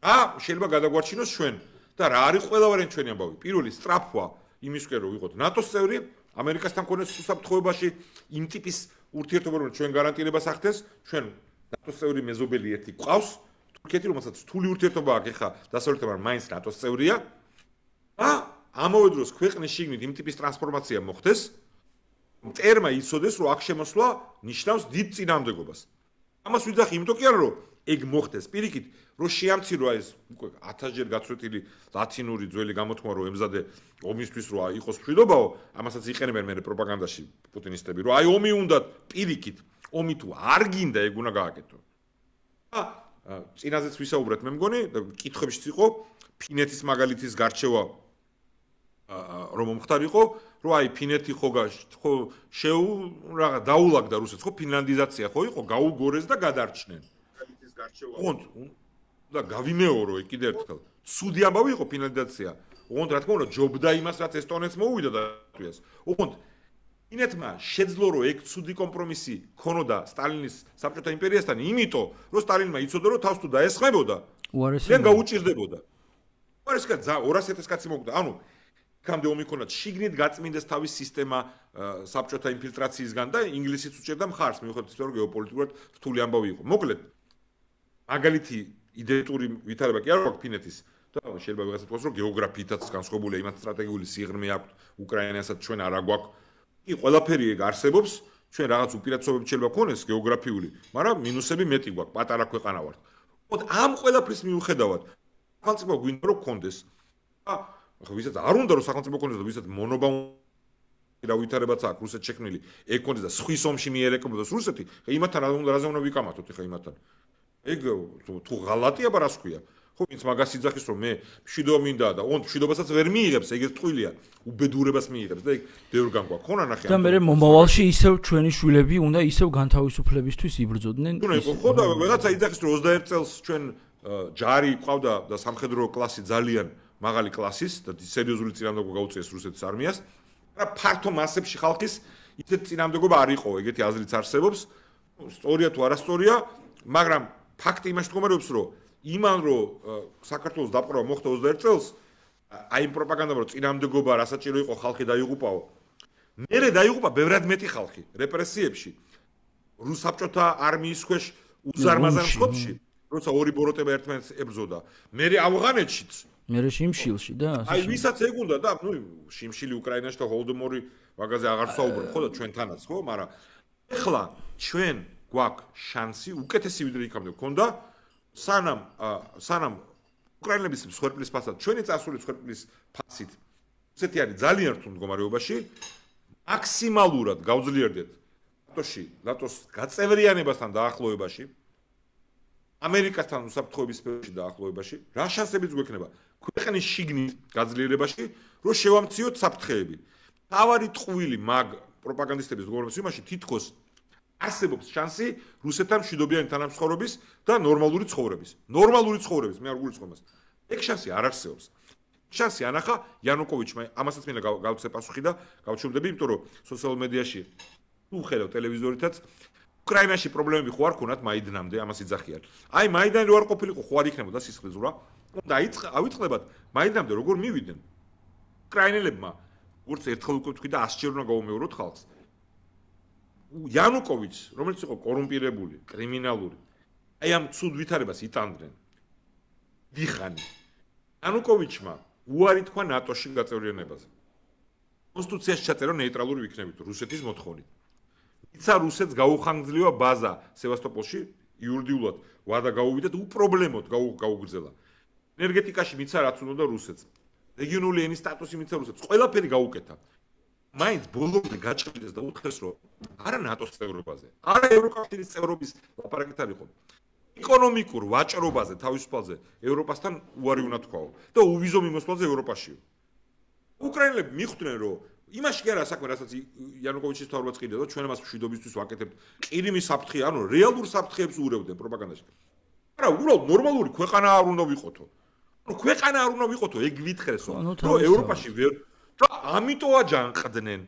Speaker 2: რა შეიძლება გადაგვარჩინოს ჩვენ და რა არის ყველა ვარიანტი ჩვენი ამბავი. პირველი სწრაფვა იმისკენ რომ ვიყოთ ნატოს წევრი, ამერიკასთან მქონდეს უსაფრთხოებაში იმ ტიპის ურთიერთობა რომ ჩვენ გარანტირებას ახდენს, ჩვენ ნატოს წევრი მეზობელი ერთი ყავს, თურქეთი რომელსაც რთული ურთიერთობა აქვს ეხა დასავლეთთან, მაინც ნატოს წევრია. და ამავე დროს ქვეყნის შიგნით იმ ტიპის ტრანსფორმაცია მოხდეს, მტერმა იცოდეს რომ აქ შემოსვლა ნიშნავს დიდ წინააღმდეგობას. ამას ვიძახი იმიტომ კი არა რომ ეგ მოხდეს პირიქით რომ შეამცირვა ეს უკვე 1000-ჯერ გაცვეთილი ლათინური ძველი გამოთქმა რომ ემზადე ომისთვის რომ იყოს მშვიდობაო ამასაც იყენებენ მე პროპაგანდაში პუტინისტები რომ აი ომი უნდა პირიქით ომი თუ არ გინდა ეგ უნდა გააკეთო და წინაზეც ვისაუბრეთ მე მგონი კითხვებშიც იყო ფინეთის მაგალითის გარჩევა რომ მომხდარიყო რომ აი ფინეთი ხო რაღაც დაულაგდა რუსეთს ხო ფინლანდიზაცია ხო იყო გაუგორეს და გადარჩნენ ოღონდ და გავიმეორო კიდე ერთხელ ცუდი ამბავი იყო ფინლანდიზაცია ოღონდ რა თქმა უნდა ჯობდა იმას რაც ესტონეთს მოუვიდა და თუიას ოღონდ ფინეთმა შეძლო რომ ეგ ცუდი კომპრომისი ქონოდა სტალინის საბჭოთა იმპერიასთან იმიტომ რომ სტალინმა იცოდა რომ თავს თუ დაესხმებოდა უარესია გაუჭირდებოდა უარესკა 200,000 კაცი მოკვდა ანუ კამდე ომი ქონდა შიგნით გაწმინდეს თავის სისტემა საბჭოთა ინფილტრაციისგან და ინგლისიც უჭერდა მხარს მიუხედავად იმისა რომ გეოპოლიტიკურად რთული ამბავი იყო მოკლედ მაგალითი იდენტური ვითარება კი არ აქვს ფინეთის და შეიძლება ვიღაცა თქვას რომ გეოგრაფიითაც განსხვავებულია იმათ სტრატეგიული სიღრმე აქვს უკრაინასაც ჩვენ არ აგვაქვს კი ყველაფერი ეგ არსებობს ჩვენ რაღაც უპირატესობები შეიძლება გქონდეს გეოგრაფიული მაგრამ მინუსები მეტი გვაქვს პატარა ქვეყანა ვართ ოღონდ ამ ყველაფრის მიუხედავად სახელმწიფო გვინდა რომ გქონდეს ახლა ვისაც არ უნდა რომ სახელმწიფო გქონდეს და ვისაც მონობა რა ვითარებაც აქვს რუსეთს შექმნილი ეგ გქონდეს და სხვის ომში მიერეკებოდეს რუსეთი იმათთან რაზე უნდა ვიკამათოთ ახლა იმათთან ეგ თუ ღალატია ბარას ქვია ხო ვინც მაგას იძახის რომ მე მშვიდობა მინდა და ოღონდ მშვიდობასაც ვერ მიიღებს ეგ ტყუილია უბედურებას მიიღებს და ეგ ბევრ განგვაქვს ხო ნახე
Speaker 1: და მე მომავალში ისევ ჩვენი შვილები უნდა ისევ განთავისუფლებისთვის იბრძოდნენ
Speaker 2: ხო და ვიღაცა იძახის რომ 21 წელს ჩვენ ჯარი ყავდა და სამხედრო კლასი ძალიან მაღალი კლასის და სერიოზული წინამდებობა გაუწიეს რუსეთის არმიას და ფართო მასებში ხალხის ისეთ წინამდებობა არ იყო ეგეთი აზრიც არსებობს სწორია თუ არასწორია მაგრამ ფაქტი იმაში მდგომარეობს რომ იმან რომ საქართველოს დაპყრობა მოხდა 21 წელს აი იმ პროპაგანდამ რომ წინამდებობა რასაჭირო იყო ხალხი დაიღუპაო მერე დაიღუპა ბევრად მეტი ხალხი რეპრესიებში რუსსაბჭოთა არმიის ქვეშ უზარმაზარ მსხვერპლში როცა ორი ბოროტება ერთმანეთს ებრძოდა მერე ავღანეთშიც
Speaker 1: მერე შიმშილში და
Speaker 2: აი ვისაც ეგ უნდა და ნუ შიმშილი უკრაინაში და ჰოლდომორი მაგაზე აღარ საუბრობ ხო და ჩვენთანაც ხო მაგრამ ეხლა ჩვენ გვაქვს შანსი უკეთესი ვიდრე იქამდე გქონდა სანამ უკრაინელების მსხვერპლის ფასად ჩვენი წასული მსხვერპლის ფასით ესეთი არის ძალიან რთულ მდგომარეობაში მაქსიმალურად გავძლიერდეთ ნატოს გაწევრიანებასთან დაახლოებაში ამერიკასთან უსაფრთხოების სფეროში დაახლოებაში რა შანსებიც გვექნება ქვეყნის შიგნით გაძლიერებაში რომ შევამციოთ საფრთხეები თავარი ტყუილი მაგ პროპაგანდისტების მდგომარეობის იმაში თითქოს არსებობს შანსი რუსეთთან მშვიდობიანი თანამცხოვრობის და ნორმალური ცხოვრების მე არ გულისხმობ მას ეგ შანსი არ არსებობს შანსი ანახა იანუკოვიჩმა ამასაც მინდა გავცე პასუხი და გავჩუმდები იმიტომ რომ სოციალურ მედიაში თუ ხედავ ტელევიზორითაც უკრაინაში პრობლემები ხო არ ქონათ მაიდანამდე ამას იძახიან აი მაიდანი რო არ ყოფილიყო ხო არ იქნებოდა სისხლიზურა და ავიწყდებათ მაიდანამდე როგორ მივიდნენ უკრაინელებმა როგორც ერთხელ უკვე თქვი და 100 ჯერ უნდა გაუმეოროთ ხალხს იანუკოვიჩს რომელიც იყო კორუმპირებული კრიმინალური აი ამ ცუდ ვითარებას იტანდნენ დიხანი იანუკოვიჩმა უარი თქვა ნატოში გაწევრიანებაზე კონსტიტუციაში ჩაწერა ნეიტრალური ვიქნებით რუსეთის მოთხოვნით იცა რუსეთს გაუხანგრძლива ბაზა სევასტოპოლში იურიდიულად ვადა გაუვიდეთ უპრობლემოდ გაუგრძელა ენერგეტიკაში მიცა რაც უნდა რუსეთს რეგიონული ენის სტატუსი მიცა რუსეთს ყველაფერი გაუკეთა მაინც ბოლომდე გაჭრიდეს და უთხრეს რომ არა ნატოს წევრობაზე, არა ევროკავშირის წევრობის ლაპარაკით არ იყო. ეკონომიკურ ვაჭრობაზე თავისუფალზე ევროპასთან უარი უნდა თქვაო და უვიზო მიმოსვლაზე ევროპაშიო. უკრაინელები მიხვდნენ რომ იმაში კი არა საქმე, რასაც იანუკოვიჩის თავრობაც ყიდდა და ჩვენ მას მშვიდობისთვის ვაკეთებთ ყირიმის საფრთხე, ანუ რეალურ საფრთხეებს უურევდნენ პროპაგანდაში. არა, უბრალოდ ნორმალური ქვეყანა არ უნდა ვიყოთო. ანუ ქვეყანა არ უნდა ვიყოთო, ეგ ვითხრესო, რომ ევროპაში ვერ ამიტომ აჯანყდნენ.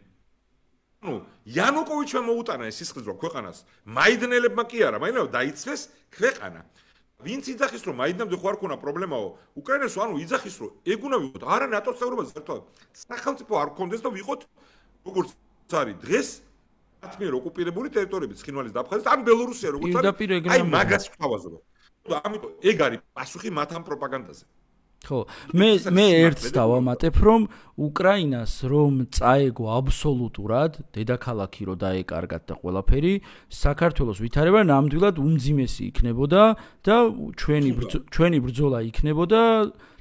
Speaker 2: ანუ იანუკოვიჩმა მოუტანა ეს სისხლძვრა ქვეყანას. მაიდნელებმა კი არა, მაგრამ დაიცვეს ქვეყანა. ვინც იძახის რომ მაიდნამდე ხო არ ქონა პრობლემაო, უკრაინას ანუ იძახის რომ ეგ უნდა ვიყოთ, არა ნატოს წევრობაზე ერთად. სახელმწიფო არ გქონდეს და ვიყოთ როგორც არის დღეს მათ მიერ ოკუპირებული ტერიტორიები, ცხინვალის და აფხაზეთის, ან ბელორუსია როგორც არის. აი მაგას ვთავაზობ. ამიტომ ეგ არის პასუხი მათ ამ პროპაგანდაზე.
Speaker 1: ხო, მე ერთს დავამატებ, რომ უკრაინას რომ წაეგო აბსოლუტურად დედაქალაქი რო დაეკარგათ და ყველაფერი, საქართველოს ვითარება ნამდვილად უმძიმესი იქნებოდა და ჩვენი ბრძოლა იქნებოდა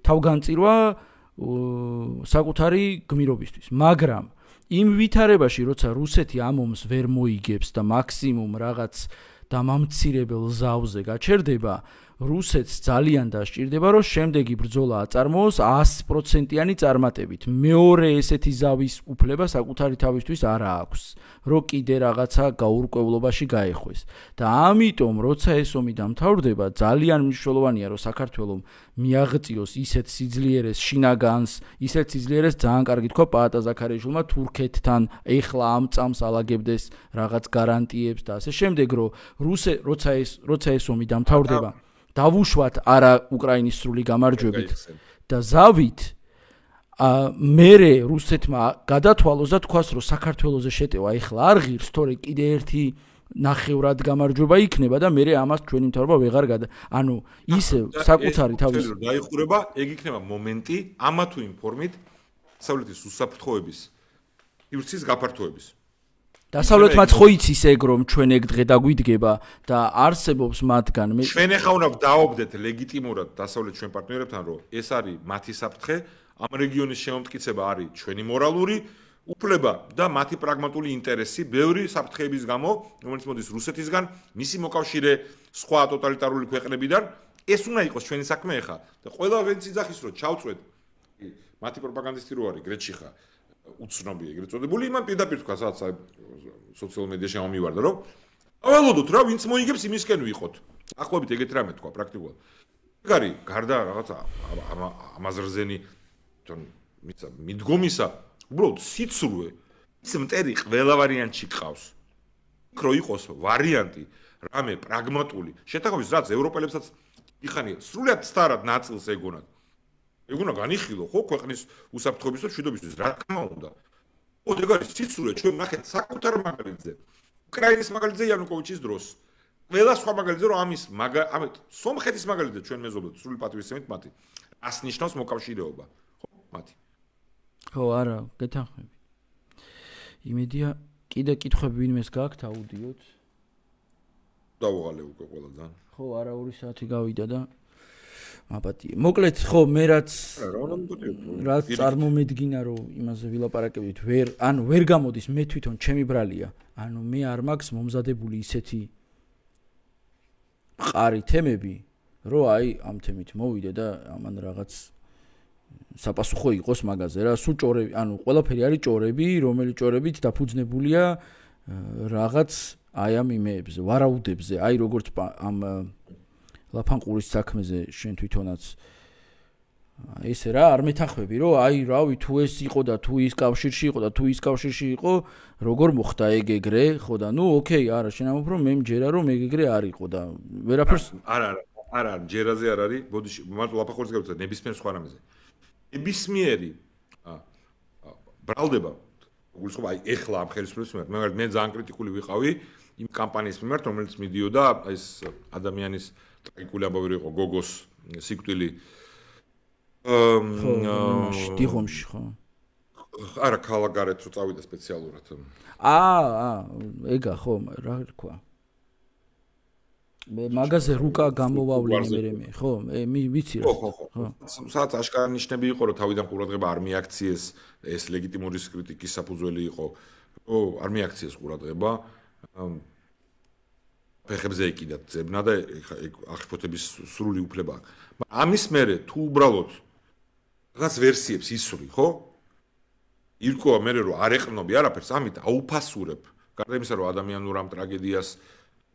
Speaker 1: თავგანწირვა საკუთარი გმირობისთვის. მაგრამ იმ ვითარებაში, როცა რუსეთი ამ ომს ვერ მოიგებს და მაქსიმუმ რაღაც დამამცირებელ ზავზე გაჩერდება, რუსეთს ძალიან დასჭირდება, რომ შემდეგი ბრძოლა აწარმოოს 100%-იანი წარმატებით. მეორე ესეთი ზავის უფლება საკუთარი თავისთვის არ აქვს, რომ კიდე რაღაცა გაურკვევლობაში გაეხვეს. და ამიტომ, როცა ეს ომი დამთავრდება, ძალიან მნიშვნელოვანია, რომ საქართველოს მიაღწიოს ისეთ სიძლიერეს შინაგანს, ისეთ სიძლიერეს ძალიან კარგი თქვა პაატა ზაქარიაშვილმა თურქეთთან ეხლა ამ წამს ალაგებდეს რაღაც გარანტიებს და ასე შემდეგ, რომ როცა ეს ომი დამთავრდება დავუშვათ არა უკრაინის სრული გამარჯვებით და ზავით მერე რუსეთმა გადათვალოს და თქვას რომ საქართველოზე შეტევა ეხლა არ ღირს, თორე კიდე ერთი ნახევრად გამარჯვება იქნება და მერე ამას ჩვენი მთავრობა ვეღარ ანუ ისე საკუთარი თავის
Speaker 2: დაიხურება, ეგ იქნება მომენტი ამა თუ იმ ფორმით დასავლეთის უსაფრთხოების ირცის გაფართოების.
Speaker 1: დასავლეთმაც ხო იცის ეგ რომ ჩვენ ეგ დღე დაგვიდგება და არსებობს მათგან
Speaker 2: ჩვენ ახლა უნდა დავობდეთ ლეგიტიმურად დასავლეთ ჩვენ პარტნიორებთან რომ ეს არის მათი საფრთხე, ამ რეგიონის შემომტკიცება არის ჩვენი მორალური უფლება და მათი პრაგმატული ინტერესი ბევრი საფრთხეების გამო, რომელიც მოდის რუსეთისგან, მისი მოკავშირე სხვა ტოტალიტარული ქვეყნებიდან, ეს უნდა იყოს ჩვენი საქმე ახლა და ყველა ვინც იძახის რომ ჩავწვეთ მათი პროპაგანდისტი რო არის გრეთში ხა უცნობი ეგრეთ წოდებული, იმან პირდაპირ თქვა სადაც სოციალურ მედიაში ამომივარდა რომ აველოდოთ რა ვინც მოიგებს იმისკენ ვიყოთ. ახლობით ეგეთ რამე თქვა პრაქტიკულად. ეგ არის გარდა რაღაცა ამაზრზენი მიდგომისა უბრალოდ სიცრუე ის მტერი ყველა ვარიანტში ყავს. იქ რო იყოს ვარიანტი რამე პრაგმატული შეთანხმების რაც ევროპელებსაც იხანია სრულად სტარად ნაწილს ეგონათ. ეგ უნდა განიხილო ხო ქვეყნის უსაფრთხოების და მშვიდობისთვის რა თქმა უნდა. ხო ეგ არის სიცრუე ჩვენ ნახეთ საკუთარ მაგალითზე. უკრაინის მაგალითზე იანუკოვიჩის დროს. ყველა სხვა მაგალითზე რომ ამის სომხეთის მაგალითზე ჩვენ მეზობლად სრული პატივისცემით მათი. ას ნიშნავს მოკავშირეობა. ხო მათი.
Speaker 1: ხო არა, გეთანხმები. იმედია კიდე კითხვები ვინმეს გაქვთ აუდიოთ.
Speaker 2: დავუღალე უკვე ყველა ძალიან.
Speaker 1: ხო, არა 2 საათი გავიდა და აპატია. მოკლედ, ხო, მე რაც წარმომედგინა რომ იმაზე ვილაპარაკებდით, ვერ გამოდის მე თვითონ ჩემი ბრალია. ანუ მე არ მაქვს მომზადებული ისეთი მყარი თემები, რომ აი ამ თემით მოვიდე და ამან რაღაც საპასუხო იყოს მაგაზე რა, სულ ჭორები, ანუ ყველაფერი არის ჭორები, რომელი ჭორებიც დაფუძნებულია რაღაც აი ამ იმეებზე, ვარაუდებზე, აი როგორც ამ ლაფანყურის საქმეზე შენ თვითონაც ესე რა არ მეთანხმები რომ აი რავი თუ ეს იყო და თუ ის კავშირში იყო და თუ ის კავშირში იყო როგორ მოხდა ეგ ეგრე ხო და ნუ ოკეი არა შენ ამბობ რომ მე მჯერა რომ ეგ ეგრე არ იყო და ვერაფერს
Speaker 2: არა ჯერაზე არ არის ბოდიში მარტო ლაფანყურის გავუწევ ნებისმიერ სხვა რამეზე ნებისმიერი ბრალდება გულისხმობა აი ეხლა ამ ხელისუფლების მიმართ მე ძალიან კრიტიკული ვიყავი იმ კამპანიის მიმართ რომელიც მიდიოდა ეს ადამიანის ტრაგიკული ამბავი იყო გოგოს სიკვდილი
Speaker 1: დიღომში ხო
Speaker 2: არა ქალაქგარეთ რო წავიდა სპეციალურად
Speaker 1: ეგა ხო რა თქვა მე მაგაზე რუკა გამოვავლინე მე ხო ვიცი რა
Speaker 2: ხო სადაც აშკარა ნიშნები იყო რომ თავიდან ყურადღება არ მიაქციეს ეს ლეგიტიმური კრიტიკის საფუძველი იყო არ მიაქციეს ყურადღება ფეხებზე ეკიდათ ძებნა და აღშფოთების სრული უფლება აქვს მაგრამ ამის მერე თუ უბრალოდ რაღაც ვერსიებს ისვრი ხო ირკვევა მერე რომ არ ეყრნობი არაფერს ამით აუფასურებ გარდა იმისა რომ ადამიანურ ამ ტრაგედიას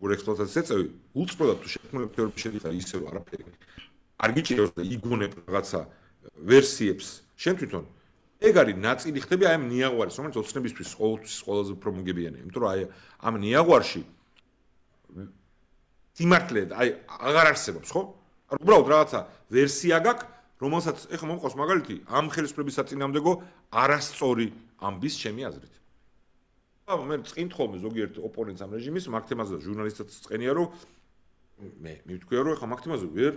Speaker 2: ექსპლუატაციას ეწევი, უწყვეტად თუ შექმნილ თეორიებში შედიხარ ისე რომ არაფერი არ გიჭირავს და იგონებ რაღაცა ვერსიებს შენ თვითონ ეგ არის ნაწილი ხდები აი ამ ნიაღვარის რომელიც ოცნებისთვის ყოველთვის ყველაზე უფრო მოგებიანია იმიტომ რომ აი ამ ნიაღვარში სიმართლე აი აღარ არსებობს ხო არ უბრალოდ რაღაცა ვერსია გაქვს რომელსაც ეხლა მომყავს მაგალითი ამ ხელისუფლების საწინააღმდეგო არასწორი ამბის ჩემი აზრით მე წინ ხოლმე ზოგიერთ ოპონენტს ამ რეჟიმის მაგ თემაზე ჟურნალისტებს წენია რომ მე მივთქვია რომ ეხლა მაგ თემაზე ვერ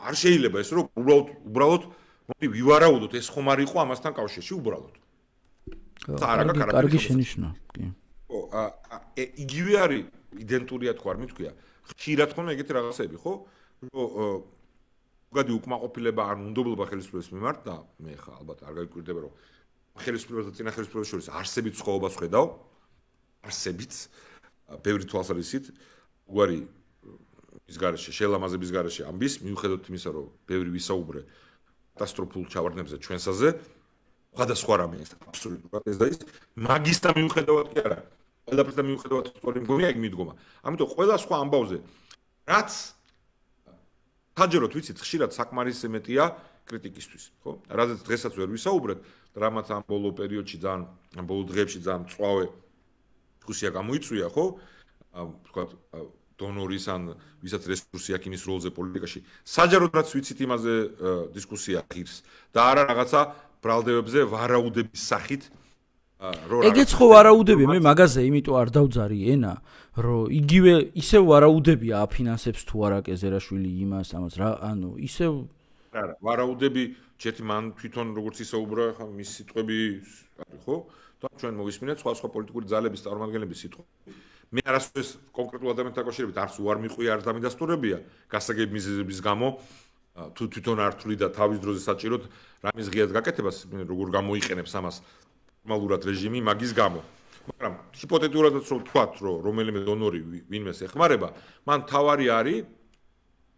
Speaker 2: არ შეიძლება ეს რომ უბრალოდ მოდი ვივარაუდოთ ეს ხომ არ იყო ამასთან კავშირში უბრალოდ
Speaker 1: კარგი შენიშვნა კი
Speaker 2: ხო იგივე არის იდენტურია თქვა არ მithქვია ხშირად ხომ ეგეთი რაღაცები ხო რომ უგადი უკმაყოფილება ან უნდობლობა ხელისუფლების მიმართ და მე ხა ალბათ არ გაიკვირდება რომ ხელისუფლებას და წინა ხელისუფლებას შორის არსებით სხვაობას ხედავ არსებით ბევრი თვალსაზრისით უარი ის garaშე შელამაზების garaშე ამბის მიუხედავად იმისა რომ ბევრი ვისაუბრე კატასტროფულ ჩავარდნებზე ჩვენსაზე სხვადასხვა რამე ეს აბსოლუტურად ეს და ის მაგის და მიუხედავად კი არა ყველაფერს და მიუხედავად სწორი მგონია ეგ მიდგომა ამიტომ ყველა სხვა ამბავზე რაც საჯეროდ ვიცით ხშირად საკმარისმეტია კრიტიკისთვის ხო რაზეც დღესაც ვერ ვისაუბრეთ რამაც ამ ბოლო პერიოდში ძალიან ამ ბოლო დღეებში ძალიან მწვავე დისკუსია გამოიწვია ხო თქვა დონორის ან ვისაც რესურსი აქვს იმის როლზე პოლიტიკაში საჯაროდ რაც ვიცით იმაზე დისკუსია ღირს და არა რაღაცა ბრალდებებზე ვარაუდების სახით
Speaker 1: ეგეც ხო ვარაუდები მე მაგაზე იმიტომ არ დავძარი ენა რომ იგივე ისევ ვარაუდებია აფინანსებს თუ არა კეზერაშვილი იმას ამას რა ანუ ისევ
Speaker 2: არა ვარაუდები ჯერ მან თვითონ როგორც ისაუბრა ხა მის სიტყვები არის ხო და ჩვენ მოვისმინეთ სხვა პოლიტიკური ძალების წარმომადგენლების სიტყვები მე არასდროს კონკრეტულ ადამიანთან დაკავშირებით არც უარ მიყვია არც დამიდასტურებია გასაგები მიზეზების გამო თუ თვითონ არ თვლი და თავის დროზე საჭიროდ რამის ღიად გაკეთებას როგორ გამოიყენებს ამას ნორმალურად რეჟიმი მაგის გამო მაგრამ ჰიპოთეტიურადაც რომ ვთქვათ რომ რომელიმე დონორი ვინმეს ეხმარება მან თავარი არის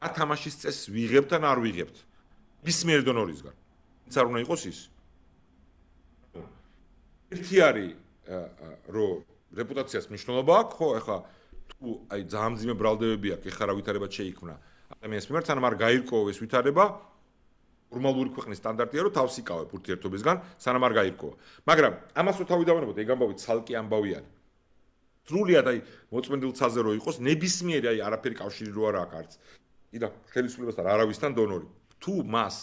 Speaker 2: ათამაშის წესს ვიღებთ ან არ ვიღებთ მისმიერ დონორისგან ის არ უნდა იყოს ის ერთი არის რომ რეპუტაციას მნიშვნელობა აქვს ხო ეხლა თუ აი ძალიან მძიმე ბრალდებები აქვს ეხლა რა ვითარებად შეიქმნა ადამიანის მიმართ სანამ არ გაირკვევა ეს ვითარება ნორმალური ქვეყნის სტანდარტია რომ თავს იკავებ ურთიერთობისგან სანამ არ გაირკვევა მაგრამ ამას რო თავი დავანებოთ ეგ ამბავი ცალკე ამბავი არის სრულიად აი მოწმენდილ ცაზე რო იყოს ნებისმიერი აი არაფერი კავშირი რო არ აქვს არც იდა ხელისუფლებასთან არავისთან დონორი თუ მას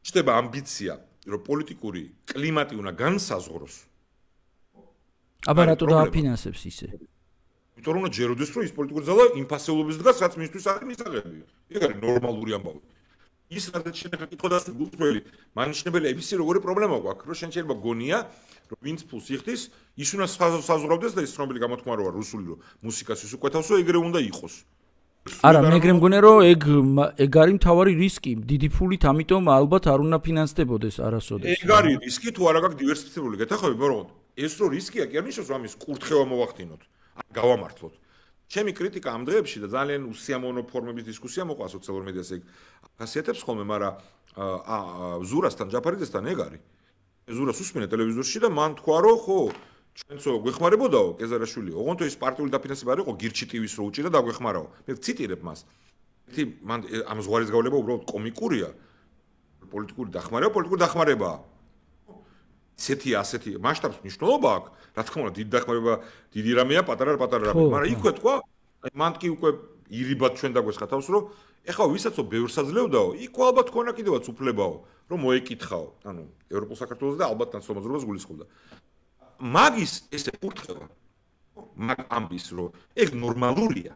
Speaker 2: ჩდება ამბიცია რომ პოლიტიკური კლიმატი უნდა განსაზღვროს
Speaker 1: აბა რატო დააფინანსებს ისე
Speaker 2: იმიტომ რომ ჯეროდეს რომ ის პოლიტიკური ძალა იმპასიულობის დგას რაც მისთვის არის მისაღებია ეგ არის ნორმალური ამბავი ის რაც შეიძლება კითხოდას გულწრფელი მანიშნებელია ისი როგორი პრობლემა გვაქვს რომ შენ შეიძლება გონია რომ ვინც ფულს იხდის ის უნდა საზღვრავდეს და ის ცნობილი გამოთქმა როა რუსული რომ მუსიკას ის უკვეთავსო ეგრე უნდა იყოს
Speaker 1: არა მე ეგრე მგონია რომ ეგ არის მთავარი რისკი დიდი ფულით ამიტომ ალბათ არ უნდა ფინანსდებოდეს არასოდეს
Speaker 2: ეგ არის რისკი თუ არა გაქვს დივერსიფიცირებული გეთახები ბოროტ ეს რო რისკია კი არ ნიშნავს რომ ამის კურთხევა მოვახდინოთ ან გავამართლოთ ჩემი კრიტიკა ამ დღეებში და ძალიან უსიამოვნო ფორმების დისკუსია მოყვა სოციალურ მედიაზე ეგ ახასიათებს ხოლმე მაგრამ ზურასთან ჯაფარიძესთან ეგ არის ზურას უსმენე ტელევიზორში და მან თქვა რომ ხო ჩვენცო გვეხმარებოდაო კეზარაშვილი ოღონდ ის პარტიული დაფინანსება არ იყო გირჩი ტივის რო უჭირდა და გვეხმარაო მე ვციტირებ მას ერთი მან ამ ზღვარის გავლება უბრალოდ კომიკურია პოლიტიკური დახმარებაა ასეთი მასშტაბს მნიშვნელობა აქვს რა თქმა უნდა დიდი დახმარება დიდი რამეა პატარა რამე მაგრამ იქვე თქვა მან კი უკვე ირიბად ჩვენ დაგვესხა თავს რომ ეხლა ვისაც ბევრს აძლევდაო იქ ალბათ ქონა კიდევაც უფლებაო რომ მოეკითხაო ანუ ევროპულ საქართველოს და ალბათ ნაცნობაზრობას გულისხმობდა მაგის ესე კურთხევა მაგ ამბის რომ ეგ ნორმალურია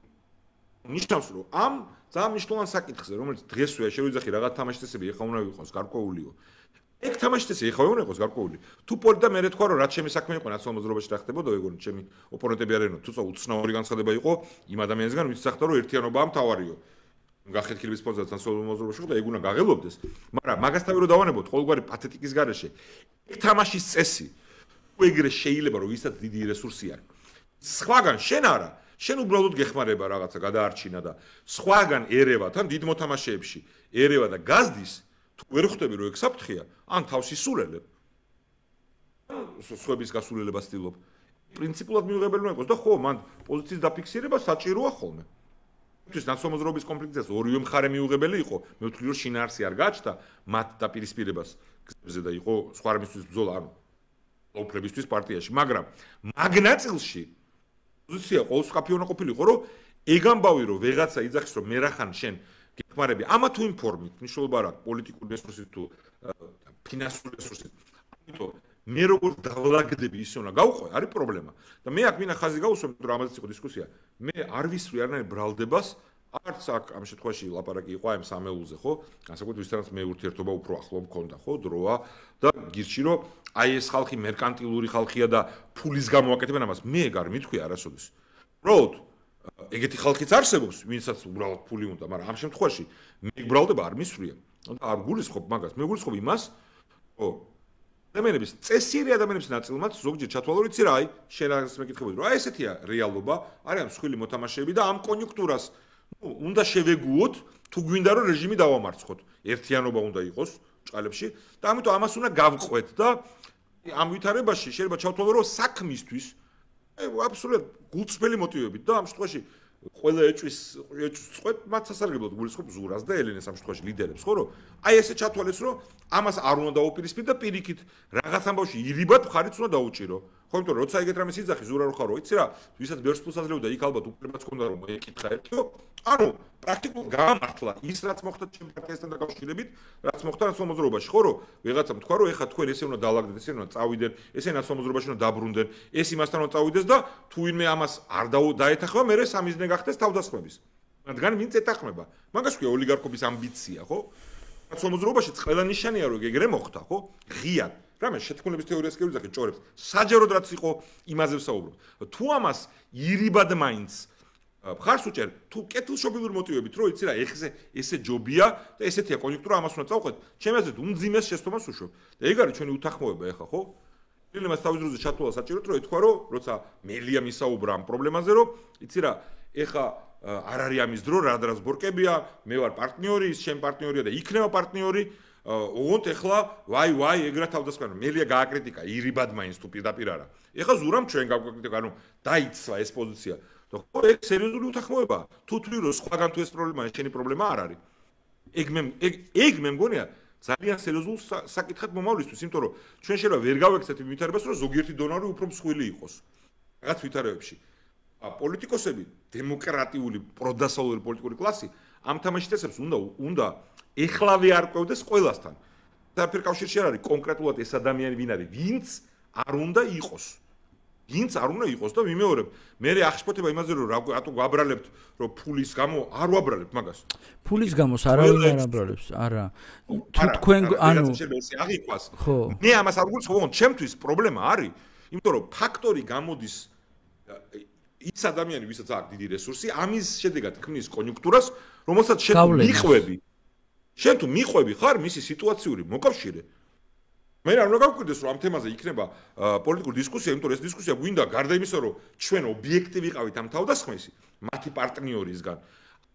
Speaker 2: ნიშნავს რომ ამ ძალიან მნიშვნელოვან საკითხზე რომელიც დღესვე შეგვიძახი რაღაც თამაშის წესები ეხლა უნდა იყოს გარკვეულიო ეგ თამაშიც ეხა უნდა იყოს გარკვეული. თუ პოლიტა მე თქვა რომ რაც ჩემი საქმე იყო ნაციონალურ მოძრაობაში რა ხდებოდა, ეგონი ჩემი ოპონენტები არიანო, თუ უცნაური განცხადება იყო იმ ადამიანისგან, ვინც სახდა რომ ერთიანობაა მთავარიო. გახეთქილების პოზიციას ნაციონალურ მოძრაობაში ხო და ეგ უნდა გაღელობდეს. მაგრამ მაგასთან რო დავანებოთ ყოველგვარი პათეტიკის გარეშე, ეგ თამაშის წესი. თუ ეგრე შეიძლება რომ ვისაც დიდი რესურსი აქვს. სხვაგან შენ არა, შენ უბრალოდ გეხმარება რაღაცა გადაარჩინა და სხვაგან ერევა თან დიდ მოთამაშეებში ერევა და გაზდის თუ ვერ ხვდები რომ ეგ საფრთხეა, ან თავს ისულელებ. სხვების გასულელებას ცდილობ. პრინციპულად მიუღებელი უნდა იყოს და ხო, მან პოზიციის დაფიქსირება საჭიროა ხოლმე. თუმცა ნაციონალურ მოძრაობის კონფლიქტზე ორივე მხარე მიუღებელი იყო, მე ვთვლი რომ შინაარსი არ გააჩნდა მათ დაპირისპირებას გზებზე და იყო სხვა რამისთვის ბრძოლა, ანუ ლაუფლებისთვის პარტიაში, მაგრამ მაგნაწილში პოზიცია ყოველსკაფი უნდა ყოფილიყო, რომ ეგ ამბავი რომ ვეღაცა იძახის რომ მე რახან შენ გეხმარები ამა თუ იმ ფორმით, მნიშვნელობა არ აქვს პოლიტიკური რესურსით თუ ფინანსური რესურსით. ამიტომ მე როგორ დავლაგდები ისე უნდა გავყვე, არის პრობლემა. და მე აქ მინდა ხაზი გავუსვამ, რომ ამაზეც იყო დისკუსია. მე არ ვისვრი არანაირ ბრალდებას, არც აქ ამ შემთხვევაში ლაპარაკი იყო ამ სამეულზე, ხო? განსაკუთრებით ვისთანაც მე ურთიერთობა უფრო ახლო მქონდა, ხო, დროა და გირჩი რომ აი ეს ხალხი მერკანტილური ხალხია და ფულის გამოაკეთებენ ამას. მე ეგ არ მithქვი არასოდეს. უბრალოდ ეგეთი ხალხიც არსებობს, ვინცაც უბრალოდ ფული უნდა, მაგრამ ამ შემთხვევაში მე ბრალდება არ მისვრია. და არ გულისხმობ მაგას, მე გულისხმობ იმას, ხო, ადამიანების წესიერი ადამიანების ნაწილმაც ზოგჯერ ჩათვალო ვიცი რა, აი, შენ რაღაც მეკითხებოდი, რომ აი ესეთია რეალობა, არიან მსხვილი მოთამაშეები და ამ კონიუნქტურას, უნდა შევეგუოთ, თუ გვინდა რომ რეჟიმი დავამარცხოთ. ერთიანობა უნდა იყოს ჭყალებში და ამიტომ ამას უნდა გავყვეთ და ამ ვითარებაში შეიძლება ჩავთვალო, რომ საქმისთვის აბსოლუტურად გულწრფელი მოტივებით და ამ შემთხვევაში ყველა ეჭვის წყვეთ მათ სასარგებლოდ გულისხმობ ზურას და ელენეს ამ შემთხვევაში ლიდერებს, ხო, რომ აი ესე ჩათვალეს, რომ ამას არ უნდა დაუპირისპირდეთ და პირიქით რაღაც ამბავში ირიბად მხარიც უნდა დაუჭირო. ხო, იმიტომ რომ როცა ეგეთ რამეს იძახი ზურა რო ხარო, იცი რა, ვისაც ბევრს ფულს აძლევდა, იქ ალბათ უფლებაც ჰქონდა რომ ეკითხა ერთიო, ანუ პრაქტიკულად გამართლა ის რაც მოხდა ჩემ პარტიასთან დაკავშირებით, რაც მოხდა ნაციონალურ მოძრაობაში, ხო, რომ ვიღაცამ თქვა, რომ ეხა თქვენ ესე უნდა დაალაგდეთ, ესე უნდა წავიდენ, ესე ნაციონალურ მოძრაობაში უნდა დაბრუნდნენ, ეს იმასთან უნდა წავიდეს და თუ ვინმე ამას არ დაეთახება, მერე სამიზნე გახდეს თავდასხმების. რადგან ვინც ეთახმება. მაგას ქვია ოლიგარქობის ამბიცია, ხო? ნაციონალურ მოძრაობაში ყველა ნიშანია რომ ეგრე მოხდა, ხო? ღიად. რამე შეთქმულების თეორიას კი ვიძახი ჭორებს. საჯაროდ რაც იყო იმაზე ვსაუბრობ. თუ ამას ირიბად მაინც მხარს უჭერ, თუ კეთილშობილური მოტივებით, რომ იცი რა, ესე ჯობია და ესეთია კონიუნქტურა, ამას უნდა წავყვეთ. ჩემი აზრით, უმძიმეს შეცდომას უშვებ. და ეგ არის ჩვენი უთანხმოება ახლა, ხო? ფილმას თავის დროზე ჩათვალა საჭიროდ, რომ ეთქვა, რომ როცა მელია მისაუბრა ამ პრობლემაზე, რომ იცი რა, ეხა არ არის ამის დრო, რადრას ბორკებია, მე ვარ პარტნიორი, ის ჩემი პარტნიორია და იქნება პარტნიორი. ოღონდ ეხლა ვაი ეგრა თავდასხმა მელია გააკრიტიკა ირიბად მაინც თუ პირდაპირ არა. ეხლა ზურამ ჩვენ გავაკრიტიკა, ანუ დაიცვა ეს პოზიცია. და ხო ეგ სერიოზული უთანხმოებაა. თუ თქვი რომ სხვაგან თუ ეს პრობლემაა, შენი პრობლემა არ არის. ეგ მე მგონია ძალიან სერიოზულ საკითხად მომავლისთვის, იმიტომ რომ ჩვენ შეიძლება ვერ გავექცეთ იმ ვითარებას, რომ ზოგიერთი დონორი უფრო მსხვილი იყოს. რაღაც ვითარებებში. პოლიტიკოსები, დემოკრატიული, პროდასავლური პოლიტიკური კლასი ამ თამაშის წესებს უნდა ეხლავე არ ყვევდეს ყველასთან. საერთოდ კავშირში არ არის კონკრეტულად ეს ადამიანი ვინ არის, ვინც არ უნდა იყოს. ვინც არ უნდა იყოს და მიმეორებ, მე ახშფოთება იმაზე რომ რატო გვაბრალებთ, რომ ფულის გამო არ ვაბრალებთ მაგას.
Speaker 1: ფულის გამოს არავინ არ აბრალებს, არა. თუ თქვენ ანუ
Speaker 2: აღიქვას.
Speaker 1: ხო.
Speaker 2: მე ამას არ გულისხმობ, ჩემთვის პრობლემა არის, იმიტომ რომ ფაქტორი გამოდის ის ადამიანი, ვისაც აქვს დიდი რესურსი, ამის შედეგად ქმნის კონიუნქტურას, რომელსაც შენ მიხვები. შენ თუ მიხვები ხარ მისი სიტუაციური მოკავშირე. მე არ უნდა გავკვირდეს რომ ამ თემაზე იქნება პოლიტიკური დისკუსია, იმიტომ რომ ეს დისკუსია გვინდა გარდა იმისა, რომ ჩვენ ობიექტი ვიყავით ამ თავდასხმесі, მათი პარტნიორისგან.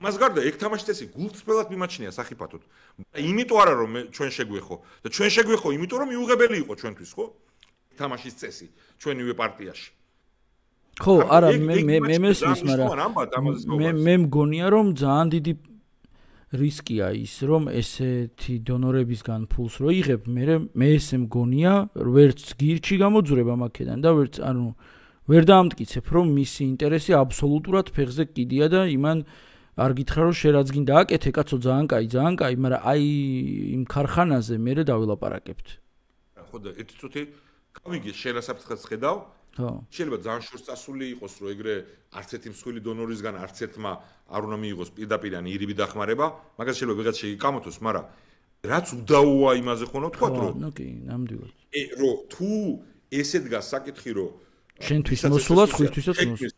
Speaker 2: მას გარდა ეგ თამაშის წესი გულწრფელად მიმაჩნია სახიფათოდ. იმიტომ არა რომ ჩვენ შეგვეხო და ჩვენ შეგვეხო იმიტომ რომ მიუღებელი იყო ჩვენთვის, ხო? თამაშის წესი ჩვენივე პარტიაში.
Speaker 1: ხო, არა, მე მესმის, მაგრამ მე მგონია რომ ძალიან დიდი რისკია ის, რომ ესეთი დონორებისგან ფულს რო იღებ, მე ესე მგონია, ვერც გირჩი გამოძვრება მაქედან და ვერც ანუ ვერ დაამტკიცებ, რომ მისი ინტერესი აბსოლუტურად ფეხზე კიდია და იმან არ გითხრა რომ შენ რაც გინდა აკეთე, კაცო, ძალიან კაი, მაგრამ აი იმ ქარხანაზე მე დავილაპარაკებთ.
Speaker 2: ხო და ერთი წუთი გავიგე შენ რასაფრთხეს ხედავ?
Speaker 1: ხო.
Speaker 2: შეიძლება ძალიან შორს წასული იყოს, რომ ეგრე არც ერთი მსხვილი დონორისგან არც ერთმა არ უნდა მიიღოს პირდაპირ ან ირიბი დახმარება, მაგას შეიძლება ვიღაც შეიკამოთოს, მაგრამ რაც უდაოა იმაზე ხონა თქვა რომ
Speaker 1: ნუ კი, ნამდვილად.
Speaker 2: რომ თუ ესე დგას საკითხი რომ
Speaker 1: შენთვის მოსულა, სხვისთვისაც
Speaker 2: მოსულა.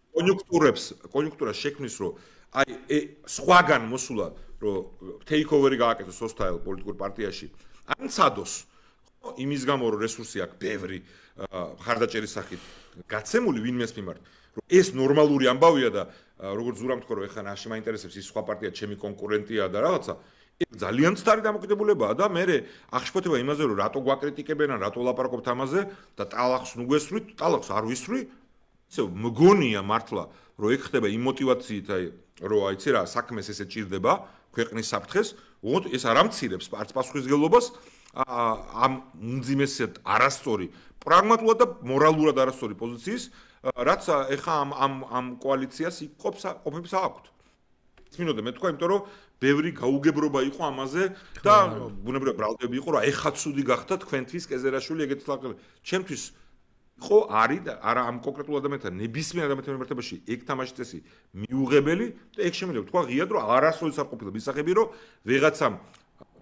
Speaker 2: კონიუნქტურას შექმნის რომ აი სხვაგან მოსულა რომ ტეიქოვერი გააკეთოს hostile პოლიტიკურ პარტიაში. ან ცადოს იმის გამო რომ რესურსი აქვს ბევრი ხარდაჭერის სახით გაცემული ვინმეს მიმართ რომ ეს ნორმალური ამბავია და როგორც ზურამ თქვა რომ ეხლა ნაში მაინტერესებს ის სხვა პარტია ჩემი კონკურენტია და რაღაცა ძალიან ცდარი დამოკიდებულებაა და მე აღშფოთება იმაზე რომ რატო გვაკრიტიკებენ ან რატო ლაპარაკობთ ამაზე და ტალახს ნუ გესვრით ტალახს არ ვისვრი ისე მგონია მართლა რომ ეგ ხდება იმ მოტივაციით აი რომ აიცი რა საქმეს ესე ჭირდება ქვეყნის საფრთხეს უღოთ ეს არ ამცირებს არც პასუხისმგებლობას ამ უმძიმესად არასწორი პრაგმატულად და მორალურად არასწორი პოზიციის რაც ეხა ამ კოალიციას ყოფებს აქვთ ის მინდოდა მე თქვა იმიტომ რომ ბევრი გაუგებრობა იყო ამაზე და ბუნებრივად ბრალდები იყო რომ ეხა ცუდი გახდა თქვენთვის კეზერაშვილი ეგეთ ლაკები ჩემთვის ხო არის და არა ამ კონკრეტულ ადამიანთან ნებისმიერ ადამიანთან მიმართებაში ეგ თამაშის წესი მიუღებელი და ეგ შემიძლია თქვა ღიად რომ არასოდეს არ ყოფილა მისაღები რომ ვიღაცამ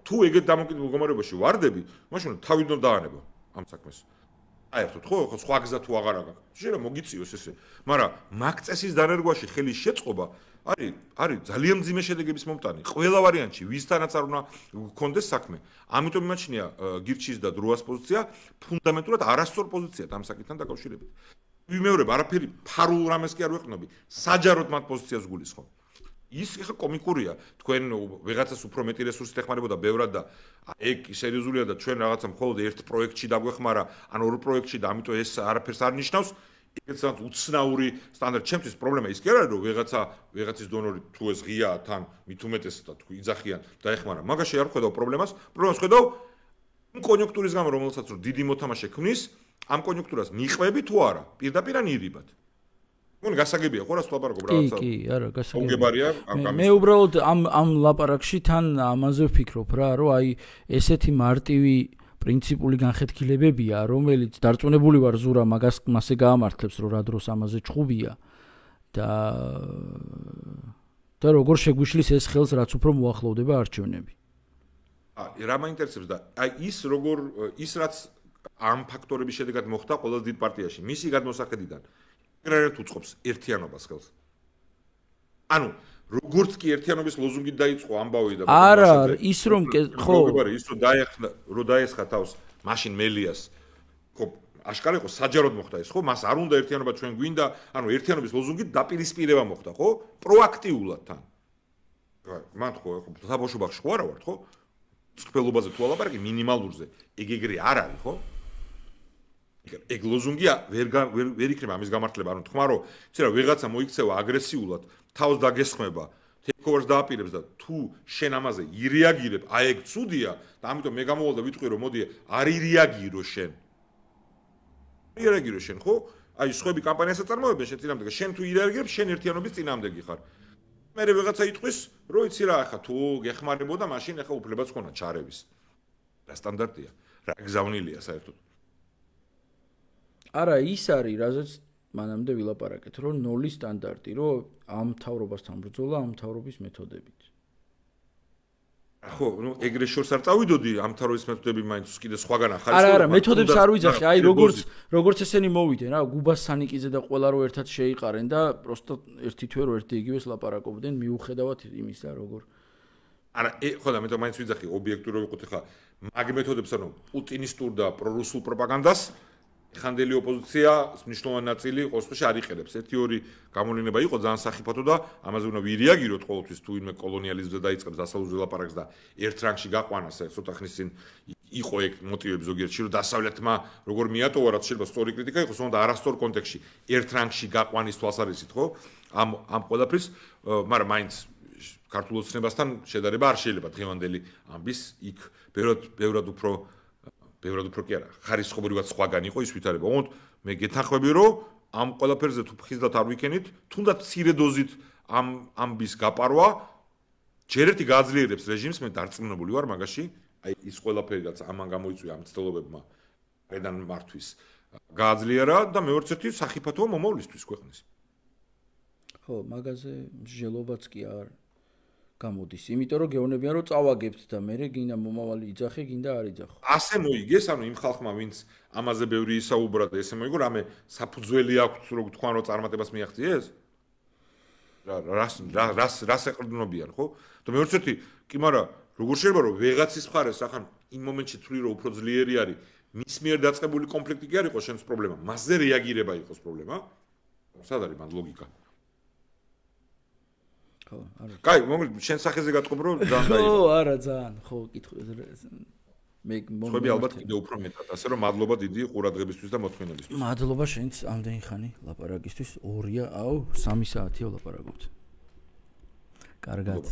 Speaker 2: თუ ეგეთ დამოკიდებულ მდგომარეობაში ვარდები მაშინ თავიდან დაანება ამ საქმეს აერთოთ ხო სხვა გზა თუ აღარ აქვს შეიძლება მოგიწიოს ესე მაგრამ მაგ წესის დანერგვაში ხელის შეწყობა არის ძალიან მძიმე შედეგების მომტანი ყველა ვარიანტში ვისთანაც არ უნდა გქონდეს საქმე ამიტომ იმაჩნია გირჩის და დროას პოზიცია ფუნდამენტურად არასწორ პოზიციად ამ საკითხთან დაკავშირებით ვიმეორებ არაფერი ფარულ რამეს კი არ ვეყნობი საჯაროდ მათ პოზიციას გულისხმობ ის ხა კომიკურია თქვენ ვიღაცას უფრო მეტი რესურსით ეხმარებოდა ბევრად და ეგ სერიოზულია და ჩვენ რაღაცა მხოლოდ ერთ პროექტში დაგვეხმარა ან ორ პროექტში და ამიტომ ეს არაფერს არ ნიშნავს ეგეც უცნაური სტანდარტი ჩემთვის პრობლემა ის კი არ არის რომ ვიღაცის დონორი თუ ეს ღიაა თან მით უმეტეს და თუ იძახიან და ეხმარა მაგაში არ ხედავ პრობლემას ხედავ იმ კონიუნქტურის გამო რომელსაც რომ დიდი მოთამაშე ქმნის ამ კონიუნქტურას მიყვები თუ არა პირდაპირ ან ირიბად მონ გასაგებია ხო რას ლაპარაკობ რაღაცა
Speaker 1: კი არა გასაგებია
Speaker 2: მოგებარია ამ
Speaker 1: მე უბრალოდ ამ ლაპარაკში თან ამაზე ვფიქრობ რა რომ აი ესეთი მარტივი პრინციპული განხეთქილებებია რომელიც დარწმუნებული ვარ ზურა მასე გაამართლებს რომ რა დროს ამაზე ჭუბია და როგორ შეგვიშლის ეს ხელს რაც უფრო მოახლოვდება არჩევნები
Speaker 2: რა მაინტერესებს და აი ის რაც ამ ფაქტორების შედეგად მოხდა ყველაზე დიდ პარტიაში მისი გადმოსახედიდან ერთ უწყობს ერთიანობას ხელს. ანუ როგორც კი ერთიანობის ლოზუნგით დაიწყო ამბავი და
Speaker 1: არა ის რომ ხო
Speaker 2: ის რომ დაესხა თავს მაშინ მელიას ხო აშკარა იყო საჯაროდ მოხდა ეს ხო მას არ უნდა ერთიანობა ჩვენ გვინდა ანუ ერთიანობის ლოზუნგით დაპირისპირება მოხდა ხო პროაქტიულად თან მან ხო საბავშვობაში ხო არა ვარ ხო სქველობაზე თუ ალაპარაკი მინიმალურზე ეგ ეგრე არ არის ხო ეგ ლოზუნგია ვერ იქნება ამის გამართლება ანუ თქვა რომ იცი რა ვიღაცა მოიქცევა აგრესიულად თავს დაგესხმება ტეიქოვერს დააპირებს და თუ შენ ამაზე ირეაგირებ აი ეგ ცუდია და ამიტომ მე გამოვალ და ვიტყვი რომ მოდი არ ირეაგირო შენ ხო აი სხვები კამპანიასაც წარმოებენ შენ წინამდე შენ თუ ირეაგირებ შენ ერთიანობის წინამდეგი ხარ მე ვიღაცა იტყვის რომ იცი რა ახლა თუ გეხმარებოდა მაშინ ახლა უფლებაც ხონა ჩარევის რა სტანდარტია რა გზავნილია საერთოდ არა
Speaker 1: ის არის რაზეც მანამდე ვილაპარაკეთ რომ ნული სტანდარტი რომ ამ თავრობასთან ბრძოლა ამ თავრობის მეთოდებით
Speaker 2: ხო ნუ ეგრე შორს არ წავიდოდი ამ თავრობის მეთოდები მაინც კიდე სხვაგან ახალი
Speaker 1: არა მეთოდებს არ ვიძახი აი როგორც ესენი მოვიდნენ რა გუბას სანიკიძე და ყველა რო ერთად შეიყარენ და პროსტო ერთი თვე რო ერთი იგივეს ლაპარაკობდნენ მიუხედავად იმისა როგორ
Speaker 2: არა ხო და მე თვითონ მაინც ვიძახი ობიექტურად ვიყოთ ხა მაგ მეთოდებს ანუ პუტინისტურ და პრორუსულ პროპაგანდას ხანდელი ოპოზიცია მნიშვნელოვანი ნაწილი ყოველთვის არ იყენებს. ერთი-ორი გამოლინება იყო ძალიან სახიფათო და ამაზე უნდა ვირეაგიროთ ყოველთვის თუ ვინმე კოლონიალიზმზე დაიწყებს დასავლურ ლაპარაკს და ერთ რანგში გაყვანას ცოტა ხნის წინ იყო ეგ მოტივები ზოგიერთში რომ დასავლეთმა როგორ მიატოვა რაც შეიძლება სწორი კრიტიკა იყოს, თუმცა არასწორ კონტექსტში ერთ რანგში გაყვანის თვალსაზრისით ხო? ამ ყველაფრის, მაგრამ მაინც ქართულ ოცნებასთან შედარება არ შეიძლება დღევანდელი ამბის იქ ბევრად უფრო კი არა ხარისხობრივად სხვაგან იყო ის ვითარება. ოღონდ მე გეთანხმები რომ ამ ყველაფერზე თუ ფხიზლად არ ვიქენით, თუნდაც მცირე დოზით ამ ამბის გაპარვა ჯერ ერთი გააძლიერებს რეჟიმს, მე დარწმუნებული ვარ მაგაში, აი ის ყველაფერი რაც ამან გამოიწვია ამ ცდელობებმა რედან მართვის გააძლიერა და მეორე ერთი სახიფათოა მომავლისთვის ქვეყნის.
Speaker 1: ხო, მაგაზე მსჯელობაც კი არ გამოდის. იმიტომ რომ გეუბნებიან რომ წავაგებთ და მე გინდა მომავალი იძახე, გინდა არ იძახო.
Speaker 2: ასე მოიგეს, ანუ იმ ხალხმა, ვინც ამაზე ბევრი ისაუბრა და ესე მოიგო, რამე საფუძველი აქვს, რომ თქვან რომ წარმატებას მიაღწიეს? რას ეყრდნობიან, ხო? და მეორე ერთი, კი, მაგრამ როგორ შეიძლება რომ ვეღაცის მხარეს ახან იმ მომენტში თვლი რომ უფრო ძლიერი არის, მის მიერ დაწყებული კონფლიქტი კი არ იყოს შენს პრობლემა, მასზე რეაგირება იყოს პრობლემა? სად არის მან ლოგიკა?
Speaker 1: ხო, არა.
Speaker 2: კაი, შენ სახეზე გატყობ რომ ძალიან დაიღო.
Speaker 1: ხო, არა, ძალიან, ხო, კითხვა. მე
Speaker 2: ხები ალბათ კიდე უფრო მეტად, ასე რომ მადლობა დიდი ყურადღებისთვის და მოთმინებისთვის.
Speaker 1: მადლობა შენც ამდენი ხანი ლაპარაკისთვის. 2-ია, 3 საათია ვლაპარაკობთ. კარგად.